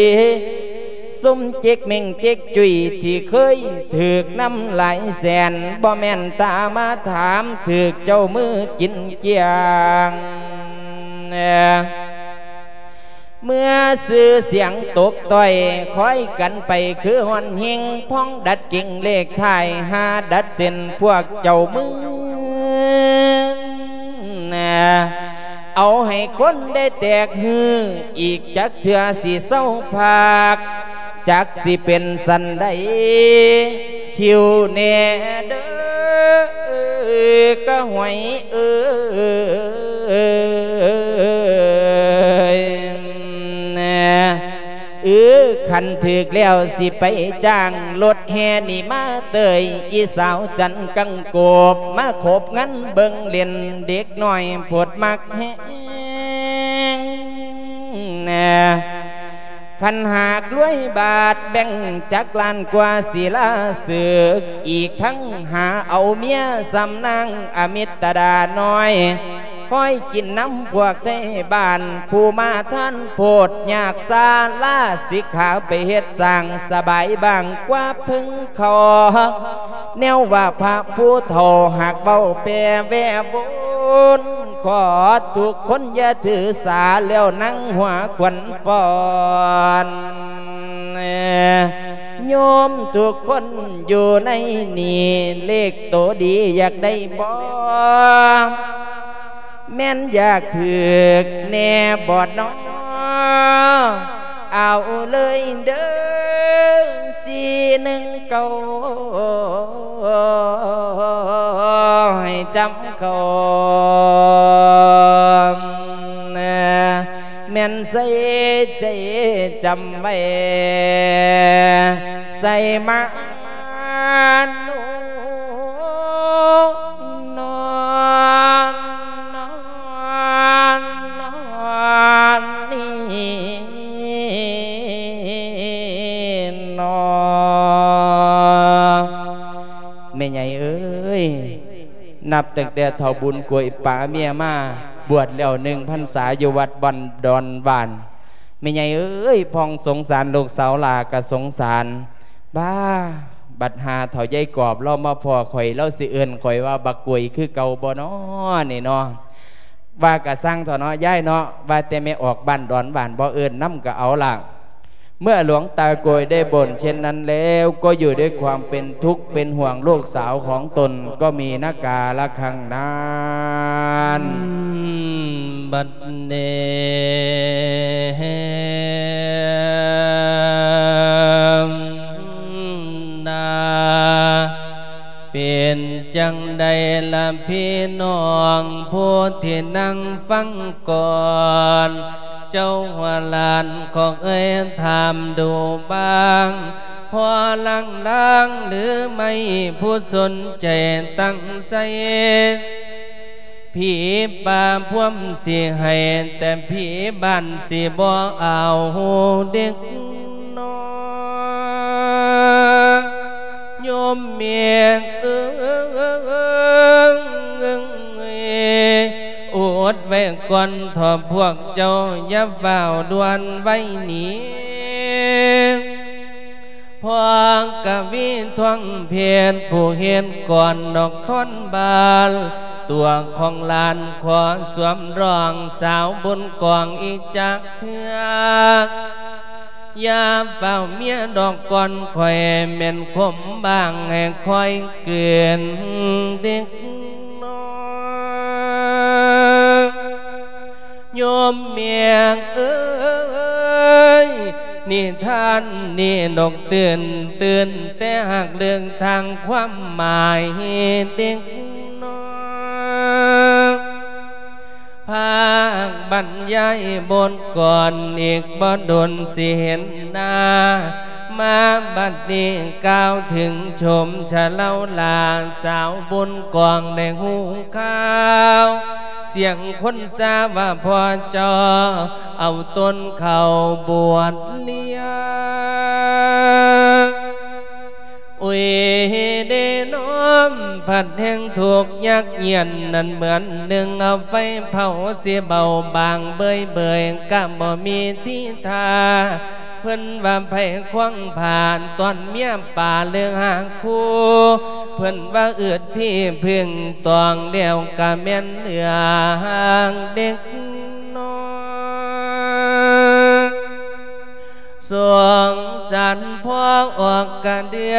ຊຸມຈິກເມັ່ງຈິກຈຸ້ຍ ທີ່ເຄີຍຖືກນຳຫຼາຍແສນ ບໍ່ແມ່ນຕາມາຖາມ ຖືກເຈົ້າມືກິນກ້ຽງ ເມື່ອຊື່ສຽງຕົກຕ້ອຍ ຄອຍກັນໄປຄືຮ່ອນເຮັງ ພ້ອງດັດກິ່ງເລກທ້າຍ ຫາດັດເສັ້ນພວກເຈົ້າມື ເອົາໃຫ້ຄົນໄດ້ແຕກຮື ອີກຈັກເທື່ອຊິເຊົາພາກ ຈັກຊິເປັນສັນໃດ ຄິວແນ່ເດີກະຫວຍເອີຍ ເອີ ຄັນຖືກແລ້ວຊິໄປຈ້າງລົດແຫ່ນີ້ມາເຕີຍ ອີສາວຈັນກັງໂກບ ມາຄົບງັນເບິ່ງເຫຼັ້ນ ເດັກນ້ອຍໂພດມັກແຮງ ຄັນຫາກລວຍບາດແບ່ງຈັກລ້ານກວ່າສິລາເສິກ ອີກທັງຫາເອົາເມຍສ່ຳນາງອະມິດຕະດານ້ອຍ ຄອຍກິນນຳພວກໄທບ້ານ ຜູ້ມາທານໂພດຍາກຊາ ລາສິກຂາໄປເຮັດສ້າງ ສະບາຍບ້າງກວ່າເພິ່ງເຂົ້າ ແນວວ່າພະຜູ້ເຖົ້າຫາກເວົ້າແປແວ່ວົນ ຂໍທຸກຄົນຢ່າຖືສາ ແລ້ວນັ່ງຫົວຂວັນຟ້ອນ ໂຍມທຸກຄົນຢູ່ໃນນີ້ ເລກໂຕດີຢາກໄດ້ບໍ່? ແມ່ນຢາກຖືກແນ່ບໍ່ນໍ? ເອົາເລີຍເດີ ສີ່ໜຶ່ງເກົ້າ ໃຫ້ຈຳເຂົ້າ ແມ່ນໃສ່ໃຈຈຳ ຳໄວ້ ໃສ່ມາໂນ ນອນ ນອນ ນອນນີ້ ນອ ແມ່ໃຫຍ່ເອີຍ ນັບຕັ້ງແຕ່ເຖົ້າບຸນກວຍປາເມຍມາ ບວດແລ້ວໜຶ່ງພັນສາຢູ່ວັດບ້ານດອນຫວານ. ແມ່ໃຫຍ່ເອີຍ ພໍ່ສົງສານລູກສາວຫຼ້າກໍສົງສານ. ບ້າ ບັດຫາເຖົ້າຍາຍກອບລາວມາພໍ້ຂ້ອຍ ລາວຊິເອີ້ນຂ້ອຍວ່າບັກກວຍຄືເກົ່າບໍ່ນໍນີ້ນໍ? ວ່າກະຊ່າງເຖາະເນາະຍາຍເນາະ ວ່າແຕ່ແມ່ອອກບ້ານດອນຫວານບໍ່ເອີ້ນນຳກໍເອົາລະ. ເມື່ອຫຼວງຕາໂກยได้บ่นเช่นนั้นแล้ว ก็อยู่ด้วยความเป็นทุกข์เป็นห่วงลูกสาวของตนก็มีนะกาละครั้งนั้น ບັດນີ້ ນາ ເປັນຈັ່ງໃດລະພີ່ນ້ອງຜູ້ທີ່ນັ່ງຟັງກ່ອນ ເຈົ້າວ່າຫຼານຂອງເອີຍຖາມດູບ້າງ ພໍລາງໆ ຫຼືໄມ່ຜູ້ສົນໃຈຕັ້ງໃສ່ ຜີປ່າພວມຊິໃຫ້ ແຕ່ຜີບ້ານຊິບໍ່ເອົາເດັກນ້ອຍ ໂຍມແມ່ເອີຍ ອົດໄວ້ກ່ອນເຖາະພວກເຈົ້າ ຢ່າຟ້າວດ່ວນໄວໜີ. ພໍ່ກະວີທວງເພດ ຜູ້ເຮັດກອນດອກທ່ອນບານ ຕົວຂອງຫຼານຂໍສວມຮອງ ສາວບຸນກອງອີກຈັກເທື່ອ ຢ່າຟ້າວເມຍດອກກ່ອນ ຂ້ອຍແມ່ນຄົມບາງ ໃຫ້ຄອຍເກີນເດັກນ້ອຍ ໂຍມແມ່ເອີຍ ນິທານນີ້ນົກຕື່ນ ຕື່ນແຕ່ຫາກເລື່ອງທາງຄວາມໝາຍເດັກນ້ອຍ ພາກບັນຍາຍບົດກ່ອນ ອີກບໍ່ດົນຊິເຫັນໜ້າ ມາບັດນີ້ກ່າວເຖິງຊົມຊະເລົາຫຼ້າ ສາວບຸນກອງໄດ້ຮູ້ຂ່າວ ສຽງຄົນຊາວ່າພໍ່ເຈົ້າ ເອົາຕົນເຂົ້າບວດລຽງ ໂອ້ຍເດນ້ອມ ພັດແຮງທຸກຍາກຢ້ຽນ ນັ້ນເໝືອນໜຶ່ງເອົາໄຟເຜົາ ຊິເບົາບາງເບີຍໆ ກະບໍ່ມີທີທ່າ ເພິ່ນວ່າໃຜຄວາງຜານ ຕ້ອນເມຍປ່າເລີກຫາຄູ່ ເພິ່ນວ່າອຶດທີ່ເພິ່ງຕອງ ແລ້ວກະແມ່ນເລື່ອງເດັກນ້ອຍ ສົງສານພໍ່ອອກກະເດືອ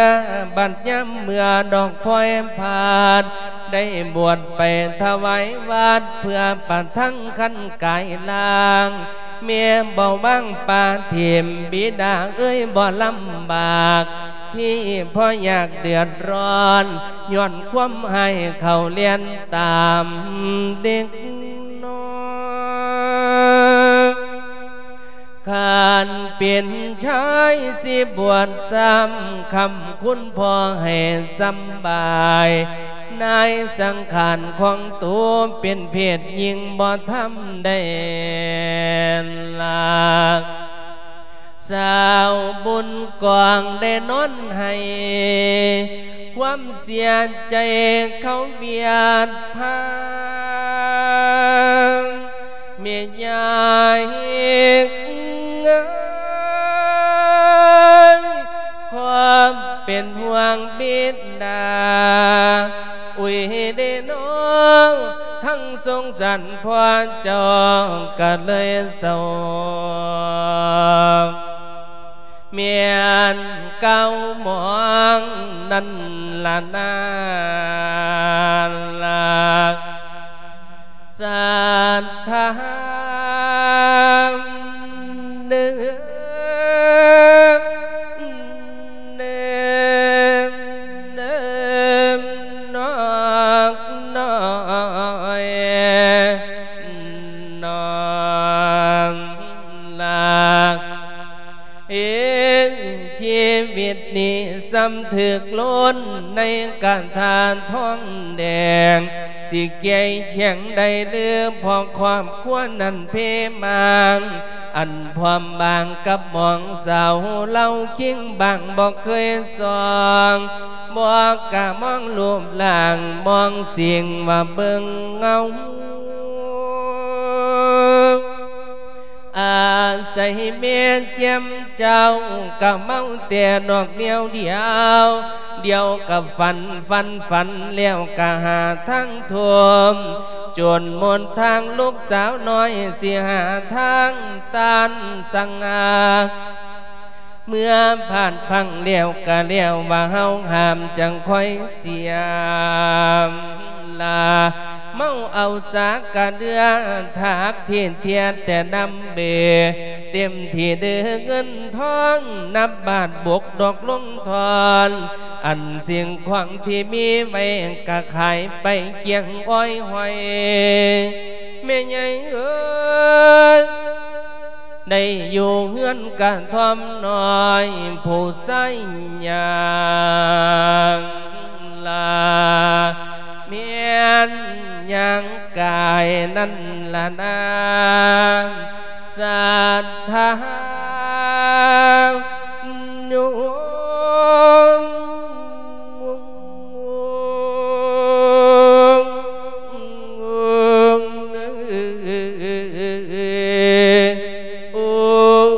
ບັດຍາມເມື່ອດອກພອຍພາດ ໄດ້ບວດໄປຖວາຍວັດ ເພື່ອປະທັງຄັນກາຍລ່າງ ແມ່ບໍ່ວາງປາຖິ້ມ ບິດາເອີຍບໍ່ລຳບາກ ທີ່ພໍ່ຢາກເດືອດຮ້ອນ ຍ້ອນຄວາມຮ້າຍເຂົາລຽນຕາມເດັກນ້ອຍ ຄັນເປັນຊາຍຊິບວດຊ້ຳ ຄ້ຳຄຸນພໍ່ໃຫ້ສຳບາຍ ນາຍສັງຂານຂອງໂຕເປັນເພດຍິງບໍ່ທຳໄດ້ລາກ ສາວບຸນກອງໄດ້ນອນໄຫ້ ຄວາມເສຍໃຈເຂົາບຽດພາ ແມ່ຍາຍເອີຍ ຄວາມເປັນຫ່ວງບິດາ ອຸຍເດນ້ອງ ທັງສົງສານພໍ່ເຈົ້າກະເລີຍເສົ້າ ແມ່ນເກົ່າໝອງນັ້ນລະນາ ສັດທາເດີ ເດີ ເດີ ນ້ອງນ້ອຍ ນ້ອງລາ ນີ້ສ່ຳຖືກລົ້ນໃນກະທາທອງແດງ ຊິແກ້ແຂງໄດ້ຫຼື ເພາະຄອບຄົວນັ້ນເພບາງ ອັນພ້ອມບາງກັບໝອງສາວ ລາວຄິງບາງບໍ່ເຄີຍສ່ອງ ບໍ່ກະມອງຮູບຮ່າງ ມອງສິ່ງວ່າເບິ່ງເງົາ ອາໄສແມ່ແຈ່ມເຈົ້າ ກະເມົາແຕ່ນອກດຽວດຽວ ດຽວກະຝັນ ຝັນ ຝັນແລ້ວກະຫາທາງທົ່ມ ຈົນໝົດທາງລູກສາວນ້ອຍ ຊິຫາທາງຕ້ານສັງຫາ ເມື່ອພາດພັ້ງແລ້ວກະແລ້ວ ວ່າເຮົາຫ້າມຈັ່ງຄ່ອຍສຽມລາ ເມົາເອົາສາກະເດືອ ຖາກທີ່ທຽດແຕ່ນ້ຳເບ ເຕັມທີ່ເດີເງິນທອງ ນັບບາດບົກດອກລົງທອນ ອັນສິ່ງຂອງທີ່ມີໄວ້ ກະຂາຍໄປກ້ຽງອ້ອຍຫ້ອຍ ແມ່ໃຫຍ່ເອີຍ ໄດ້ຢູ່ເຮືອນກະທ່ອມນ້ອຍ ຜູ້ຊາຍຍ່າງລາ ແມ່ນຍ່າງກາຍນັ້ນລະນາ ສັດທາໂຍມ ໂອ້ຍ ໂອ້ຍ ໂອ້ຍ ໂອ້ຍ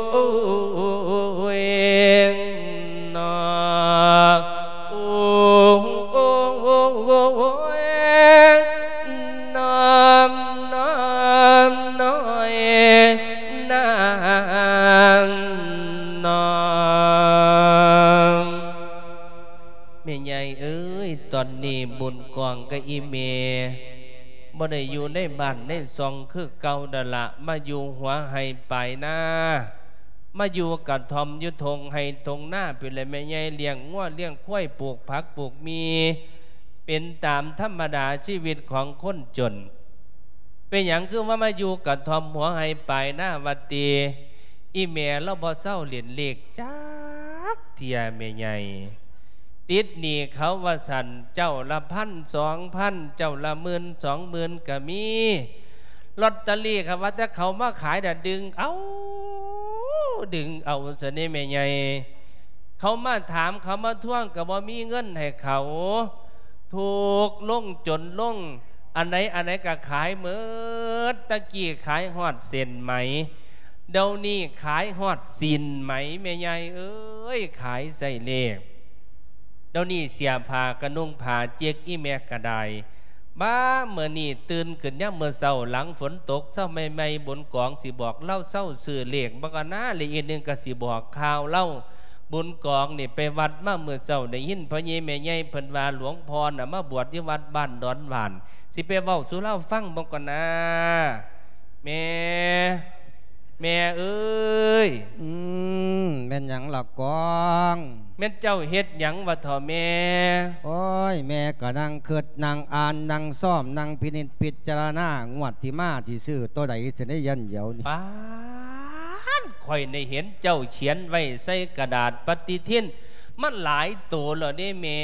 ໂອ້ຍ ໂອ້ຍ ນ້ອມ ນ້ອມ ນ້ອຍ ນ້ອມ ນ້ອມ. ແມ່ໃຫຍ່ເອີຍ, ຕອນນີ້ບຸນກອງກັບອີ່ແມ່ ບໍ່ໄດ້ຢູ່ໃນບ້ານໃນຊ່ອງຄືເກົ່ານັ້ນລະ, ມາຢູ່ຫົວໄຮ່ປາຍນາ, ມາຢູ່ກະທ່ອມຢູ່ທົ່ງໄຮ່ທົ່ງນາພຸ້ນແຫຼະແມ່ໃຫຍ່, ລ້ຽງງົວລ້ຽງຄວາຍ ປູກຜັກປູກໝີ່ ເປັນຕາມທຳມະດາຊີວິດຂອງຄົນຈົນ. ເປັນຫຍັງຄືວ່າມາຢູ່ກະທ່ອມຫົວໄຮ່ປາຍນາວ່າຕິ? ອີ່ແມ່ລາວບໍ່ເຊົາຫຼິ້ນເລກຈັກເທື່ອແມ່ໃຫຍ່. ຕິດໜີ້ເຂົາວ່າຊັ້ນ, ເຈົ້າລະພັນສອງພັນ ເຈົ້າລະໝື່ນສອງໝື່ນກະມີ. ລອດຕະລີ້ ຄັນວ່າແຕ່ເຂົາມາຂາຍນະ ດຶງເອົາ ດຶງເອົາຊັ້ນເດ້ແມ່ໃຫຍ່. ເຂົາມາຖາມ ເຂົາມາທວງ ກະບໍ່ມີເງິນໃຫ້ເຂົາ. ທຸກລົງຈົນລົງ ອັນໃດອັນໃດກະຂາຍໝົດ. ແຕ່ກີ້ຂາຍຮອດເສັ້ນໄໝ, ດຽວນີ້ຂາຍຮອດສີນໄໝແມ່ໃຫຍ່ເອີຍ, ຂາຍໃສ່ເລກ. ດຽວນີ້ເສຍຜ້າກະນຸ່ງຜ້າເຈັກອີ່ແມ່ກະໄດ້. ບາດມື້ນີ້ຕື່ນຂຶ້ນຍາມມື້ເຊົ້າ ຫຼັງຝົນຕົກເຊົ້າໃໝ່ໆ ບຸນກອງຊິບອກລາວເຊົາຊື້ເລກ ບັກອະນາ ແລະອີກໜຶ່ງກະຊິບອກຂ່າວລາວ. ບຸນກອງນີ້ໄປວັດມາມື້ເຊົ້າ ໄດ້ຍິນພໍ່ໃຫຍ່ແມ່ໃຫຍ່ເພິ່ນວ່າ ຫຼວງພໍ່ນະມາບວດຢູ່ວັດບ້ານດອນຫວານ, ຊິໄປເວົ້າສູ່ລາວຟັງເບິ່ງກ່ອນນາ ແມ່ ແມ່ເອີຍ. ອືມ ແມ່ນຫຍັງລະກອງ? ແມ່ນເຈົ້າເຮັດຫຍັງວະເຖາະແມ່? ໂອ້ຍ ແມ່ກະນັ່ງຄຶດນັ່ງອ່ານນັ່ງຊອມນັ່ງພິນິດພິຈາລະນາ ງວດທີ່ມາຊິຊື້ໂຕໃດຊັ້ນເດ ຢ້ານດຽວນີ້. ປາດ ຂ້ອຍໄດ້ເຫັນເຈົ້າຂຽນໄວ້ໃສ່ກະດາດປະຕິທິນ ມັນຫຼາຍໂຕແລ້ວເດ້ແມ່,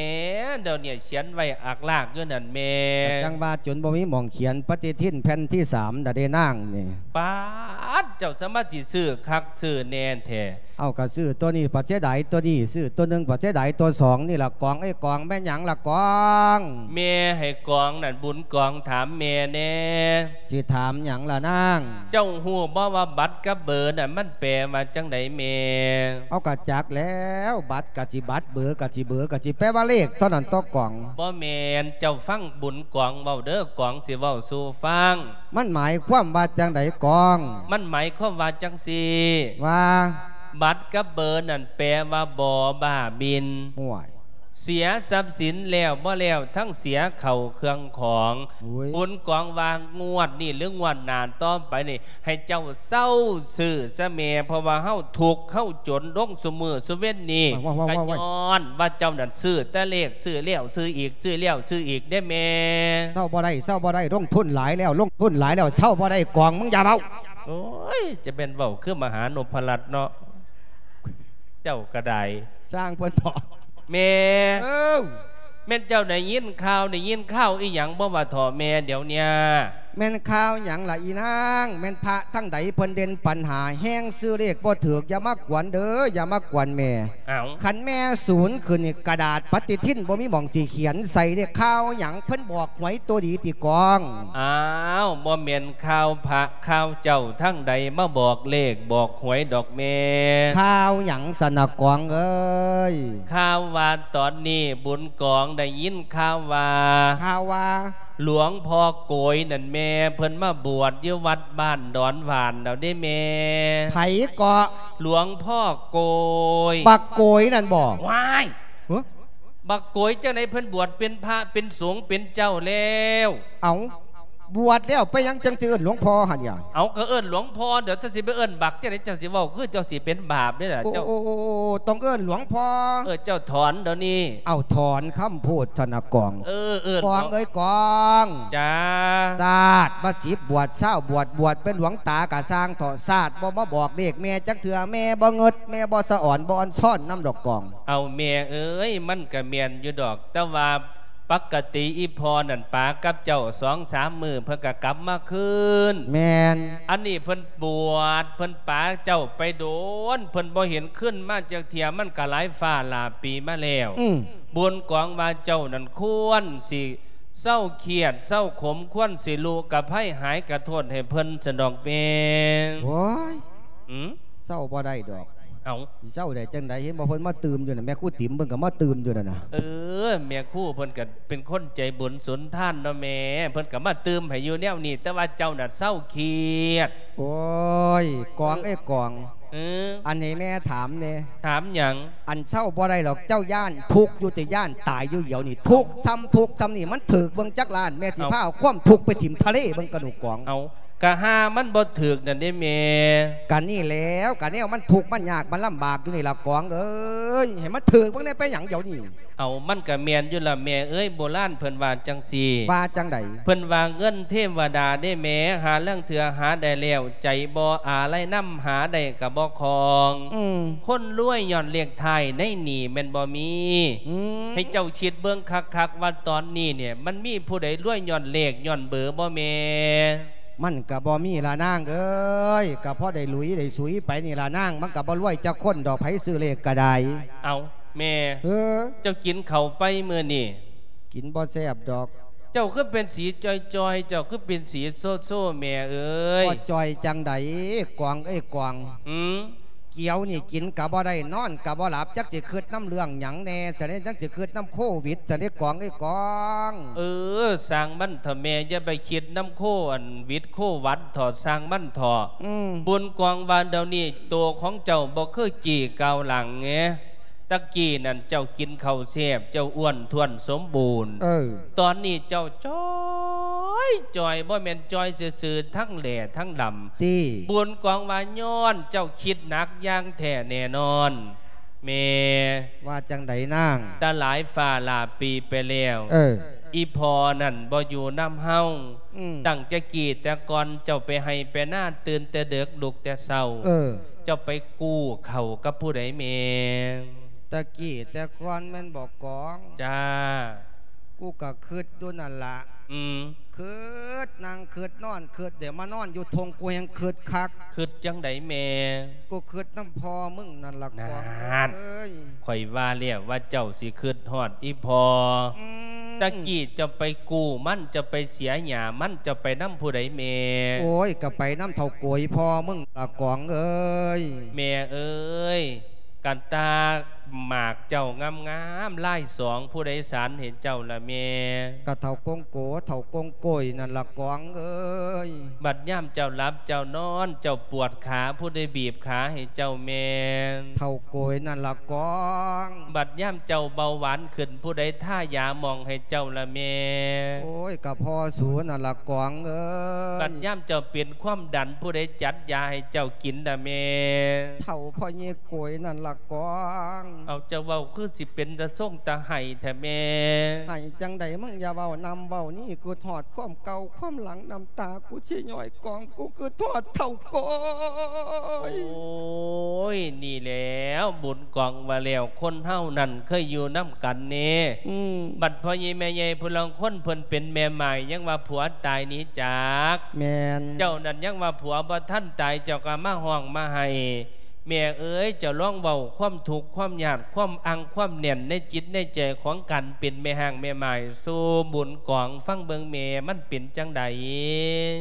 ດຽວນີ້ຂຽນໄວ້ອາກລາກຢູ່ນັ້ນແມ່. ກະຈັ່ງວ່າຈົນບໍ່ມີໝ່ອງຂຽນປະຕິທິນແຜ່ນທີສາມດາເດນາງນີ້. ປາດ ເຈົ້າສາມາດຊິຊື້ຄັກຊື້ແນ່ແທ້. ເອົາ ກະຊື້ໂຕນີ້ປະເສຍດາຍໂຕນີ້, ຊື້ໂຕໜຶ່ງປະເສຍດາຍໂຕສອງນີ້ລະກອງເອີຍ. ກອງ ແມ່ນຫຍັງລະກອງ? ແມ່ໃຫ້ກອງນັ້ນ ບຸນກອງຖາມແມ່ແນ່. ຊິຖາມຫຍັງລະນາງ? ເຈົ້າຮູ້ບໍ່ວ່າບັດກັບເບີນັ້ນມັນແປວ່າຈັ່ງໃດແມ່? ເອົາ ກະຈັກແລ້ວ, ບັດກະຊິບັດ ເບີກະຊິເບີ ກະຊິແປວ່າເລກເທົ່ານັ້ນຕົວະກອງ. ບໍ່ແມ່ນ, ເຈົ້າຟັງບຸນກອງເວົ້າເດີ, ກອງຊິເວົ້າສູ່ຟັງ. ມັນໝາຍຄວາມວ່າຈັ່ງໃດກອງ? ມັນໝາຍຄວາມວ່າຈັ່ງຊີ້ ວ່າ ບັດກັບເບີນັ້ນແປວ່າບໍ່ບ້າບິນ. ໂອ້ຍ ເສຍຊັບສິນແລ້ວບໍ່ແລ້ວ ທັງເສຍເຂົ້າເຄື່ອງຂອງ. ໂອ້ຍ ບຸນກອງວ່າງວດນີ້ ຫຼື ງວດໜ້າຕໍ່ໄປນີ້ ໃຫ້ເຈົ້າເຊົາຊື້ຊະແມ່, ເພາະວ່າເຮົາທຸກເຮົາຈົນລົງຊຸມື້ຊຸເວັນນີ້ ກະຍ້ອນວ່າເຈົ້ານັ້ນຊື້ແຕ່ເລກ, ຊື້ແລ້ວຊື້ອີກ, ຊື້ແລ້ວຊື້ອີກເດ້ແມ່. ເຊົາບໍ່ໄດ້ ເຊົາບໍ່ໄດ້, ລົງທຶນຫຼາຍແລ້ວ ລົງທຶນຫຼາຍແລ້ວ ເຊົາບໍ່ໄດ້. ກອງ ມຶງຢ່າເວົ້າ. ໂອ້ຍ ຈະແມ່ນເວົ້າຄືມະຫານົບພະລັດເນາະ. ເຈົ້າກໍໄດ້ ຊ່າງເພິ່ນເຖາະ ແມ່ ເອີ ແມ່ນເຈົ້າໄດ້ຍິນຂ່າວ ໄດ້ຍິນຂ່າວອີ່ຫຍັງບໍ່ວ່າເຖາະແມ່ດຽວເນີ້ຍ? ແມ່ນຂ່າວຫຍັງລະອີນາງ? ແມ່ນພະທາງໃດເພິ່ນເດັ່ນປັນຫາແຮງ ຊື້ເລກບໍ່ຖືກ ຢ່າມາກວນເດີ ຢ່າມາກວນແມ່. ອ້າວ ຄັນແມ່ສູນຂຶ້ນນີ້ ກະດາດປະຕິທິນບໍ່ມີໝ່ອງຊິຂຽນໃສ່ເດ້. ຂ່າວຫຍັງ ເພິ່ນບອກຫວຍໂຕດີຕິກອງ? ອ້າວ ບໍ່ແມ່ນຂ່າວພະຂ່າວເຈົ້າທາງໃດມາບອກເລກບອກຫວຍດອກແມ່. ຂ່າວຫຍັງຊັ້ນນະກອງເອີຍ? ຂ່າວວ່າຕອນນີ້ບຸນກອງໄດ້ຍິນຂ່າວວ່າ ຂ່າວວ່າ ຫຼວງພໍ່ໂກຍນັ້ນແມ່ ເພິ່ນມາບວດຢູ່ວັດບ້ານດອນຫວານແລ້ວເດ້ແມ່. ໃຜເກາະ? ຫຼວງພໍ່ໂກຍ. ບັກໂກຍນັ້ນບໍ? ວ້າຍ ຮະ? ບັກໂກຍຈັ່ງໃດ ເພິ່ນບວດເປັນພະເປັນສົງເປັນເຈົ້າແລ້ວ. ເອົ້າ ບວດແລ້ວໄປຫຍັງຈັ່ງຊິເອີ້ນຫຼວງພໍ່ຫັ້ນຫຍັງ? ເອົ້າ ກໍເອີ້ນຫຼວງພໍ່ ດຽວເຈົ້າຊິໄປເອີ້ນບັກຈັ່ງໃດ? ເຈົ້າຊິເວົ້າຄືເຈົ້າຊິເປັນບາບເດ້ລະ ໂອ້ ເຈົ້າ ໂອ້ ໂອ້ ໂອ້ ຕ້ອງເອີ້ນຫຼວງພໍ່. ເອີ ເຈົ້າຖອນດຽວນີ້. ເອົ້າ ຖອນຄຳພູດທະນະກອງ. ເອີ ເອີ້ນ ກອງເອີຍກອງ. ຈ້າ. ຊາດມາສິບບວດ ຊາວບວດ ບວດເປັນຫຼວງຕາກະຊ່າງເຖາະ ຊາດບໍ່ມາບອກເລກແມ່ຈັກເທື່ອ. ແມ່ບໍ່ເງິດ ແມ່ບໍ່ສະອອນ ບໍ່ອ່ອນຊ້ອນນຳດອກກອງ. ເອົາແມ່ເອີຍ ມັນກະແມ່ນຢູ່ດອກ ແຕ່ວ່າປົກກະຕິອີ່ພໍ່ນັ້ນປາກັບເຈົ້າສອງສາມມື້ ເພິ່ນກະກັບມາຄືນ. ແມ່ນ. ອັນນີ້ເພິ່ນບວດ ເພິ່ນປາເຈົ້າໄປດົນ ເພິ່ນບໍ່ເຫັນຄືນມາຈັກເທື່ອ ມັນກະຫຼາຍຟ້າຫຼາຍປີມາແລ້ວ. ອືມ. ບຸນກອງວ່າເຈົ້ານັ້ນຄວນຊິເຊົາຄຽດເຊົາຂົມ ຄວນຊິລຸກະໄພຫາຍກະໂທດໃຫ້ເພິ່ນຊັ້ນດອກແມ່. ໂອ້ຍ ຫື? ເຊົາບໍ່ໄດ້ດອກ. ເອົ້າ ຊິເຊົາໄດ້ຈັ່ງໃດ? ເຫັນບໍ່ ເພິ່ນມາຕື່ມຢູ່ນັ້ນ ແມ່ຄູຕິມເພິ່ນກໍມາຕື່ມຢູ່ນັ້ນນະ. ເອີ ແມ່ຄູເພິ່ນກໍເປັນຄົນໃຈບຸນສຸນທານເນາະແມ່ ເພິ່ນກໍມາຕື່ມໃຫ້ຢູ່ແນວນີ້ ແຕ່ວ່າເຈົ້ານະເຊົາຄຽດ. ໂອ້ຍ ກອງເອີຍກອງ. ເອີ ອັນນີ້ແມ່ຖາມແດ່. ຖາມຫຍັງ? ອັນເຊົາບໍ່ໄດ້ດອກ ເຈົ້າຢ້ານທຸກຢູ່ຕິ ຢ້ານຕາຍຢູ່ດຽວນີ້. ທຸກຊ່ຳທຸກຊ່ຳນີ້ ມັນຖືກເບິ່ງຈັກລ້ານ ແມ່ຊິພາເອົາຄວາມທຸກໄປຖິ້ມທະເລເບິ່ງກະດູກອງ. ເອົ້າ ກະຫາມັນບໍ່ຖືກນັ້ນເດ້ແມ່. ກະນີ້ແຫຼວ ກະແນວມັນທຸກມັນຍາກມັນລຳບາກຢູ່ນີ້ລະກອງເອີຍ ໃຫ້ມັນຖືກເບິ່ງແດ່ ໄປຫຍັງດຽວນີ້? ເອົາ ມັນກະແມ່ນຢູ່ລະແມ່ເອີຍ ໂບລານເພິ່ນວ່າຈັ່ງຊີ້. ວ່າຈັ່ງໃດ? ເພິ່ນວ່າເງິນເທວະດາເດ້ແມ່ ຫາລາງເທື່ອຫາໄດ້ແລ້ວ ໃຈບໍ່ອາໄລນຳ ຫາໄດ້ກະບໍ່ຄອງ. ອືມ. ຄົນລວຍຍ້ອນເລກທ້າຍໃນນີ້ແມ່ນບໍ່ມີ. ອືມ. ໃຫ້ເຈົ້າຄິດເບິ່ງຄັກໆວ່າຕອນນີ້ນີ້ ມັນມີຜູ້ໃດລວຍຍ້ອນເລກຍ້ອນເບີບໍ່ແມ່? ມັນກະບໍ່ມີລະນາງເອີຍ ກະພໍໄດ້ຫຼຸຍໄດ້ສຸຍໄປນີ້ລະນາງ ມັນກະບໍ່ລວຍຈັກຄົນດອກ ໃຜຊື້ເລກກະໄດ້. ເອົ້າ ແມ່ ເອີ ເຈົ້າກິນເຂົ້າໄປມື້ນີ້? ກິນບໍ່ແຊບດອກ. ເຈົ້າຄືເປັນສີຈ່ອຍໆ ເຈົ້າຄືເປັນສີໂຊໆ ແມ່ເອີຍ. ບໍ່ຈ່ອຍຈັ່ງໃດ ກວາງເອີຍກວາງ. ອືມ. ກຽວນີ້ກິນກະບໍ່ໄດ້ ນອນກະບໍ່ຫຼັບ ຈັກຊິຄິດນຳເລື່ອງຫຍັງແດ່ຊັ້ນເດ ຈັກຊິຄິດນຳໂຄວິດຊັ້ນເດ ກວາງເອີຍກວາງ. ເອີ ຊ່າງມັນເຖາະແມ່ ຢ່າໄປຄິດນຳໂຄ ອັນ ວິດໂຄວັດເຖາະ ຊ່າງມັນເຖາະ. ອືມ. ບຸນກວາງວ່າດຽວນີ້ໂຕຂອງເຈົ້າບໍ່ຄືກີ້ກ້າວຫຼັງເງ. ຕະກີ້ນັ້ນເຈົ້າກິນເຂົ້າແຊບ ເຈົ້າອ້ວນທ້ວນສົມບູນ. ເອີ. ຕອນນີ້ເຈົ້າຈ່ອຍຈ່ອຍ ບໍ່ແມ່ນຈ່ອຍຊື່ໆ ທັງແຫຼທັງດຳ. ຕິ. ບຸນກວາງວ່າຍ້ອນເຈົ້າຄິດໜັກຢ່າງແທ້ແນ່ນອນ. ແມ່. ວ່າຈັ່ງໃດນາງ? ຕາຫຼາຍຟ້າຫຼາຍປີໄປແລ້ວ. ເອີ. ອີ່ພໍ່ນັ້ນບໍ່ຢູ່ນຳເຮົາ. ອືມ. ຕັ້ງແຕ່ກີ້ແຕ່ກ່ອນເຈົ້າໄປໄຮ່ໄປນາ ຕື່ນແຕ່ເດິກລຸກແຕ່ເຊົ້າ. ເອີ. ເຈົ້າໄປກູ້ເຂົ້າກັບຜູ້ໃດແມ່? ແຕ່ກີ້ແຕ່ກ່ອນແມ່ນບໍ່ກອງ? ຈ້າ. ກູກໍຄິດຢູ່ນັ້ນລະ. ອືມ. ຄິດ ນັ່ງຄິດ ນອນຄິດ ດຽວມານອນຢູ່ທົ່ງ ກູແຮ່ງຄິດຄັກ. ຄິດຈັ່ງໃດແມ່? ກູຄິດນຳພໍ່ມຶງນັ້ນລະກອງ. ນັ້ນ. ເອີຍ. ຂ້ອຍວ່າແລ້ວວ່າເຈົ້າຊິຄິດຮອດອີ່ພໍ່. ອືມ. ຕະກີ້ເຈົ້າໄປກູ້ມັນ ເຈົ້າໄປເສຍຫຍ້າມັນ ເຈົ້າໄປນຳຜູ້ໃດແມ່? ໂອ້ຍ ກໍໄປນຳເຖົ້າໂກຍພໍ່ມຶງລະກອງເອີຍ. ແມ່ເອີຍ ກະຕາໝາກເຈົ້າງາມໆ ລາຍສອງ ຜູ້ໃດສານໃຫ້ເຈົ້າລະແມ່? ກະເຖົ້າກົງໂກ ເຖົ້າກົງໂກຍນັ້ນລະກອງເອີຍ. ບັດຍາມເຈົ້າຫຼັບເຈົ້ານອນ ເຈົ້າປວດຂາ ຜູ້ໃດບີບຂາໃຫ້ເຈົ້າແມ່? ເຖົ້າໂກຍນັ້ນລະກອງ. ບັດຍາມເຈົ້າເບົາຫວານຂຶ້ນ ຜູ້ໃດທາຢາໝອງໃຫ້ເຈົ້າລະແມ່? ໂອ້ຍ ກະພໍ່ສູນັ້ນລະກອງເອີຍ. ບັດຍາມເຈົ້າເປັນຄວາມດັນ ຜູ້ໃດຈັດຢາໃຫ້ເຈົ້າກິນລະແມ່? ເຖົ້າພໍ່ໃຫຍ່ໂກຍນັ້ນລະກອງ. ເອົາ ເຈົ້າເວົ້າຄືຊິເປັນຕາຊົງຕາໄຫ້ແທ້ແມ່. ໄຫ້ຈັ່ງໃດ ມຶງຢ່າເວົ້ານຳເວົ້ານີ້ ຄິດຮອດຄວາມເກົ່າຄວາມຫຼັງ ນ້ຳຕາກູຊິຍ້ອຍກອງ ກູຄິດຮອດເຖົ້າກອຍ. ໂອ້ຍ ນີ້ແຫຼ້ວ ບຸນກອງວ່າແລ້ວ ຄົນເຮົານັ້ນເຄີຍຢູ່ນຳກັນເນ. ອືມ ບັດພໍ່ໃຫຍ່ແມ່ໃຫຍ່ຜູ້ລາງຄົນເພິ່ນເປັນແມ່ໝ້າຍ ຍັງວ່າຜົວຕາຍໜີຈາກ. ແມ່ນ ເຈົ້ານັ້ນຍັງວ່າຜົວບໍ່ທັນຕາຍ ເຈົ້າກໍມາຮ້ອງມາໄຫ້. ແມ່ເອີຍ ເຈົ້າລອງເວົ້າຄວາມທຸກຄວາມຍາກ ຄວາມອັ່ງຄວາມແໜ້ນໃນຈິດໃນໃຈຂອງການເປັນແມ່ຮ້າງແມ່ໝ້າຍສູ່ບຸນກອງຟັງເບິ່ງແມ່ ມັນເປັນຈັ່ງໃດ?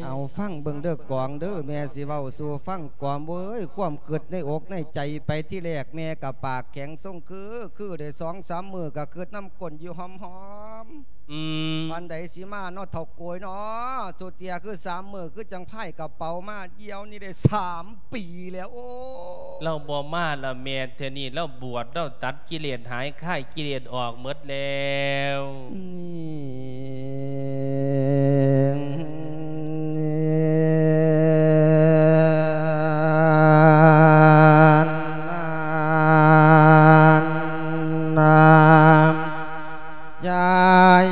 ເອົາ ຟັງເບິ່ງເດີກອງເດີ ແມ່ຊິເວົ້າສູ່ຟັງກອງເອີຍ. ຄວາມຄິດໃນອົກໃນໃຈໄປທີແລກ ແມ່ກໍປາກແຂງຊົງຄື ຄືໄດ້ສອງສາມມື້ກໍຄິດນຳກົ້ນຢູ່ຫອມໆ. ອືມ ປານໃດຊິມາເນາະເຖົ້າໂກຍເນາະ ສຸດເທຍຄືສາມມື້ ຄືຈັ່ງພາຍກະເປົາມາ ດຽວນີ້ໄດ້ສາມປີແລ້ວ. ໂອ້ ລາວບໍ່ມາລະແມ່ ເທື່ອນີ້ລາວບວດ ລາວຕັດກິເລດຫາຍ ຄາຍກິເລດອອກໝົດແລ້ວ. ນານ ນານ ນານ ຍາຍ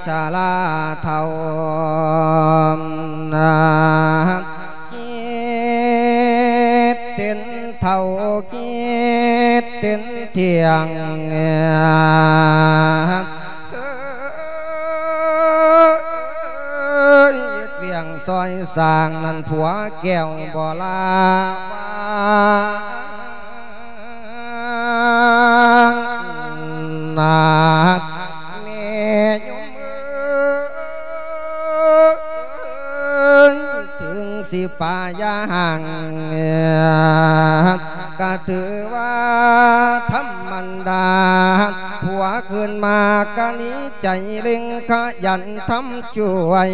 ຊະລາເຖົ້ານາ ຄິດເປັນເຖົ້າ ຄິດເປັນທ່ຽງ ເອີຍ ວຽງຊອຍສ້າງນັ້ນ ຜົວແກ້ວບໍ່ລາວ່າ ນາກແມ່ຍົມເອີຍ ເຖິງຊິປາຢ່າຫ່າງ ກະຖືວ່າທຳມະດາ ຜົວຄືນມາກະໜີໃຈເລັ່ງຂະຫຍັນທຳຊ່ວຍ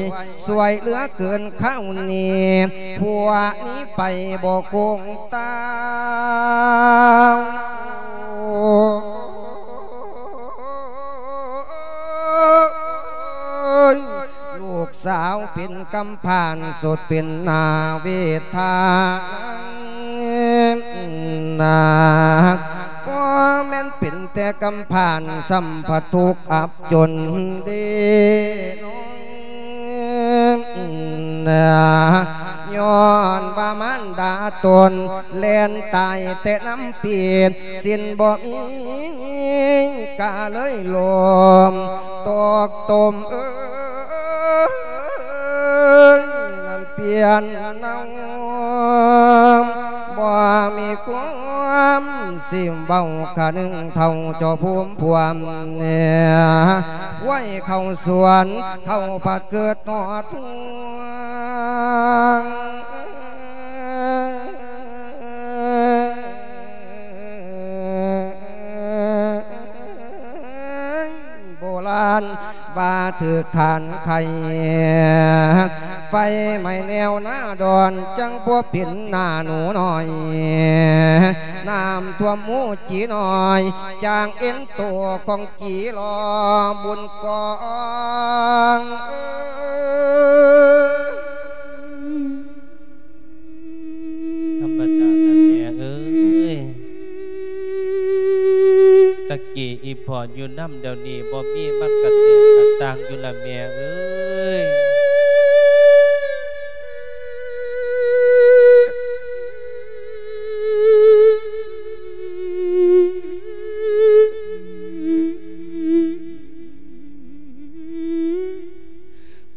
ຊ່ວຍເຫຼືອເກີນຄາວນີ້ ຜົວໜີໄປບໍ່ກົງຕາວ. ລູກສາວເປັນກຳພ້າ ສົດເປັນໜ້າເວທານາ ບໍ່ແມ່ນເປັນແຕ່ກຳພ້າ ສ່ຳພະທຸກອັບຈົນເດ ຍ້ອນວ່າມານດາຕົນແລ່ນຕາຍແຕ່ນ້ຳປີ ສິນບໍ່ມີກະເລີຍລົ້ມຕົກຕົມເອີຍ ນັ້ນປ່ຽນເນົາ ບໍ່ມີຄວາມຊິເວົ້າຄະໜຶ່ງເຖົ້າເຈົ້າພູມພວມ ໄວ້ເຂົ້າສວນ ເຖົ້າພັດເກີດຮອດ ໂບລານວ່າຖືກຖ່ານໄຂ່ ໄຟໄໝ້ແນວໜ້າດອນ ຈັ່ງບໍ່ເປັນໜ້າໜູນ້ອຍ ນ້ຳຖ້ວມໝູຈີນ້ອຍ ຈາງເອັນໂຕຂອງ ຈີລໍບຸນກອງເອີຍ ທຳມະດາລະແມ່ເອີຍ ຕະກີ້ອີ່ພໍ່ຢູ່ນຳ ດຽວນີ້ບໍ່ມີ ມັນກະແຕກກະຕ່າງຢູ່ລະແມ່ເອີຍ.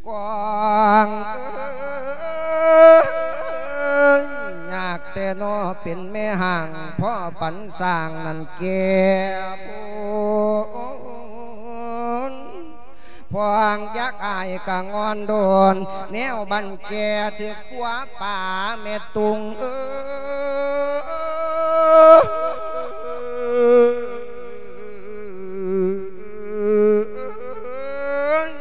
ກວາງເອີຍ ຍາກແຕ່ນໍເປັນແມ່ຮ້າງ ພໍປັນສ້າງນັ້ນແກ່ບຸນ ພວງຢາກອາຍກະງອນໂດນ ແນວບັນແກ່ຖືກກົວປາແມ່ຕຸງເອີຍ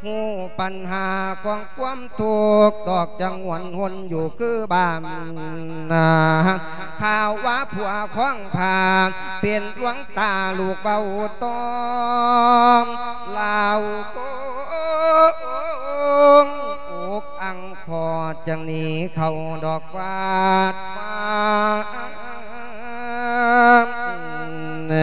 ຮູ້ປັນຫາຂອງຄວາມທຸກ ດອກຈັງຫວນຫົນຢູ່ຄືບ້ານນາ ຂ່າວວ່າຜົວຄອງພາ ເປັນຫຼວງຕາລູກເວົ້າຕ້ອມລາວໂກງ ອົກອັ່ງພໍຈັ່ງໜີເຂົ້າດອກວາດວານ.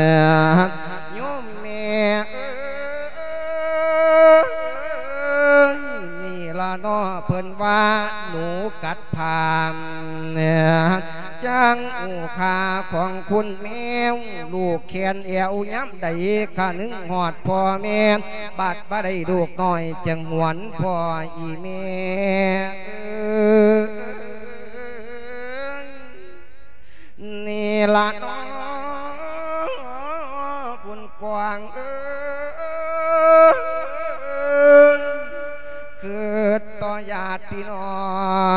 ຄະນຶງຮອດພໍ່ແມ່ ບັດບໍ່ໄດ້ລູກນ້ອຍ ຈຶ່ງຫວນພໍ່ອີແມ່ເອີຍ. ນີ້ລະເນາະບຸນກວ້າງເອີຍ ຄຶດຕໍ່ຍາດພີ່ນ້ອ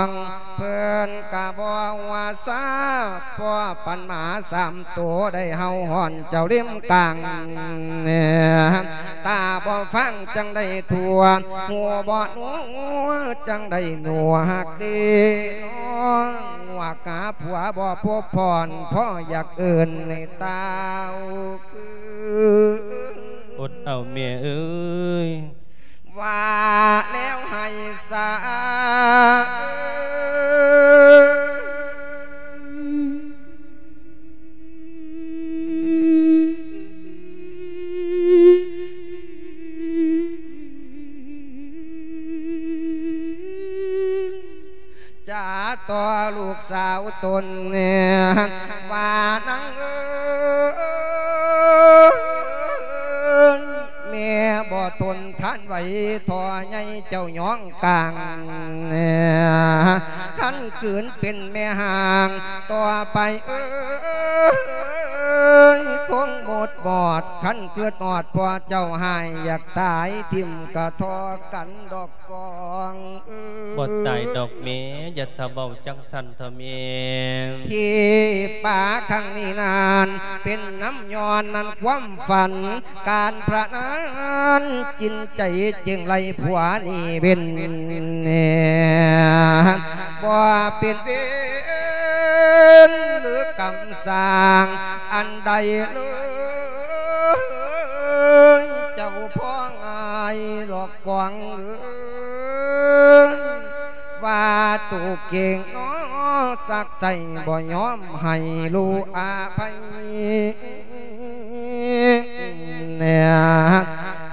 ງ ເພິ່ນກະບໍ່ວ່າຊາ ພໍປັນໝາສາມໂຕ ໄດ້ເຫົ່າຮ້ອນເຈົ້າເຫຼັ້ມກາງ ຕາບໍ່ຟັງຈັ່ງໄດ້ທົ່ວ ຫູບໍ່ໜູຈັ່ງໄດ້ໜູ ຮັກເດນ້ອງ ຫວກຫາຜົວບໍ່ພົບຜ່ອນ ພໍ່ຢາກເອີ້ນໃຫ້ຕ່າວຄື ອົດເອົາແມ່ເອີຍ ວ່າແລ້ວໃຫ້ສາ ຈາຕໍ່ລູກສາວຕົນ ວ່ານາງເອີຍ ແມ່ບໍ່ທົນທານໄຫວ ທໍ່ໃຫຍ່ເຈົ້າຍອງກາງ ຄັນຄືນເປັນແມ່ຮ້າງຕໍ່ໄປເອີຍ ຄົງໝົດບອດ ຄັນຄຶດຮອດພໍ່ເຈົ້າ ຫາຍຢາກຕາຍ ຖິ້ມກະທໍກັນດອກ ກວາງເອີຍ ບໍ່ຕາຍດອກແມ່ ຢ່າຖ້າເວົ້າຈັ່ງຊັ້ນເຖາະແມ່ ທີ່ປາຄັ້ງນີ້ນັ້ນ ເປັນນຳຍ້ອນນັ້ນຄວາມຝັນ ການພະນັນຈິນໃຈ ຈຶ່ງໄລ່ຜົວໜີເວັ້ນ ບໍ່ເປັນເວນ ຫຼືກຳສ້າງອັນໃດເລີຍ ເຈົ້າພໍ່ງາຍຫຼອກ ກວາງເອີຍ ວ່າໂຕເກັ່ງນ້ອ ສັກໃສ່ບໍ່ຍອມໃຫ້ລູກອະໄພ ແນ່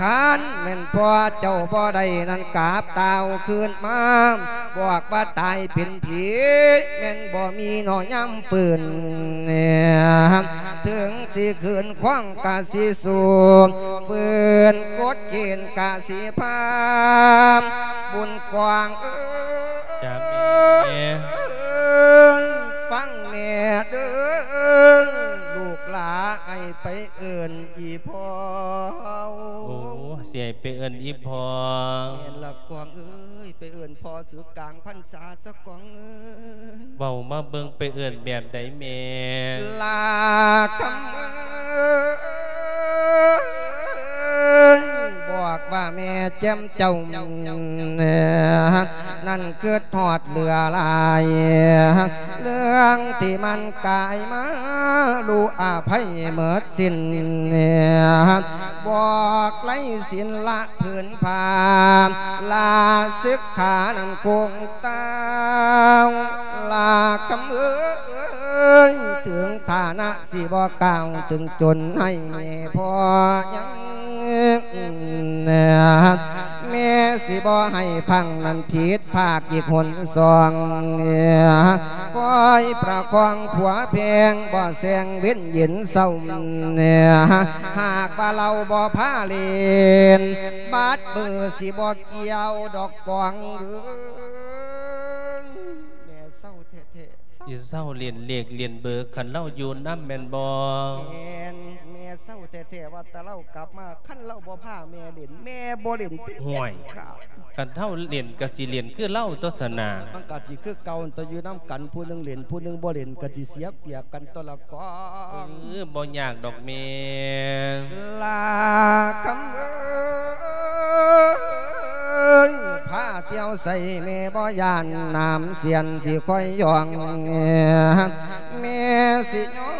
ຄັນແມ່ນພໍ່ເຈົ້າບໍ່ໄດ້ນັ້ນ ກາບຕ່າວຄືນມາ ບອກວ່າຕາຍເປັນຜີ ແມ່ນບໍ່ມີໜໍຍາມຟື້ນ ເຖິງຊິຄືນຄວາມກະຊິສູ້ ຟື້ນກົດເກນກະຊິພາ ບຸນກວ້າງເອີຍ ຈ້າແມ່ ຟັງແມ່ເດີ ລູກຫຼາໃຫ້ໄປເອີ້ນອີ່ພໍ່ ໂອ້ ຊິໃຫ້ໄປເອີ້ນອີ່ພໍ່ ແມ່ນລະກວາງເອີຍ ໄປເອີ້ນພໍ່ສູ່ກາງພັນສາຊະກວາງເອີຍ ເວົ້າມາເບິ່ງ ໄປເອີ້ນແບບໃດແມ່ ລາຄຳເອີຍ ບອກວ່າແມ່ແຈ່ມເຈົ້າ ນັ້ນຄຶດຮອດເຫຼືອຫຼາຍ ເລື່ອງທີ່ມັນກາຍມາ ລູກອະໄພໝົດສິ້ນ ບອກໄລສິນລະ ຜືນຜ້າລາສຶກຂານັ້ນຄົງຕາວ ລາຄຳເອີຍ ເຖິງຖານະຊິບໍ່ກ້າວ ເຖິງຈົນໃຫ້ພໍ່ຍັງ ແມ່ຊິບໍ່ໃຫ້ພັງນັ້ນຜິດພາກອີກຫົນສອງ ຄອຍປະຄອງຜົວແພງ ບໍ່ແຊງເວັນເຢັນເຊົ້າ ຫາກວ່າເຫຼົ້າບໍ່ພາຫຼິ້ນ ບາດເບີຊິບໍ່ກ່ຽວດອກກວາງເອີຍ ແມ່ເສົ້າແທ້ໆ ຊິເຊົາຫຼິ້ນເລກຫຼິ້ນເບີ ຄັນລາວຢູ່ນຳແມ່ນບໍ່? ແມ່ນ ແມ່ເສົ້າແທ້ໆ ວ່າແຕ່ລາວກັບມາ ຄັນລາວບໍ່ພາແມ່ຫຼິ້ນ ແມ່ບໍ່ຫຼິ້ນເປັນ ຫ້ວຍ ເດັດຂາດ ຄັນເຮົາຫຼິ້ນກະຊິຫຼິ້ນຄືລາວຕົວະຊັ້ນນາ ມັນກະຊິຄືເກົ່າ ແຕ່ຢູ່ນຳກັນ ຜູ້ໜຶ່ງຫຼິ້ນ ຜູ້ໜຶ່ງບໍ່ຫຼິ້ນ ກະຊິເສຍປຽບກັນຕົວະລະກວາງ ເອີ ບໍ່ຍາກດອກແມ່ ລາຄຳເອີຍ ພາທ່ຽວໃສແມ່ບໍ່ຢ້ານ ນ້ຳສຽນຊິຄອຍຢ່ອງ ແມ່ຊິຍໍ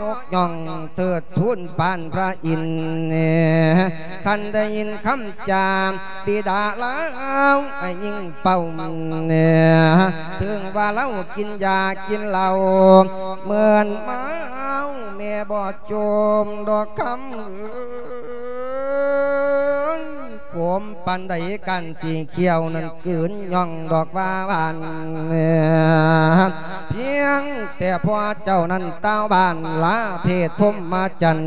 ຍົກຍ່ອງເທີດທູນປານພະອິນ ຄັນໄດ້ຍິນຄຳຈາບິດາລາວໃຫ້ຍິງເປົ່າ ເຖິງວ່າລາວກິນຢາກິນເຫຼົ້າເມີນເມົາ ແມ່ບໍ່ໂຈມດອກຄຳເອີຍ ຄົມປານໃດ ກ້ານສີຂຽວນັ້ນກືນຍ່ອງດອກວ່າຫວານ ພຽງແຕ່ພໍ່ເຈົ້ານັ້ນຕ່າວບ້ານລາເພດພົມມະຈັນ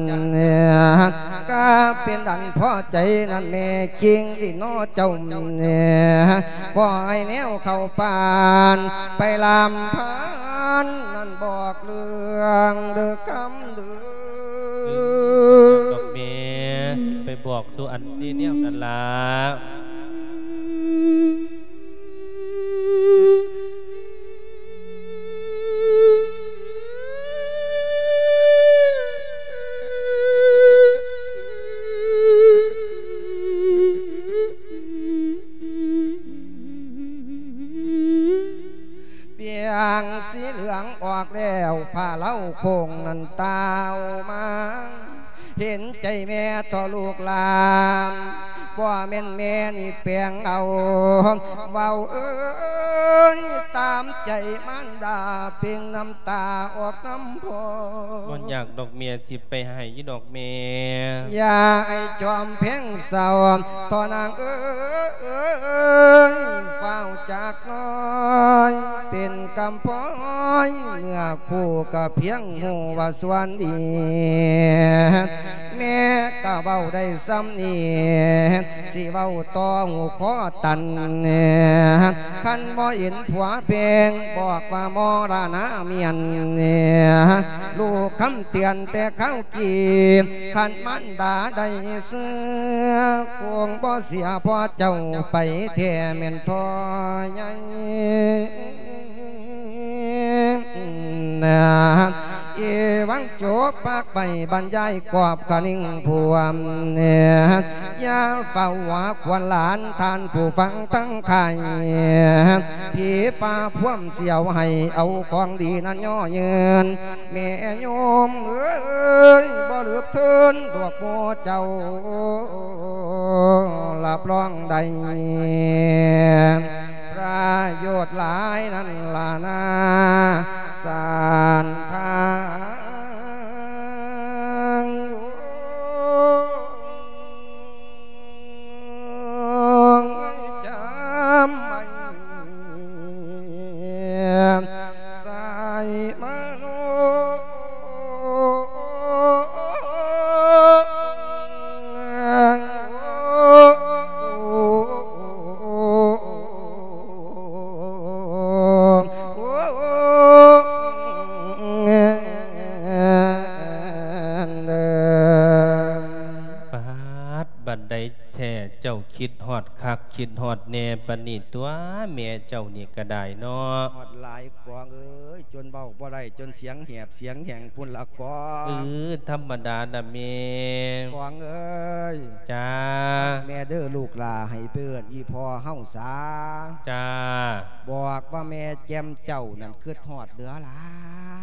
ກະເປັນອັນພໍໃຈນັ້ນແມ່ຄິງດີນໍເຈົ້າ ຂໍໃຫ້ແນວເຂົ້າປານ ໄປລຳພັນນັ້ນບອກເລື່ອງເດີຄຳເດີ. ເອີ ດອກແມ່ ໄປບອກສູ່ອັນຊີແນວນັ້ນລະ. ປຽງສີເຫຼືອງອອກແລ້ວ ຜ້າເລົາໂຄ້ງນັ້ນຕ່າວມາ ເຫັນໃຈແມ່ຕໍ່ລູກຫຼານ ບໍ່ແມ່ນແມ່ນີ້ແປງເອົາ ເວົ້າເອີຍ ຕາມໃຈມານດາ ເປັ່ງນ້ຳຕາອອກນຳພໍ່. ບໍ່ຍາກດອກແມ່ ຊິໄປໃຫ້ຢູ່ດອກແມ່. ຢ່າໃຫ້ຈອມແພງເສົ້າ ທໍ່ນາງເອີຍ ຟ້າວຈາກນ້ອຍ ເປັນກຳພ້ອຍ ເມື່ອຄູ່ກະພຽງຮູ້ວ່າສ່ວນດີ ແມ່ກະເວົ້າໄດ້ສ່ຳນີ້ ຊິເວົ້າຕໍ່ຫູຄໍຕັນ ຄັນບໍ່ເຫັນຜົວແພງ ບອກວ່າມໍລະນະມຽນ ລູກຄຳເຕືອນແຕ່ຄາວກີ້ ຄັນມານດາໄດ້ເຊື່ອ ຄົງບໍ່ເສຍພໍ່ເຈົ້າໄປແທ້ແມ່ນທໍ່ໃຫຍ່. ອີຫວັງຈົບປາກໄປ ບັນຍາຍກອບຄະນິງພວມ ຢ່າຟ້າວວ່າຄວນຫຼານ ທ່ານຜູ້ຟັງທັງຫຼາຍ ຜີປ່າພວມສຽວໃຫ້ເອົາຂອງດີນັ້ນຍໍຍືນ ແມ່ໂຍມເອີຍ ບໍ່ລືບເທີນດອກໂມເຈົ້າ ຮັບຮອງໄດ້ປະໂຫຍດຫຼາຍນັ້ນລະນາ ສານທາງ ຈຳໄວ້ ໃສ່ມະໂນ ປາດ ບັດໃດ ແທ້ ເຈົ້າຄິດຮອດຄັກຄິດຮອດແນ່ປານນີ້ຕົວະ ແມ່ເຈົ້ານີ້ກະໄດ້ເນາະ. ຮອດຫຼາຍກອງເອີຍ ຈົນເວົ້າບໍ່ໄດ້ ຈົນສຽງແຫບສຽງແຫ້ງພຸ້ນລະກອງ. ເອີ ທຳມະດາລະແມ່. ກອງເອີຍ. ຈ້າ. ແມ່ເດີລູກຫຼ້າ ໃຫ້ໄປເອີ້ນອີ່ພໍ່ເຮົາສາ. ຈ້າ. ບອກວ່າແມ່ແຈ່ມເຈົ້ານັ້ນຄຶດຮອດເຫຼືອຫຼາ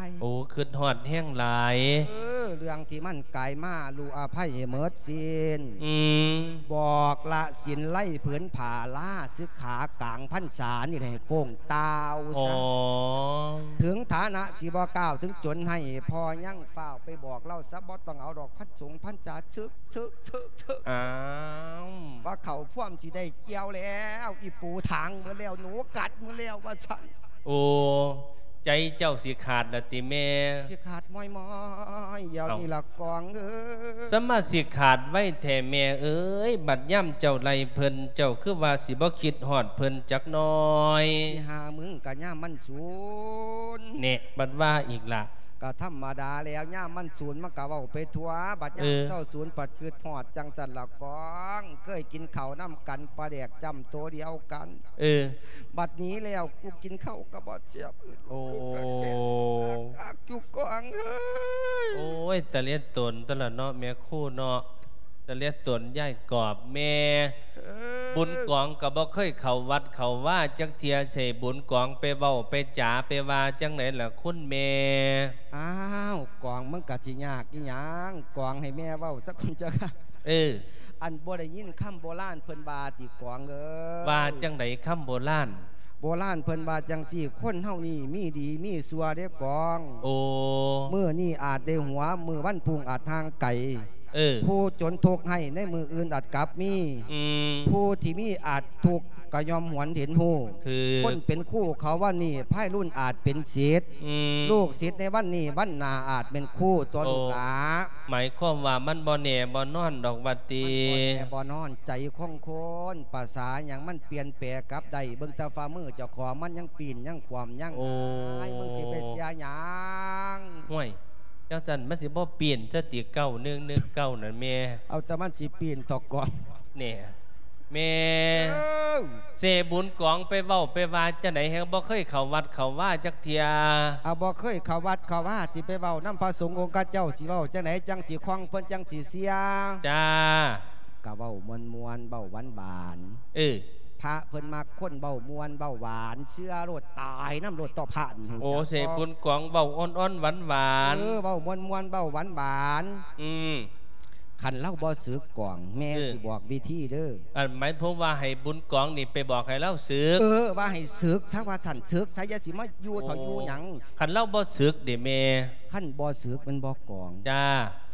ຍ. ໂອ້ ຄຶດຮອດແຮງຫຼາຍ. ເອີ ເລື່ອງທີ່ມັນກາຍມາ ລູກອະໄພໃຫ້ໝົດສິ້ນ. ອືມ. ບອກລະສິນໄລຜືນຜ້າລາສຶກຂາກາງພັນສານີ້ໃຫ້ໂຄ້ງຕ່າວຊະ. ອໍ. ເຖິງຖານະຊິບໍ່ກ້າວເຖິງຈົນໃຫ້ ພໍ່ຍັງຟ້າວໄປບອກລາວຊະ ບໍ່ຕ້ອງເອົາດອກພັນສົງພັນສາ ເຖິກ ເຖິກ ເຖິກ ເຖິກ. ອ້າວ. ວ່າເຂົ້າພວມຊິໄດ້ກ່ຽວແລ້ວ ອີ່ປູຖາງໝົດແລ້ວ ໜູກັດໝົດແລ້ວ ວ່າຊັ້ນ. ໂອ້ ໃຈເຈົ້າຊິຂາດລະຕິແມ່? ຊິຂາດມ້ອຍໆ ດຽວນີ້ລະກອງເອີຍ. ສະມາຊິຂາດໄວແທ້ແມ່ເອີຍ ບັດຍາມເຈົ້າໄລ່ເພິ່ນ ເຈົ້າຄືວ່າຊິບໍ່ຄິດຮອດເພິ່ນຈັກໜ້ອຍ? ອີ່ຫ່າມຶງກະຍາມມັນສູນ. ແນ່ ບັດວ່າອີກລະ. ກະທຳມະດາແລ້ວ ຍາມມັນສູນມັນກະເວົ້າໄປທົ່ວ ບັດຍາມ ເອີ ເຈົ້າສູນ ບັດຄຶດຮອດຈັ່ງຊັ້ນລະກອງ. ເຄີຍກິນເຂົ້ານຳກັນ ປາແດກຈ້ຳໂຕດຽວກັນ. ເອີ ບັດນີ້ແລ້ວ ກູກິນເຂົ້າກະບໍ່ແຊບ. ໂອ້ ອັກຢູ່ກອງເອີຍ. ໂອ້ຍ ຕາເລດຕົນຕະລະເນາະ ແມ່ຄູເນາະ ຕາເລດຕົນຍາຍກອບແມ່. ເອີ ບຸນກອງກະບໍ່ເຄີຍເຂົ້າວັດເຂົ້າວາຈັກເທື່ອ ໃສ່ບຸນກອງໄປເວົ້າໄປຈາໄປວ່າຈັ່ງໃດລະຄຸນແມ່? ອ້າວ ກອງ ມັນກະຊິຍາກອີ່ຫຍັງ ກອງ ໃຫ້ແມ່ເວົ້າສາກ່ອນເຈົ້າ. ເອີ ອັນບໍ່ໄດ້ຍິນຄຳໂບລານເພິ່ນວ່າຕິກອງເອີຍ? ວ່າຈັ່ງໃດຄຳໂບລານ? ໂບລານເພິ່ນວ່າຈັ່ງຊີ້ ຄົນເຮົານີ້ມີດີມີຊົ່ວເດ້ກອງ. ໂອ້ ມື້ນີ້ອາດໄດ້ຫົວ ມື້ວັນພຸ່ງອາດຫ່າງໄກ. ເອີ ຜູ້ຈົນທຸກໃຫ້ໃນມື້ອື່ນອາດກັບມີ ອືມ ຜູ້ທີ່ມີອາດທຸກກໍຍ່ອມຫວນເຫັນຮູ້ ຄື ຄົນເປັນຄູເຂົາວັນນີ້ພາຍລຸນອາດເປັນສິດ ອືມ ລູກສິດໃນວັນນີ້ວັນໜ້າອາດແມ່ນຄູຕົວະ ໂອ້ ລູກຫຼາ. ໝາຍຄວາມວ່າມັນບໍ່ແນ່ບໍ່ນອນດອກວ່າຕິ ມັນບໍ່ແນ່ບໍ່ນອນ ໃຈຂອງຄົນ ປະສາຫຍັງມັນປ່ຽນແປກັບໄດ້ ເບິ່ງແຕ່ຝ່າມືເຈົ້າຂອງ ມັນຍັງປີ້ນຍັງຂວ້ຳຍັງ ໂອ້ ຫາຍ ມຶງຊິໄປເສຍຫຍັງ? ຫ້ວຍ ຈັ່ງຊັ້ນມັນຊິບໍ່ປີ້ນຊະຕິ ເກົ້າໜຶ່ງໜຶ່ງເກົ້າ ນັ້ນແມ່ ເອົາແຕ່ມັນຊິປີ້ນເທາະກອງ ແນ່ ແມ່ ເອີ ເສບຸນກອງໄປເວົ້າໄປວ່າຈັ່ງໃດ ແຮ່ງບໍ່ເຄີຍເຂົ້າວັດເຂົ້າວາຈັກເທື່ອ? ເອົາ ບໍ່ເຄີຍເຂົ້າວັດເຂົ້າວາ ຊິໄປເວົ້ານຳພະສົງອົງຄະເຈົ້າ ຊິເວົ້າຈັ່ງໃດ ຈັ່ງຊິຄ່ອງ ເພິ່ນຈັ່ງຊິເຊື່ອ? ຈ້າ ກະເວົ້າມ່ວນໆ ເວົ້າຫວານໆ ເອີ ພະເພິ່ນມັກຄົນເວົ້າມ່ວນເວົ້າຫວານ ເຊື່ອໂລດ ຕາຍນຳໂລດຕໍ່ພະນີ້ ໂອ້ ຮູ້ຈັກ ເສບຸນກອງເວົ້າອ່ອນໆ ຫວານໆ ເອີ ເວົ້າມ່ວນໆ ເວົ້າຫວານໆ ອືມ ຄັນລາວບໍ່ສຶກກອງ ແມ່ ເອີ ຊິບອກວິທີເດີ ອັນໝາຍຄວາມວ່າໃຫ້ບຸນກອງນີ້ໄປບອກໃຫ້ລາວສຶກ ເອີ ວ່າໃຫ້ສຶກຊະວ່າຊັ້ນ ສຶກຊະ ຢ່າຊິມາຢູ່ເຖາະ ໂອ້ ຢູ່ຫຍັງ ຄັນລາວບໍ່ສຶກເດແມ່? ຄັນບໍ່ສຶກແມ່ນບໍ່ກອງ? ຈ້າ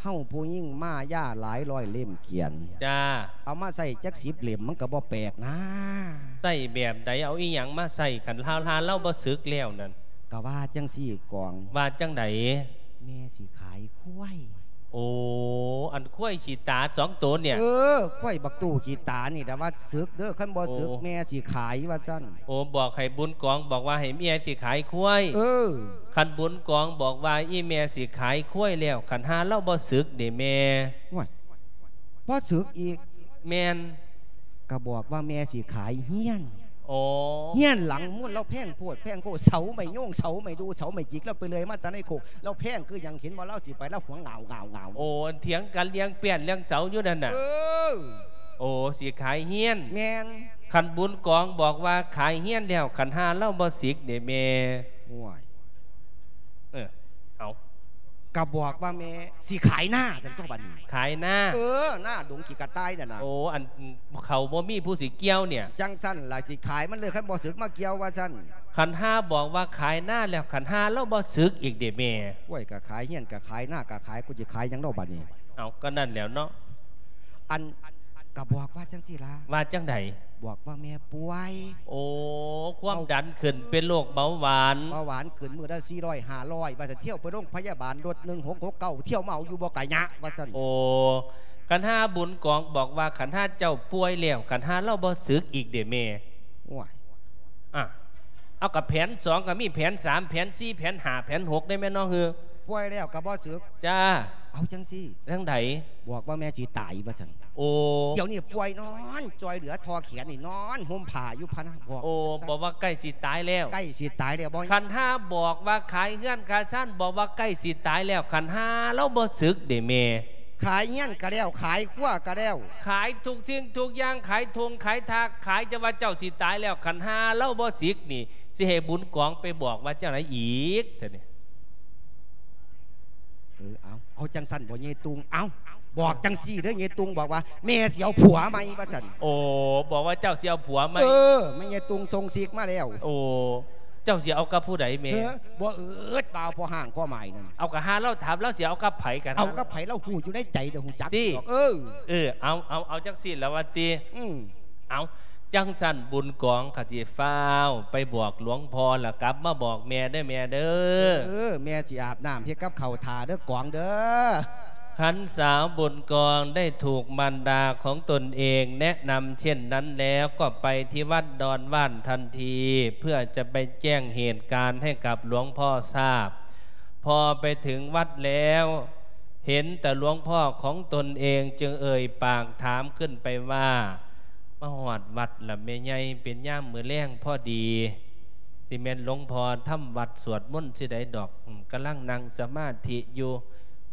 ເຮົາຜູ້ຍິງມາຢາຫຼາຍຮ້ອຍເຫຼັ້ມກຽນ ຈ້າ ເອົາມາໃຊ້ຈັກສິບເຫຼັ້ມມັນກໍບໍ່ແປກນາ ໃຊ້ແບບໃດ ເອົາອີ່ຫຍັງມາໃຊ້ ຄັນລາວ ລາວບໍ່ສຶກແລ້ວນັ້ນ? ກະວ່າຈັ່ງຊີ້ກອງ ວ່າຈັ່ງໃດ? ແມ່ຊິຂາຍຄວາຍ ໂອ້ ອັນຄວາຍຂີ້ຕາສອງໂຕນີ້ ເອີ ຄວາຍບັກຕູ້ຂີ້ຕານີ້ລະວ່າສຶກເດີ ຄັນບໍ່ສຶກ ໂອ້ ແມ່ຊິຂາຍວ່າຊັ້ນ ໂອ້ ບອກໃຫ້ບຸນກອງ ບອກວ່າໃຫ້ແມ່ຊິຂາຍຄວາຍ ເອີ ຄັນບຸນກອງບອກວ່າອີ່ແມ່ຊິຂາຍຄວາຍແລ້ວ ຄັນຫາລາວບໍ່ສຶກເດແມ່? ໂອ້ຍ ບໍ່ສຶກອີກ ແມ່ນ ກະບອກວ່າແມ່ຊິຂາຍເຮືອນ ໂອ້ ເຮືອນຫຼັງມູນລາວແພງໂພດແພງໂພ ເສົາໄມ້ໂຍງ ເສົາໄມ້ດູ່ ເສົາໄມ້ຈິກ ລາວໄປເລື່ອຍມາແຕ່ໃນໂຄກ ລາວແພງຄືຫຍັງ ເຫັນບໍ່ລາວຊິໄປ ລາວຫວງງາວໆ ໂອ້ ເຖີຍງກັນເລື່ອງແປ້ນເລື່ອງເສົາຢູ່ນັ້ນນະ ເອີ ໂອ້ ຊິຂາຍເຮືອນ ແມ່ນ ຄັນບຸນກອງບອກວ່າຂາຍເຮືອນແລ້ວ ຄັນຫາລາວບໍ່ສິກເດແມ່? ໂອ້ຍ ເອີ ເອົາ ກະບອກວ່າແມ່ຊິຂາຍນາຊັ້ນຕົວະບັດນີ້ ຂາຍນາ ເອີ ນາດົງຂີ້ກະຕ່າຍນັ້ນນະ ໂອ້ ອັນເຂົ້າບໍ່ມີຜູ້ຊິກ່ຽວເນຍ ຈັ່ງຊັ້ນລະຊິຂາຍມັນເລີຍ ຄັນບໍ່ສຶກມາກ່ຽວວ່າຊັ້ນ ຄັນຫາບອກວ່າຂາຍນາແລ້ວ ຄັນຫາລາວບໍ່ສຶກອີກເດແມ່? ໂອ້ຍ ກະຂາຍເຮືອນກະຂາຍນາກະຂາຍ ກູຊິຂາຍຫຍັງເນາະບັດນີ້? ເອົາ ກະນັ້ນແລ້ວເນາະ ອັນ ກະບອກວ່າຈັ່ງຊີ້ລະ ວ່າຈັ່ງໃດ? ບອກວ່າແມ່ປ່ວຍ ໂອ້ ຄວາມດັນຂຶ້ນ ເປັນໂລກເບົາຫວານ ເບົາຫວານຂຶ້ນມື້ລະສີ່ຮ້ອຍຫ້າຮ້ອຍ ວ່າຊັ້ນ ທ່ຽວໄປໂຮງພະຍາບານ ລົດໜຶ່ງຫົກຫົກເກົ້າ ທ່ຽວມາເອົາຢູ່ບໍ່ກະຍະວ່າຊັ້ນ ໂອ້ ຄັນຫາບຸນກອງບອກວ່າ ຄັນຫາເຈົ້າປ່ວຍແລ້ວ ຄັນຫາລາວບໍ່ສຶກອີກເດແມ່? ໂອ້ຍ ອະ ເອົາ ກະແຜນສອງກະມີ ແຜນສາມ ແຜນສີ່ ແຜນຫ້າ ແຜນຫົກ ໄດ້ແມ່ນເນາະ ເຮີ ປ່ວຍແລ້ວກະບໍ່ສຶກ ຈ້າ ເອົາຈັ່ງຊີ້ ຈັ່ງໃດ? ບອກວ່າແມ່ຊິຕາຍວ່າຊັ້ນ ໂອ້ ດຽວນີ້ປ່ວຍນອນຈ່ອຍເຫຼືອທໍ່ແຂນນີ້ ນອນຫົ່ມຜ້າຢູ່ພະນາ ບອກ ໂອ້ ບອກວ່າໃກ້ຊິຕາຍແລ້ວ ໃກ້ຊິຕາຍແລ້ວບໍ່? ຄັນຫາບອກວ່າຂາຍເຮືອນຂາຍຊານ ບອກວ່າໃກ້ຊິຕາຍແລ້ວ ຄັນຫາລາວບໍ່ສຶກເດແມ່? ຂາຍເຮືອນກະແລ້ວ ຂາຍຄົວກະແລ້ວ ຂາຍທຸກສິ່ງທຸກຢ່າງ ຂາຍທົ່ງຂາຍທາກ ຂາຍຈະວ່າເຈົ້າຊິຕາຍແລ້ວ ຄັນຫາລາວບໍ່ສິກນີ້ ຊິໃຫ້ບຸນກອງໄປບອກວ່າຈັ່ງໃດອີກເທື່ອນີ້? ເອີ ເອົາ ເອົາຈັ່ງຊັ້ນບໍ່ເຍຕຸງ? ເອົາ ບອກຈັ່ງຊີ້ເດີ ເຍຕຸງບອກວ່າ ແມ່ຊິເອົາຜົວໃໝ່ວ່າຊັ້ນ ໂອ້ ບອກວ່າເຈົ້າຊິເອົາຜົວໃໝ່ ເອີ ແມ່ເຍຕຸງສົ່ງຊິກມາແລ້ວ ໂອ້ ເຈົ້າຊິເອົາກັບຜູ້ໃດແມ່? ເອີ ບໍ່ເອີດ ບ່າວພໍ່ຮ້າງພໍ່ໝ້າຍນັ້ນ ເອົາ ກະຫາລາວຖາມ ລາວຊິເອົາກັບໃຜ ກະ ເອົາກັບໃຜລາວຮູ້ຢູ່ໃນໃຈ ດຽວຮູ້ຈັກ ຕິ ດອກ ເອີ ເອີ ເອົາ ເອົາ ເອົາຈັ່ງຊີ້ລະວ່າຕິ ອືມ ເອົາ ຈັ່ງຊັ້ນບຸນກອງກະຊິຟ້າວໄປບອກຫຼວງພໍ່ ລະກັບມາບອກແມ່ເດີແມ່ເດີ ເອີ ແມ່ຊິອາບນ້ຳເຮັດກັບເຂົ້າຖ້າເດີກອງເດີ. ຄັນສາວບຸນກອງໄດ້ຖືກມານດາຂອງຕົນເອງແນະນຳເຊັ່ນນັ້ນແລ້ວ ກໍໄປທີ່ວັດດອນຫວ້ານທັນທີ ເພື່ອຈະໄປແຈ້ງເຫດການໃຫ້ກັບຫຼວງພໍ່ຊາບ. ພໍໄປເຖິງວັດແລ້ວ ເຫັນແຕ່ຫຼວງພໍ່ຂອງຕົນເອງ ຈຶ່ງເອີ່ຍປາກຖາມຂຶ້ນໄປວ່າ ມາຮອດວັດລະແມ່ໃຫຍ່ ເປັນຍາມມື້ແລງພໍດີ ຊິແມ່ນຫຼວງພໍ່ທຳວັດສວດມົນຊິໃດດອກ ກຳລັງນັ່ງສະມາທິຢູ່.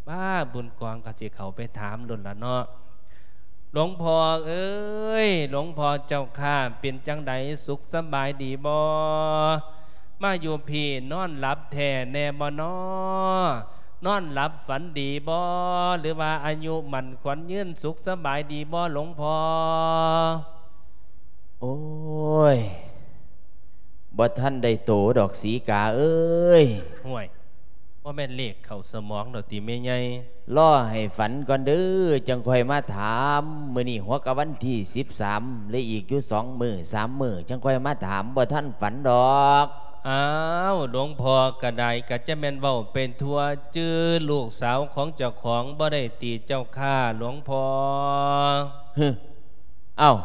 ປ້າ ບຸນກອງກໍຊິເຂົ້າໄປຖາມໂລດລະເນາະ. ຫຼວງພໍ່ເອີຍ ຫຼວງພໍ່ເຈົ້າຂ້າ ເປັນຈັ່ງໃດ ສຸກສະບາຍດີບໍ່? ມາຢູ່ພີ້ນອນຫຼັບແທ້ແນ່ບໍ່ນໍ? ນອນຫຼັບຝັນດີບໍ່? ຫຼືວ່າອາຍຸໝັ້ນຂວັນຍືນ ສຸກສະບາຍດີບໍ່ ຫຼວງພໍ່? ໂອ້ຍ ບໍ່ທັນໄດ້ໂຕດອກສີກາເອີຍ. ຫ້ວຍ ບໍ່ແມ່ນເລກເຂົ້າສະໝອງດອກຕິແມ່ໃຫຍ່? ລໍໃຫ້ຝັນກ່ອນເດີ ຈັ່ງຄ່ອຍມາຖາມ. ມື້ນີ້ຫົວກະວັນທີສິບສາມ ເຫຼືອອີກຢູ່ສອງມື້ສາມມື້ ຈັ່ງຄ່ອຍມາຖາມ ບໍ່ທັນຝັນດອກ. ອ້າວ ຫຼວງພໍ່ກະໄດ້ ກະຈະແມ່ນເວົ້າໄປທົ່ວ ຈື່ລູກສາວຂອງເຈົ້າຂອງບໍ່ໄດ້ຕິເຈົ້າຂ້າ ຫຼວງພໍ່? ຮຶ ເອົ້າ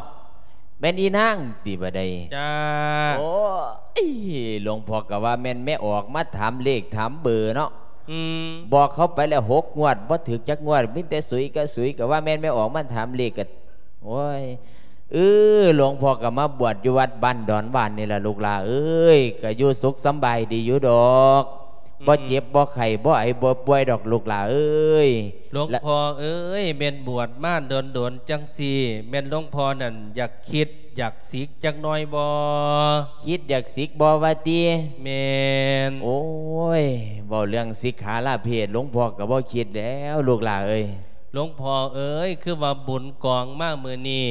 ແມ່ນອີນາງຕິບາດໃດ? ຈ້າ. ໂອ້ຍ ຫຼວງພໍ່ກະວ່າແມ່ນແມ່ອອກມາຖາມເລກຖາມເບີເນາະ. ອືມ ບອກເຂົາໄປແລ້ວຫົກງວດ ບໍ່ຖືກຈັກງວດ ມີແຕ່ສຸຍກະສຸຍ ກະວ່າແມ່ນແມ່ອອກມາຖາມເລກກະ ໂອ້ຍ ເອີ ຫຼວງພໍ່ກະມາບວດຢູ່ວັດບ້ານດອນຫວານນີ້ລະລູກຫຼ້າເອີຍ ກະຢູ່ສຸກສຳບາຍດີຢູ່ດອກ. ອືມ ບໍ່ເຈັບບໍ່ໄຂ້ ບໍ່ໄອບໍ່ປ່ວຍດອກລູກຫຼ້າເອີຍ. ຫຼວງພໍ່ເອີຍ ແມ່ນບວດມາດົນໆ ຈັ່ງຊີ້ ແມ່ນຫຼວງພໍ່ນັ້ນຢາກຄິດ ຢາກສິກຈັກໜ້ອຍບໍ່? ຄິດຢາກສິກບໍ່ວ່າຕິ? ແມ່ນ. ໂອ້ຍ ເວົ້າເລື່ອງສິກຂາລາເພດ ຫຼວງພໍ່ກະບໍ່ຄິດແລ້ວລູກຫຼ້າເອີຍ. ຫຼວງພໍ່ເອີຍ ຄືວ່າບຸນກອງມາມື້ນີ້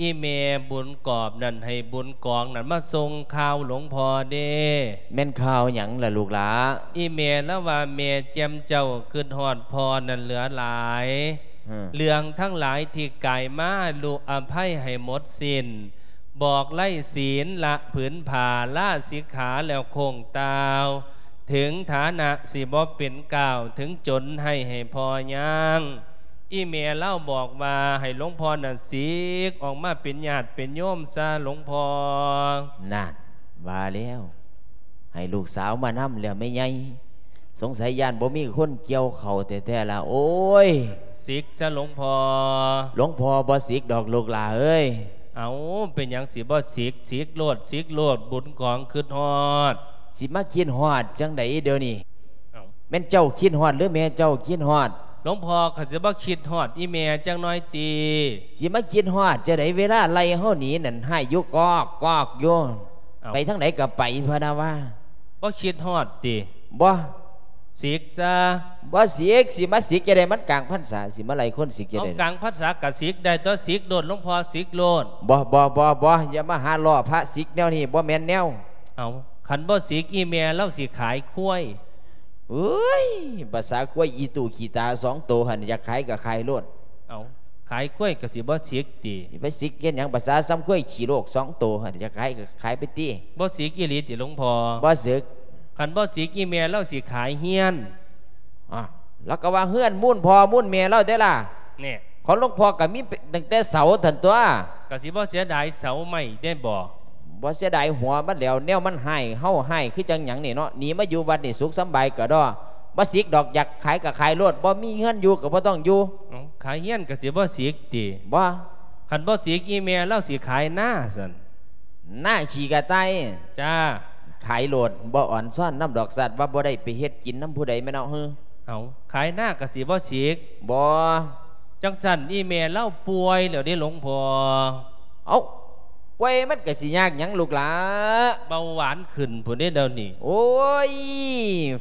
ອີ່ແມ່ບຸນກອບນັ້ນ ໃຫ້ບຸນກອງນັ້ນມາສົ່ງຂ່າວຫຼວງພໍ່ເດ້. ແມ່ນຂ່າວຫຍັງລະລູກຫຼ້າ? ອີ່ແມ່ລາວວ່າ ແມ່ແຈ່ມເຈົ້າຄຶດຮອດພໍ່ນັ້ນເຫຼືອຫຼາຍ. ຮຶ ເລື່ອງທັງຫຼາຍທີ່ກາຍມາ ລຸອະໄພໃຫ້ໝົດສິ້ນ ບອກໄລສິນ ລະຜືນຜ້າ ລາສິກຂາແລ້ວໂຄ້ງຕ່າວ ເຖິງຖານະຊິບໍ່ເປັນກ້າວ ເຖິງຈົນໃຫ້ ໃຫ້ພໍ່ຍ່າງ. ອີ່ແມ່ລາວບອກວ່າໃຫ້ຫຼວງພໍ່ນັ້ນສິກອອກມາເປັນຍາດເປັນໂຍມຊະ ຫຼວງພໍ່. ນັ້ນ ວ່າແລ້ວ ໃຫ້ລູກສາວມານຳແລ້ວແມ່ໃຫຍ່ ສົງໄສຢ້ານບໍ່ມີຄົນກ່ຽວເຂົ້າແທ້ໆລະ ໂອ້ຍ. ສິກຊະຫຼວງພໍ່. ຫຼວງພໍ່ບໍ່ສິກດອກລູກຫຼ້າເອີຍ. ເອົ້າ ເປັນຫຍັງຊິບໍ່ສິກ? ສິກໂລດ ສິກໂລດ ບຸນກອງຄຶດຮອດ. ຊິມາຄິດຮອດຈັ່ງໃດດຽວນີ້? ເອົ້າ ແມ່ນເຈົ້າຄິດຮອດ ຫຼືແມ່ເຈົ້າຄິດຮອດ? ຫຼວງພໍ່ ຂ້ອຍຊິບໍ່ຄິດຮອດອີ່ແມ່ຈັກໜ້ອຍຕິ? ຊິມາຄິດຮອດຈັ່ງໃດ ເວລາໄລ່ເຮົາໜີນັ້ນ ຮ້າຍຢູ່ກອກໆຢູ່. ເອົ້າ ໄປທາງໃດກະໄປພະນະວ່າ. ບໍ່ຄິດຮອດຕິ? ບໍ່. ສິກຊະ. ບໍ່ສິກ ຊິມາສິກຈັ່ງໃດ ມັນກາງພັນສາ ຊິມາໄລ່ຄົນສິກຈັ່ງໃດ? ເອົາ ກາງພັນສາກະສິກໄດ້ຕົວະ ສິກໂລດ ຫຼວງພໍ່ ສິກໂລດ. ບໍ່ ບໍ່ ບໍ່ ບໍ່ ຢ່າມາຫາລໍ້ພະສິກແນວນີ້ ບໍ່ແມ່ນແນວ. ເອົາ ຄັນບໍ່ສິກ ອີ່ແມ່ລາວຊິຂາຍຄວາຍ. ເອີຍ ພາສາຄວາຍອີຕູ້ຂີ້ຕາສອງໂຕຫັ້ນ ຢາກຂາຍກະຂາຍໂລດ. ເອົາ ຂາຍຄວາຍກະຊິບໍ່ສິກຕິ? ຊິໄປສິກເຮັດຫຍັງ? ພາສາສ່ຳຄວາຍຂີ້ໂລກສອງໂຕຫັ້ນ ຢາກຂາຍກະຂາຍໄປຕິ. ບໍ່ສິກອີ່ຫຼີຕິຫຼວງພໍ່? ບໍ່ສິກ. ຄັນບໍ່ສິກ ອີ່ແມ່ລາວຊິຂາຍເຮືອນ. ອາ ລາວກະວ່າເຮືອນມູນພໍ່ມູນແມ່ລາວເດ້ລະ. ແນ່ ຂອງຫຼວງພໍ່ກະມີຕັ້ງແຕ່ເສົາຫັ້ນຕົວະ. ກະຊິບໍ່ເສຍດາຍເສົາໄມ້ເດ້ບໍ? ບໍ່ເສຍດາຍຫົວມັນແຫຼ້ວ ແນວມັນຮ້າຍເຮົາຮ້າຍຄືຈັ່ງຫຍັງນີ້ເນາະ. ໜີມາຢູ່ວັດນີ້ສຸກສຳບາຍກະດໍ. ບໍ່ສິກດອກ ຢາກຂາຍກະຂາຍໂລດ ບໍ່ມີເຮືອນຢູ່ກະບໍ່ຕ້ອງຢູ່. ເອົ້າ ຂາຍເຮືອນກະຊິບໍ່ສິກຕິ? ບໍ່. ຄັນບໍ່ສິກ ອີ່ແມ່ລາວຊິຂາຍນາຊັ້ນ. ນາຂີ້ກະຕ່າຍ. ຈ້າ. ຂາຍໂລດ ບໍ່ອອນຊອນນຳດອກ ຊາດວ່າບໍ່ໄດ້ໄປເຮັດກິນນຳຜູ້ໃດແມ່ນເນາະ. ເອີ ເອົາ ຂາຍນາກະຊິບໍ່ສິກ? ບໍ່. ຈັ່ງຊັ້ນອີ່ແມ່ລາວປ່ວຍແລ້ວເດ້ຫຼວງພໍ່. ເອົ້າ ປ່ວຍມັນກະຊິຍາກຫຍັງລູກຫຼ້າ? ເບົາຫວານຂຶ້ນພຸ້ນເດ້ດຽວນີ້. ໂອ້ຍ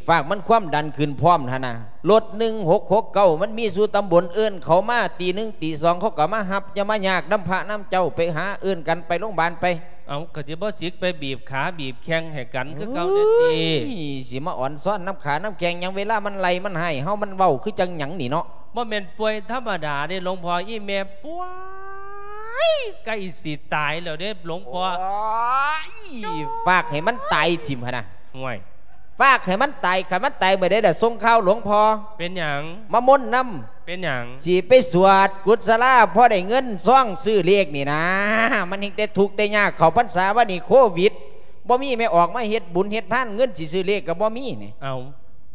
ຝາກມັນຄວາມດັນຂຶ້ນພ້ອມຫັ້ນນະ. ລົດໜຶ່ງຫົກຫົກເກົ້າ ມັນມີສູ່ຕຳບົນ ເອີ້ນເຂົາມາຕີໜຶ່ງຕີສອງ ເຂົາກະມາຮັບ. ຢ່າມາຍາກນຳພະນຳເຈົ້າ ໄປຫາເອີ້ນກັນໄປໂລງບານໄປ. ເອົ້າ ກະຊິບໍ່ສິກໄປບີບຂາບີບແຂ້ງໃຫ້ກັນຄືເກົ່າແດ່ຕິ? ໂອ້ຍ ຊິມາອອນຊອນນຳຂານຳແຂ້ງຫຍັງ? ເວລາມັນໄລ່ມັນຮ້າຍເຮົາ ມັນເວົ້າຄືຈັ່ງຫຍັງນີ້ເນາະ. ບໍ່ແມ່ນປ່ວຍທຳມະດາເດ້ຫຼວງພໍ່ ອີ່ແມ່ປ່ວຍ ໃກ້ຊິຕາຍແລ້ວເດ້ຫຼວງພໍ່. ໂອ້ຍ ຝາກໃຫ້ມັນຕາຍຖິ້ມຫັ້ນນະ. ໂອ້ຍ ຝາກໃຫ້ມັນຕາຍ ຄັນມັນຕາຍເມື່ອໃດລະສົ່ງຂ່າວຫຼວງພໍ່. ເປັນຫຍັງ? ມາມົນນຳ. ເປັນຫຍັງ? ຊິໄປສວດກຸດສະລາ ພໍໄດ້ເງິນຊອງຊື້ເລກນີ້ນາ. ມັນແຮ່ງແຕ່ທຸກແຕ່ຍາກ ເຂົ້າພັນສາມານີ້ໂຄວິດ ບໍ່ມີແມ່ອອກມາເຮັດບຸນເຮັດທານ ເງິນຊິຊື້ເລກກະບໍ່ມີນີ້. ເອົ້າ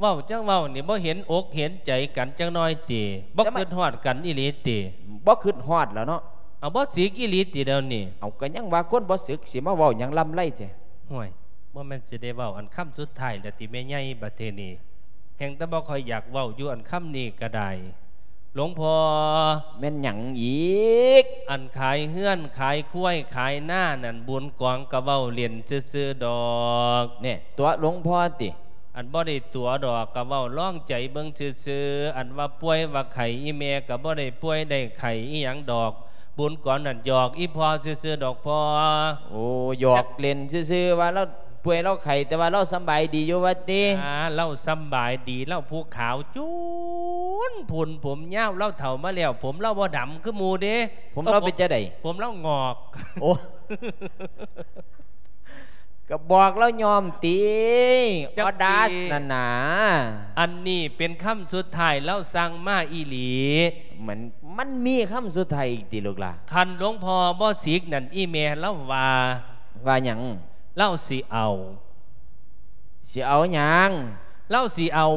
ເວົ້າຈັ່ງເວົ້ານີ້ ບໍ່ເຫັນອົກເຫັນໃຈກັນຈັກໜ້ອຍຕິ? ບໍ່ຄຶດຮອດກັນອີ່ຫຼີຕິ? ບໍ່ຄຶດຮອດແລ້ວເນາະ. ເອົາ ບໍ່ສິກອີ່ຫຼີຕິດຽວນີ້? ເອົາ ກະຍັງວ່າຄົນບໍ່ສິກ ຊິມາເວົ້າຫຍັງລຳໄລແທ້? ໂອ້ຍ ບໍ່ແມ່ນຊິໄດ້ເວົ້າອັນຄຳສຸດທ້າຍແລ້ວຕິແມ່ໃຫຍ່? ບັດເທື່ອນີ້ແຮ່ງແຕ່ບໍ່ຄ່ອຍຢາກເວົ້າຢູ່ ອັນຄຳນີ້ກະໄດ້. ຫຼວງພໍ່. ແມ່ນຫຍັງອີກ? ອັນຂາຍເຮືອນຂາຍຄວາຍຂາຍນານັ້ນ ບຸນກອງກະເວົ້າຫຼິ້ນຊື່ໆດອກ. ແນ່ ຕົວະຫຼວງພໍ່ຕິ? ອັນບໍ່ໄດ້ຕົວະດອກ ກະເວົ້າລອງໃຈເບິ່ງຊື່ໆ. ອັນວ່າປ່ວຍວ່າໄຂ້ ອີ່ແມ່ກະບໍ່ໄດ້ປ່ວຍໄດ້ໄຂ້ອີ່ຫຍັງດອກ. ບຸນກອງນັ້ນຫຍອກອີ່ພໍ່ຊື່ໆດອກພໍ່. ໂອ້ ຫຍອກຫຼິ້ນຊື່ໆ ວ່າລາວ ປ່ວຍລາວໄຂ້ ແຕ່ວ່າລາວສຳບາຍດີຢູ່ວ່າຕິ? ອ່າ ລາວສຳບາຍດີ ລາວຜູ້ຂາວຈູນພຸ່ນ ຜົມຍາວ ລາວເຖົ້າມາແລ້ວ ຜົມລາວບໍ່ດຳຄືໝູ່ເດ້. ຜົມລາວເປັນຈັ່ງໃດ? ຜົມລາວງອກ. ໂອ້ ກໍບອກລາວຍ້ອມຕິ ອອດາສນັ້ນນາ. ອັນນີ້ເປັນຄຳສຸດທ້າຍ ລາວສັ່ງມາອີ່ຫຼີ. ມັນ ມັນມີຄຳສຸດທ້າຍອີກຕິລູກຫຼ້າ? ຄັນຫຼວງພໍ່ບໍ່ສິກນັ້ນ ອີ່ແມ່ລາວວ່າ. ວ່າຫຍັງ? ລາວຊິເອົາ. ຊິເອົາຫຍັງ? ລາວຊິເອົາ.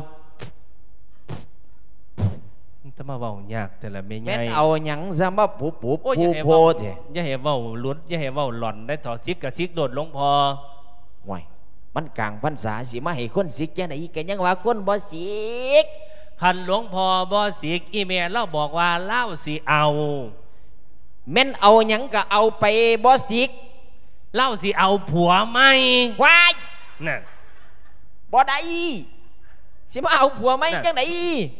ຈະມາເວົ້າຍາກແຕ່ລະແມ່ໃຫຍ່. ແມ່ນເອົາຫຍັງຊະມາປຸບປຸບ ໂອ້ຍ ປູໂພແທ້. ຢ່າໃຫ້ເວົ້າ ຢ່າໃຫ້ເວົ້າຫຼຸດ ຢ່າໃຫ້ເວົ້າຫຼອນໄດ້ເຖາະ. ສິກກໍສິກໂລດ ຫຼວງພໍ່. ໂອ້ຍ ມັນກາງພັນສາ ຊິມາໃຫ້ຄົນສິກຈັ່ງໃດ? ກໍຍັງວ່າຄົນບໍ່ສິກ. ຄັນຫຼວງພໍ່ບໍ່ສິກ ອີ່ແມ່ລາວບອກວ່າລາວຊິເອົາ. ແມ່ນເອົາຫຍັງກໍເອົາໄປ ບໍ່ສິກ. ລາວຊິເອົາຜົວໃໝ່. ວ້າຍ ນັ້ນ ບໍ່ໄດ້ ຊິມາເອົາຜົວໃໝ່ຈັ່ງໃດ?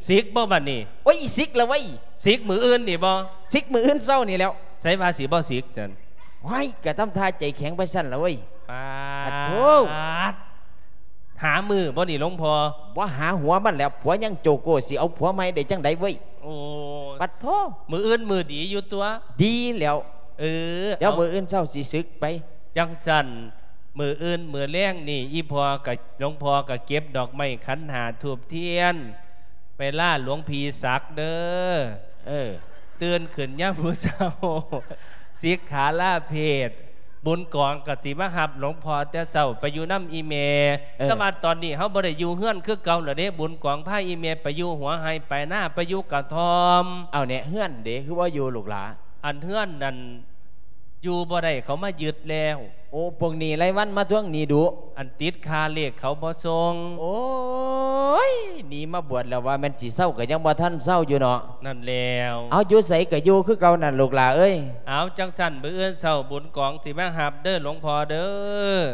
ສິກບໍ່ບັດນີ້? ໂອ້ຍ ສິກລະເວີຍ. ສິກມື້ອື່ນນີ້ບໍ່? ສິກມື້ອື່ນເຊົ້ານີ້ແລ້ວ. ໃສວ່າຊິບໍ່ສິກຊັ້ນ? ໂອ້ຍ ກະທຳທ່າໃຈແຂງໄປຊັ້ນລະເວີຍ. ປາດ ປາດໂທ. ຫາມື້ບໍ່ນີ້ ຫຼວງພໍ່? ບໍ່ຫາຫົວມັນແລ້ວ ຜົວຍັງໂຈໂກ ຊິເອົາຜົວໃໝ່ໄດ້ຈັ່ງໃດເວີຍ? ໂອ້ ປາດໂທ. ມື້ອື່ນມື້ດີຢູ່ຕົວະ? ດີແລ້ວ. ເອີ ດຽວມື້ອື່ນເຊົ້າຊິສຶກໄປ. ຈັ່ງຊັ້ນ ມື້ອື່ນມື້ແລງນີ້ ອີ່ພໍ່ກະ ຫຼວງພໍ່ກະເກັບດອກໄມ້ຂັນຫ້າ ທູບທຽນ ໄປລາຫຼວງພີ່ສັກເດີ. ເອີ ຕື່ນຂຶ້ນຍາມມື້ເຊົ້າ ສິກຂາລາເພດ. ບຸນກອງກໍຊິມາຮັບຫຼວງພໍ່ແຕ່ເຊົ້າໄປຢູ່ນຳອີ່ແມ່. ເອີ ແຕ່ວ່າຕອນນີ້ເຮົາບໍ່ໄດ້ຢູ່ເຮືອນຄືເກົ່າແລ້ວເດ້. ບຸນກອງພາອີ່ແມ່ໄປຢູ່ຫົວໄຮ່ປາຍນາ ໄປຢູ່ກະທ່ອມ. ເອົາແນ່ ເຮືອນເດ ຄືບໍ່ຢູ່ລູກຫຼ້າ? ອັນເຮືອນນັ້ນຢູ່ບໍ່ໄດ້ ເຂົາມາຍຶດແລ້ວ. ໂອ້ ພວກໜີ້ລາຍວັນມາທວງໜີ້ດຸ. ອັນຕິດຄ່າເລກເຂົາບໍ່ສົ່ງ. ໂອ້ຍ ໜີມາບວດແລ້ວ ວ່າແມ່ນຊິເຊົາກໍຍັງບໍ່ທັນເຊົາຢູ່ເນາະ. ນັ້ນແລ້ວ. ເອົາ ຢູ່ໃສກໍຢູ່ຄືເກົ່ານັ້ນລູກຫຼ້າເອີຍ. ເອົາ ຈັ່ງຊັ້ນ ມື້ອື່ນເຊົ້າບຸນກອງຊິມາຮັບເດີຫຼວງພໍ່ເດີ.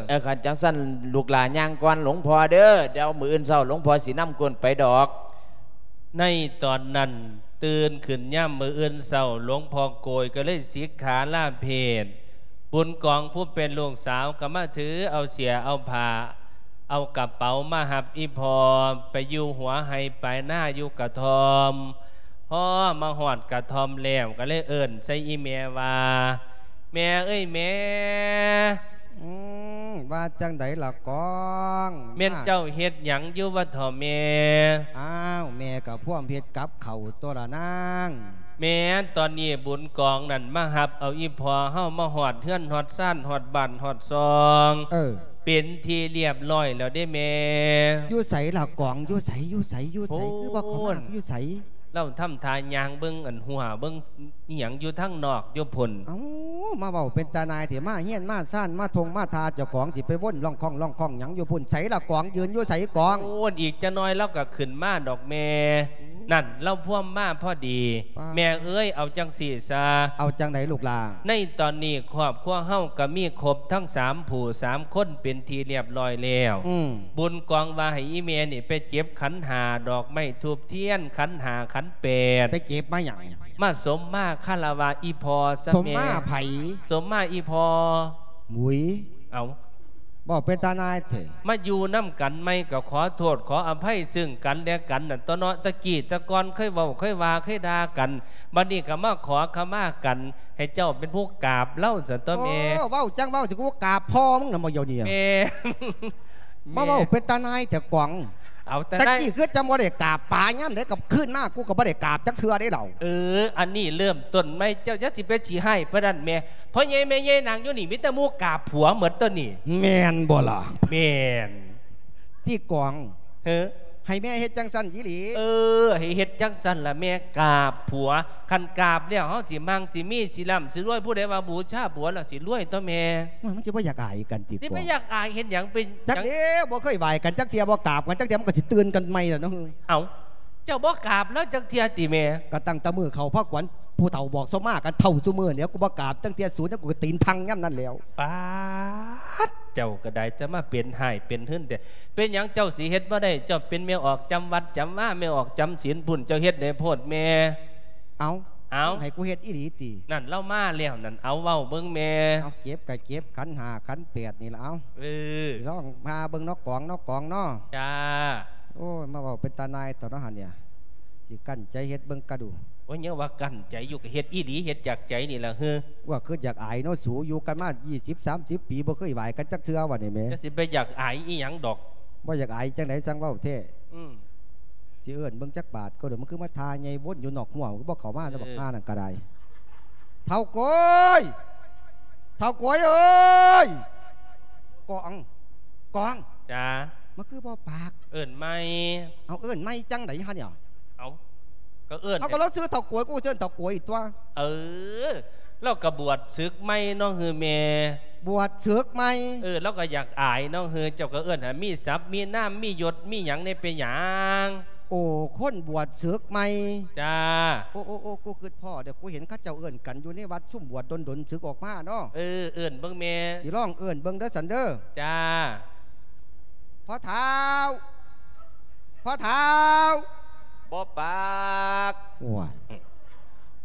ເອີ ຄັນຈັ່ງຊັ້ນລູກຫຼ້າຍ່າງກ່ອນຫຼວງພໍ່ເດີ. ດຽວມື້ອື່ນເຊົ້າຫຼວງພໍ່ຊິນຳກົນໄປດອກ. ໃນຕອນນັ້ນ ຕື່ນຂຶ້ນຍາມມື້ອື່ນເຊົ້າ ຫຼວງພໍ່ໂກຍກໍເລີຍສິກຂາລາເພດ. ບຸນກອງຜູ້ເປັນລູກສາວກໍມາຖືເອົາເສື້ຍເອົາຜ້າ ເອົາກະເປົາມາຮັບອີ່ພໍ່ໄປຢູ່ຫົວໄຮ່ປາຍນາຢູ່ກະທ່ອມ. ພໍມາຮອດກະທ່ອມແລ້ວ ກໍເລີຍເອີ້ນໃສ່ອີ່ແມ່ວ່າ ແມ່ເອີຍແມ່. ອືມ ວ່າຈັ່ງໃດລະກອງ? ແມ່ນເຈົ້າເຮັດຫຍັງຢູ່ວະເຖາະແມ່? ອ້າວ ແມ່ກໍພວມເຮັດກັບເຂົ້າຕົວລະນາງ. ແມ່ນ ຕອນນີ້ບຸນກອງນັ້ນມາຮັບເອົາອີ່ພໍ່ເຮົາມາຮອດເຮືອນຮອດຊານ ຮອດບ້ານຮອດຊ່ອງ. ເອີ ເປັນທີ່ລຽບລ້ອຍແລ້ວເດ້ແມ່. ຢູ່ໃສລະກອງ? ຢູ່ໃສ? ຢູ່ໃສ? ຢູ່ໃສ? ໂອ້ ຄືບໍ່ເຂົ້າມາ? ຢູ່ໃສ? ລາວທຳທ່າຍ່າງເບິ່ງອັນຮົ້ວ ເບິ່ງອີ່ຫຍັງຢູ່ທາງນອກຢູ່ພຸ້ນ. ເອົ້າ ມາເວົ້າເປັນຕານາຍແທ້ ມາເຮືອນມາຊານ ມາທົ່ງມາທ່າ ເຈົ້າຂອງຊິໄປວົນລ່ອງຄ້ອງລ່ອງຄ້ອງຫຍັງຢູ່ພຸ້ນ. ໃສລະກອງ? ຢືນຢູ່ໃສກອງ? ໂອ້ ອີກຈັກໜ້ອຍລາວກໍຂຶ້ນມາດອກແມ່. ນັ້ນ ລາວພວມມາພໍດີ. ປ້າ ແມ່ເອີຍ ເອົາຈັ່ງຊີ້ຊະ. ເອົາຈັ່ງໃດລູກຫຼ້າ? ໃນຕອນນີ້ຄອບຄົວເຮົາກໍມີຄົບທັງສາມຜູ້ສາມຄົນເປັນທີ່ລຽບລ້ອຍແລ້ວ. ອືມ ບຸນກອງວ່າໃຫ້ອີ່ແມ່ນີ້ໄປເກັບຂັນຫ້າ ດອກໄມ້ທູບທຽນ ຂັນຫ້າຂັນແປດ. ໄປເກັບມາຫຍັງ? ມາສົມມາຄາລະວະອີ່ພໍ່ຊະແມ່. ສົມມາໃຜ? ສົມມາອີ່ພໍ່. ຫຸຍ ເອົ້າ ເວົ້າເປັນຕານາຍແທ້. ມາຢູ່ນຳກັນໃໝ່ກໍຂໍໂທດຂໍອະໄພຊຶ່ງກັນແລະກັນນັ້ນຕົວະເນາະ. ຕະກີ້ຕະກ່ອນເຄີຍເວົ້າເຄີຍວ່າເຄີຍດ່າກັນ ບັດນີ້ກໍມາຂໍຂະມາກັນ ໃຫ້ເຈົ້າເປັນຜູ້ກາບລາວຊັ້ນຕົວະແມ່. ໂອ້ ເວົ້າຈັ່ງເວົ້າ ຊິກູກາບພໍ່ມຶງນະບໍ່ດຽວນີ້. ແມ່ ມາເວົ້າເປັນຕານາຍແທ້ກອງ. ເອົາ ຕະ ຕະ ຕານາຍ ກີ້ຄືຈັ່ງບໍ່ໄດ້ກາບປາ ຍາມໃດກໍຄືນມາ ກູກໍບໍ່ໄດ້ກາບຈັກເທື່ອເດ້ລາວ. ເອີ ອັນນີ້ເລີ່ມຕົ້ນໃໝ່ ເຈົ້າຢ່າຊິໄປຂີ້ຮ້າຍປານນັ້ນແມ່. ພໍ່ໃຫຍ່ແມ່ໃຫຍ່ນັ່ງຢູ່ນີ້ ມີແຕ່ໝູ່ກາບຜົວໝົດຕົວະນີ້. ແມ່ນບໍ່ລະ? ແມ່ນ. ຕິກອງ ເອີ ໃຫ້ແມ່ເຮັດຈັ່ງຊັ້ນອີ່ຫຼີ? ເອີ ໃຫ້ເຮັດຈັ່ງຊັ້ນລະແມ່ ກາບຜົວ. ຄັນກາບແລ້ວ ເຮົາຊິມັ່ງ ຊິມີ ຊິລ່ຳ ຊິລວຍ. ຜູ້ໃດວ່າບູຊາຜົວແລ້ວຊິລວຍຕົວະແມ່. ໂອ້ຍ ມັນຊິບໍ່ຢາກອາຍກັນຕິກອງ? ຊິໄປຢາກອາຍເຮັດຫຍັງ? ເປັນ ຈັກແລ້ວ ບໍ່ເຄີຍໄຫວ້ກັນຈັກເທື່ອ ບໍ່ກາບກັນຈັກເທື່ອ ມັນກໍຊິຕື່ນກັນໃໝ່ລະເນາະ. ເອົ້າ ເຈົ້າບໍ່ກາບລາວຈັກເທື່ອຕິແມ່? ກໍຕັ້ງແຕ່ມື້ເຂົ້າພາກວັນ ຜູ້ເຖົ້າບອກສົມມາກັນເຖົ້າຊຸມື້ແລ້ວ. ກູບໍ່ກາບຈັກເທື່ອສູນ ແລ້ວກູກໍຕີນພັງຍາມນັ້ນແລ້ວ. ປາດ ເຈົ້າກໍໄດ້ ຈະມາເປັນຮ້າຍເປັນຫືນແທ້. ເປັນຫຍັງເຈົ້າຊິເຮັດບໍ່ໄດ້? ເຈົ້າເປັນແມ່ອອກຈຳວັດຈຳວາ ແມ່ອອອກຈຳສິນພຸ້ນ ເຈົ້າເຮັດໃຫ້ໂພດແມ່. ເອົ້າ ເອົ້າ ໃຫ້ກູເຮັດອີ່ຫຼີຕິ? ນັ້ນລາວມາແລ້ວນັ້ນ ເອົາ ເວົ້າເບິ່ງແມ່. ເອົາ ເກັບກະເກັບ ຂັນຫ້າຂັນແປດນີ້ລະ ເອົາ. ເອີ ລອງພາເບິ່ງເນາະ ກອງເນາະ ກອງເນາະ. ຈ້າ. ໂອ້ຍ ມາເວົ້າເປັນຕາໜ່າຍເຖາະເນາະຫັ້ນເນຍ ຊິກັ້ນໃຈເຮັດເບິ່ງກະດູ. ໂອ້ຍ ຍັງວ່າກັ້ນໃຈຢູ່ ກະເຮັດອີ່ຫຼີ ເຮັດຈາກໃຈນີ້ລະເຮີ. ວ່າຄືຢາກອາຍເນາະສູ ຢູ່ກັນມາ ຊາວ ສາມສິບປີ ບໍ່ເຄີຍຫວາຍກັນຈັກເທື່ອ ວ່ານີ້ແໝ. ຈະຊິໄປຢາກອາຍອີ່ຫຍັງດອກ. ບໍ່ຢາກອາຍຈັ່ງໃດ ຊ່າງເວົ້າແທ້. ອືມ ຊິເອີ້ນເບິ່ງຈັກບາດກໍເດີ ມັນຄືມາທ່າໃຫຍ່ວົນຢູ່ນອກຮົ້ວ ມັນຄືບໍ່ເຂົ້າມາ ເອີ ບັກຫ່ານັ້ນກະໄດ້. ເຖົ້າໂກຍ! ເຖົ້າໂກຍເອີຍ! ກອງ! ກອງ! ຈ້າ. ມັນຄືບໍ່ປາກ? ເອີ້ນໃໝ່. ເອົາ ເອີ້ນໃໝ່ຈັ່ງໃດຫັ້ນເນຍ? ເອົາ ກໍເອີ້ນ ເອົາ ກໍລາວຊື່ເຖົ້າໂກຍ ກູເອີ້ນເຖົ້າໂກຍຕົວະ. ເອີ ລາວກໍບວດສຶກໃໝ່ເນາະ ເຮີແມ່? ບວດສຶກໃໝ່. ເອີ ລາວກໍຢາກອາຍເນາະ ເຮີ ເຈົ້າກໍເອີ້ນໃຫ້ມີສັກມີນາມ ມີຍົດມີຫຍັງແດ່ ເປັນຫຍັງ? ໂອ້ ຄົນບວດສຶກໃໝ່. ຈ້າ. ໂອ້ ໂອ້ ໂອ້ ກູຄຶດພໍ້ເດີ ກູເຫັນເຂົາເຈົ້າເອີ້ນກັນຢູ່ໃນວັດ ຊຸມບວດດົນໆ ສຶກອອກມາເນາະ. ເອີ ເອີ້ນເບິ່ງແມ່. ຊິລອງເອີ້ນເບິ່ງເດີ ຊັ້ນເດີ. ຈ້າ. ພໍ່ເຖົ້າ! ພໍ່ເຖົ້າ! ບໍ່ປາກ. ໂອ້ຍ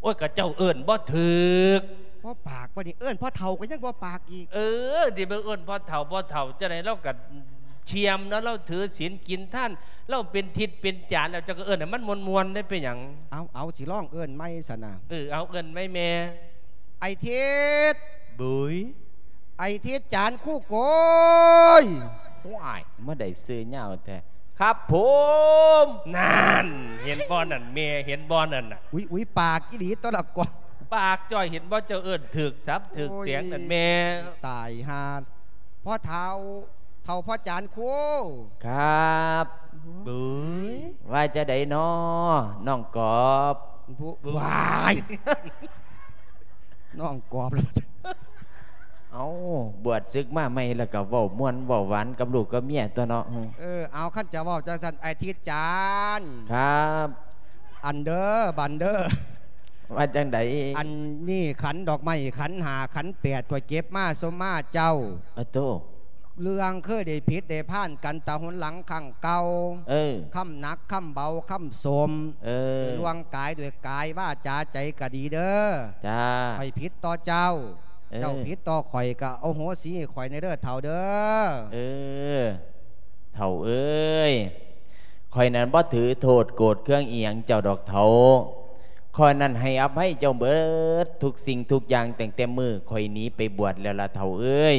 ໂອ້ຍ ກະເຈົ້າເອີ້ນບໍ່ຖືກ. ບໍ່ປາກບໍ່ນີ້ ເອີ້ນພໍ່ເຖົ້າກໍຍັງບໍ່ປາກອີກ. ເອີ ຊິໄປເອີ້ນພໍ່ເຖົ້າ ພໍ່ເຖົ້າຈັ່ງໃດ ລາວກະຊຽມເນາະ ລາວຖືສິນກິນທານ ລາວເປັນທິດເປັນຈານແລ້ວ ເຈົ້າກໍເອີ້ນໃຫ້ມັນມ່ວນໆ ໄດ້ເປັນຫຍັງ? ເອົາ ເອົາ ຊິລອງເອີ້ນໃໝ່ຊັ້ນນະ. ເອີ ເອົາ ເອີ້ນໃໝ່ແມ່. ໄອ້ທິດ! ບຸ້ຍ! ໄອ້ທິດ ຈານຄູໂກຍ! ວ້າຍ ມາໄດ້ຊື່ຍາວແທ້. ຄັບຜົມ! ນັ້ນ ເຫັນບໍ່ນັ້ນແມ່ ເຫັນບໍ່ນັ້ນນະ? ອຸ້ຍ ອຸ້ຍ ປາກອີ່ຫຼີຕົວະລະກອງ. ປາກຈ້ອຍ ເຫັນບໍ່ ເຈົ້າເອີ້ນຖືກສັບຖືກສຽງນັ້ນແມ່. ໂອ້ຍ ຕາຍຫ່າ. ພໍ່ເຖົ້າ ເຖົ້າພໍ່ຈານຄູ. ຄັບ. ບຸ້ຍ! ວ່າຈັ່ງໃດນໍ ນ້ອງກອບ? ບຸ ວ້າຍ! ນ້ອງກອບແລ້ວ. ເອົ້າ ບວດສຶກມາໃໝ່ແລ້ວກໍເວົ້າມ່ວນເວົ້າຫວານກັບລູກກັບເມຍຕົວະເນາະ. ເອີ ເອົາ ຄັນຈະເວົ້າຈັ່ງຊັ້ນ ໄອ້ທິດຈານ. ຄັບ. ອັນເດີ ບັນເດີ. ວ່າຈັ່ງໃດ? ອັນນີ້ຂັນດອກໄມ້ ຂັນຫ້າ ຂັນແປດ ຂ້ອຍເກັບມາສົມມາເຈົ້າ. ອະໂຕ. ເລື່ອງເຄີຍໄດ້ຜິດໄດ້ພານກັນແຕ່ຫົນຫຼັງຄັ້ງເກົ່າ. ເອີ ຄຳໜັກຄຳເບົາຄຳສົມ. ເອີ ລ່ວງກາຍດ້ວຍກາຍ ວາຈາໃຈກໍດີເດີ. ຈ້າ. ຂ້ອຍຜິດຕໍ່ເຈົ້າ. ເອີ ເຈົ້າຜິດຕໍ່ຂ້ອຍ ກໍອະໂຫສິໃຫ້ຂ້ອຍແດ່ເດີເຖົ້າເດີ. ເອີ ເຖົ້າເອີຍ ຂ້ອຍນັ້ນບໍ່ຖືໂທດໂກດເຄືອງອີ່ຫຍັງເຈົ້າດອກເຖົ້າ. ຂ້ອຍນັ້ນໃຫ້ອະໄພເຈົ້າເບິດທຸກສິ່ງທຸກຢ່າງ ຕັ້ງແຕ່ມື້ຂ້ອຍໜີໄປບວດແລ້ວລະເຖົ້າເອີຍ.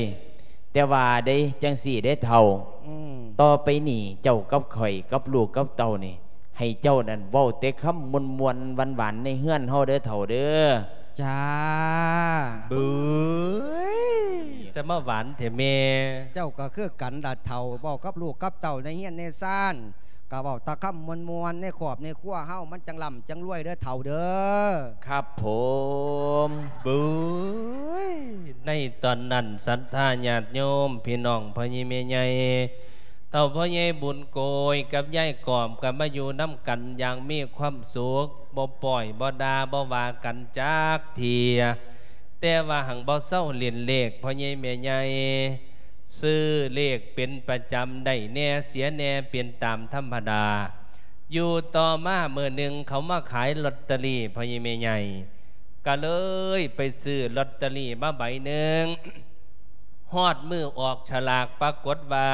ແຕ່ວ່າເດ້ ຈັ່ງຊີ້ເດ້ເຖົ້າ ອືມ ຕໍ່ໄປນີ້ເຈົ້າກັບຂ້ອຍ ກັບລູກກັບເຕົ້ານີ້ ໃຫ້ເຈົ້ານັ້ນເວົ້າແຕ່ຄຳມ່ວນໆຫວານໆໃນເຮືອນເຮົາເດີເຖົ້າເດີ. ຈ້າ. ບຶ້ຍ ສະມາຫວານແທ້ແມ່. ເຈົ້າກໍຄືກັນລະເຖົ້າ ເວົ້າກັບລູກກັບເຕົ້າໃນເຮືອນໃນຊານ ກໍເວົ້າແຕ່ຄຳມ່ວນໆ ໃນຄອບໃນຄົວເຮົາມັນຈັ່ງລ່ຳຈັ່ງລວຍເດີເຖົ້າເດີ. ຄັບຜົມ. ບຶ້ຍ ໃນຕອນນັ້ນ ສັດທາຍາດໂຍມ ພີ່ນ້ອງພໍ່ໃຫຍ່ແມ່ໃຫຍ່ ເຖົ້າພໍ່ໃຫຍ່ບຸນໂກຍກັບຍາຍກອບ ກໍມາຢູ່ນຳກັນຢ່າງມີຄວາມສຸກ ບໍ່ປ້ອຍບໍ່ດ່າບໍ່ວ່າກັນຈັກເທື່ອ. ແຕ່ວ່າຫັງບໍ່ເຊົາຫຼິ້ນເລກພໍ່ໃຫຍ່ແມ່ໃຫຍ່ ຊື້ເລກເປັນປະຈຳ ໄດ້ແດ່ເສຍແດ່ເປັນຕາມທຳມະດາ. ຢູ່ຕໍ່ມາມື້ໜຶ່ງ ເຂົາມາຂາຍລອດເຕີຣີພໍ່ໃຫຍ່ແມ່ໃຫຍ່ ກະເລີຍໄປຊື້ລອດເຕີຣີມາໃບໜຶ່ງ. ຮອດມື້ອອກສະຫຼາກ ປາກົດວ່າ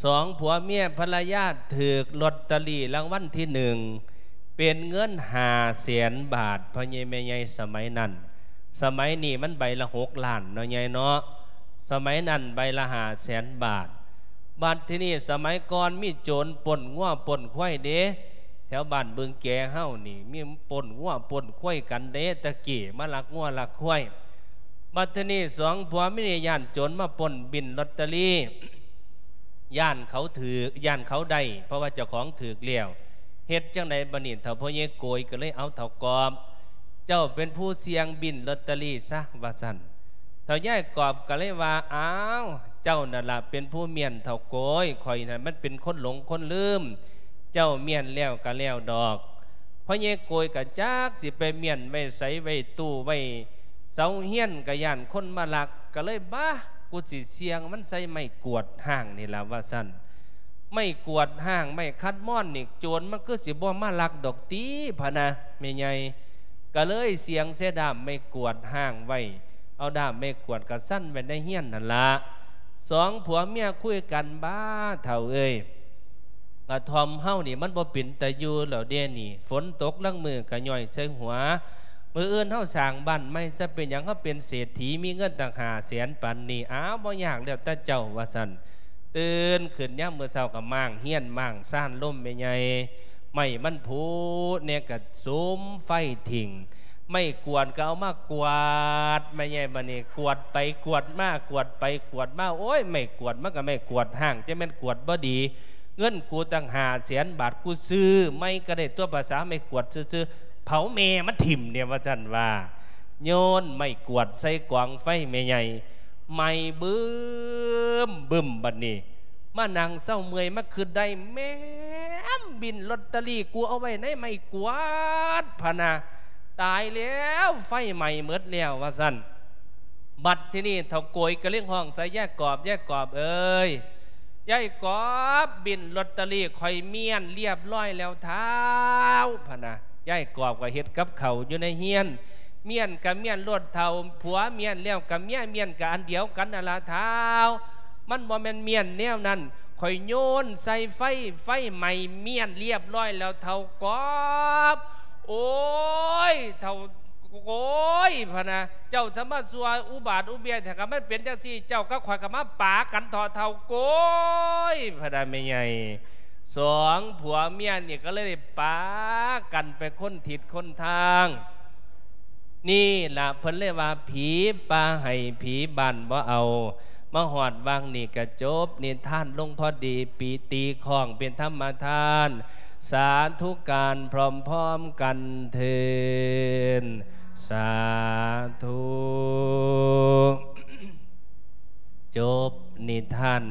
ສອງຜົວເມຍພັນລະຍາຖືກລອດເຕີຣີລາງວັນທີໜຶ່ງ ເປັນເງິນຫ້າແສນບາດ ພໍ່ໃຫຍ່ແມ່ໃຫຍ່ສະໄໝນັ້ນ. ສະໄໝນີ້ມັນໃບລະຫົກລ້ານເນາະ ຍາຍເນາະ. ສະໄໝນັ້ນໃບລະຫ້າແສນບາດ. ບັດທີນີ້ສະໄໝກ່ອນມີໂຈນປົ້ນງົວປົ້ນຄວາຍເດ້ ແຖວບ້ານບຶງແກເຮົານີ້ ມີປົ້ນງົວປົ້ນຄວາຍກັນເດ້ ແຕ່ກີ້ມາລັກງົວລັກຄວາຍ. ບັດທີນີ້ສອງຜົວເມຍນີ້ຢ້ານໂຈນມາປົ້ນບິນລອດເຕີຣີ ຢ້ານເຂົາຖືກ ຢ້ານເຂົາໄດ້ ເພາະວ່າເຈົ້າຂອງຖືກແລ້ວ. ເຮັດຈັ່ງໃດບັດນີ້ ເຖົ້າພໍ່ໃຫຍ່ໂກຍກໍເລີຍ ເອົາ ເຖົ້າກອບ ເຈົ້າເປັນຜູ້ສ່ຽງບິນລອດເຕີຣີຊະ ວ່າຊັ້ນ. ເຖົ້າຍາຍກອບກໍເລີຍວ່າ ອ້າວ ເຈົ້ານັ້ນລະເປັນຜູ້ມ້ຽນ ເຖົ້າໂກຍ ຂ້ອຍນັ້ນມັນເປັນຄົນຫຼົງຄົນລືມ ເຈົ້າມ້ຽນແລ້ວກໍແລ້ວດອກ. ພໍ່ໃຫຍ່ໂກຍກໍຈັກຊິໄປມ້ຽນໄວ້ໃສ ໄວ້ຕູ້ໄວ້ເສົາເຮືອນ ກໍຢ້ານຄົນມາລັກ ກໍເລີຍ ບາ ກູຊິສ່ຽງມັນໃສ່ໄມ້ກວດຮ້າງນີ້ລະ ວ່າຊັ້ນ. ໄມ້ກວດຮ້າງ ໄມ້ຂັດມອນນີ້ ໂຈນມັນຄືຊິບໍ່ມາລັກດອກຕິ ພະນະ ແມ່ໃຫຍ່. ກໍເລີຍສຽງໃສ່ດ້າມໄມ້ກວາດຮ້າງໄວ້ ເອົາດ້າມໄມ້ກວາດກະຊັນໄວ້ໃນເຮືອນຫັ້ນລະ. ສອງຜົວເມຍຄຸຍກັນ, ບ້າ ເຖົ້າເອີຍ, ກະທ່ອມເຮົານີ້ມັນບໍ່ເປັນຕາຢູ່ແລ້ວເດນີ້, ຝົນຕົກລາງມື້ກະຍ້ອຍໃສ່ຫົວ. ມື້ອື່ນເຮົາສ້າງບ້ານໃໝ່ຊະ, ເປັນຫຍັງເຮົາເປັນເສດຖີ ມີເງິນຕັ້ງຫ້າແສນປານນີ້? ອ້າວ ບໍ່ຍາກ, ແລ້ວແຕ່ເຈົ້າ ວ່າຊັ້ນ. ຕື່ນຂຶ້ນຍາມມື້ເຊົ້າກໍມ້າງເຮືອນມ້າງຊານລົມແມ່ໃຫຍ່, ໄມ້ມັນຜຸແດ່ກໍສຸມໄຟຖິ້ມ, ໄມ້ກວາດກໍເອົາມາກວາດແມ່ໃຫຍ່. ບັດນີ້ກວາດໄປກວາດມາ ກວາດໄປກວາດມາ, ໂອ້ຍ ໄມ້ກວາດມັນກໍໄມ້ກວາດຮ້າງ, ຈະແມ່ນກວາດບໍ່ດີ. ເງິນກູຕັ້ງຫ້າແສນບາດ, ກູຊື້ໄມ້ກໍໄດ້ຕົວະ, ພາສາໄມ້ກວາດຊື່ໆ, ເຜົາແມ່ມັນຖິ້ມເດ ວ່າຊັ້ນວ່າ. ໂຍນໄມ້ກວາດໃສ່ກອງໄຟແມ່ໃຫຍ່, ໄໝ້ບຶ້ມບຶ້ມ. ບັດນີ້ມານັ່ງເຊົາເມື່ອຍມາຄຶດໄດ້, ແມ່ນບິນລອດເຕີຣີກູເອົາໄວ້ໃນໄມ້ກວາດ ພະນະ, ຕາຍແລ້ວ ໄຟໄໝ້ໝົດແລ້ວ ວ່າຊັ້ນ. ບັດທີນີ້ເຖົ້າໂກຍກໍເລີຍຮ້ອງໃສ່ຍາຍກອບ, ຍາຍກອບເອີຍ, ຍາຍກອບ, ບິນລອດເຕີຣີຂ້ອຍມ້ຽນລຽບຮ້ອຍແລ້ວທ້າວ ພະນະ. ຍາຍກອບກໍເຮັດກັບເຂົ້າຢູ່ໃນເຮືອນ, ມ້ຽນກໍມ້ຽນໂລດເຖົ້າ, ຜົວມ້ຽນແລ້ວກໍເມຍມ້ຽນ, ກໍອັນດຽວກັນນັ້ນລະທ້າວ. ມັນບໍ່ແມ່ນມ້ຽນແນວນັ້ນ, ຂ້ອຍໂຍນໃສ່ໄຟ, ໄຟໄໝ້ມ້ຽນລຽບຮ້ອຍແລ້ວເຖົ້າກອບ. ໂອ້ຍ ເຖົ້າ ໂກຍ ພະນະ, ເຈົ້າຈະມາຊົ່ວອຸບາດອຸເບຍແທ້. ຄັນມັນເປັນຈັ່ງຊີ້ ເຈົ້າກັບຂ້ອຍກໍມາປາກັນເຖາະ ເຖົ້າໂກຍ ພະນະແມ່ໃຫຍ່. ສອງຜົວເມຍນີ້ກໍເລີຍໄດ້ປາກັນໄປຄົນທິດຄົນທາງ. ນີ້ລະເພິ່ນເລີຍວ່າ ຜີປ່າໄຫ້ຜີບ້ານບໍ່ເອົາ. ມາຮອດຫວ່າງນີ້ກະຈົບນິທານລົງພໍດີ, ປີຕີຄ້ອງເປັນທຳມະທານ. ສາທຸການພ້ອມໆກັນເທີນ, ສາທຸ. ຈົບນິທານ.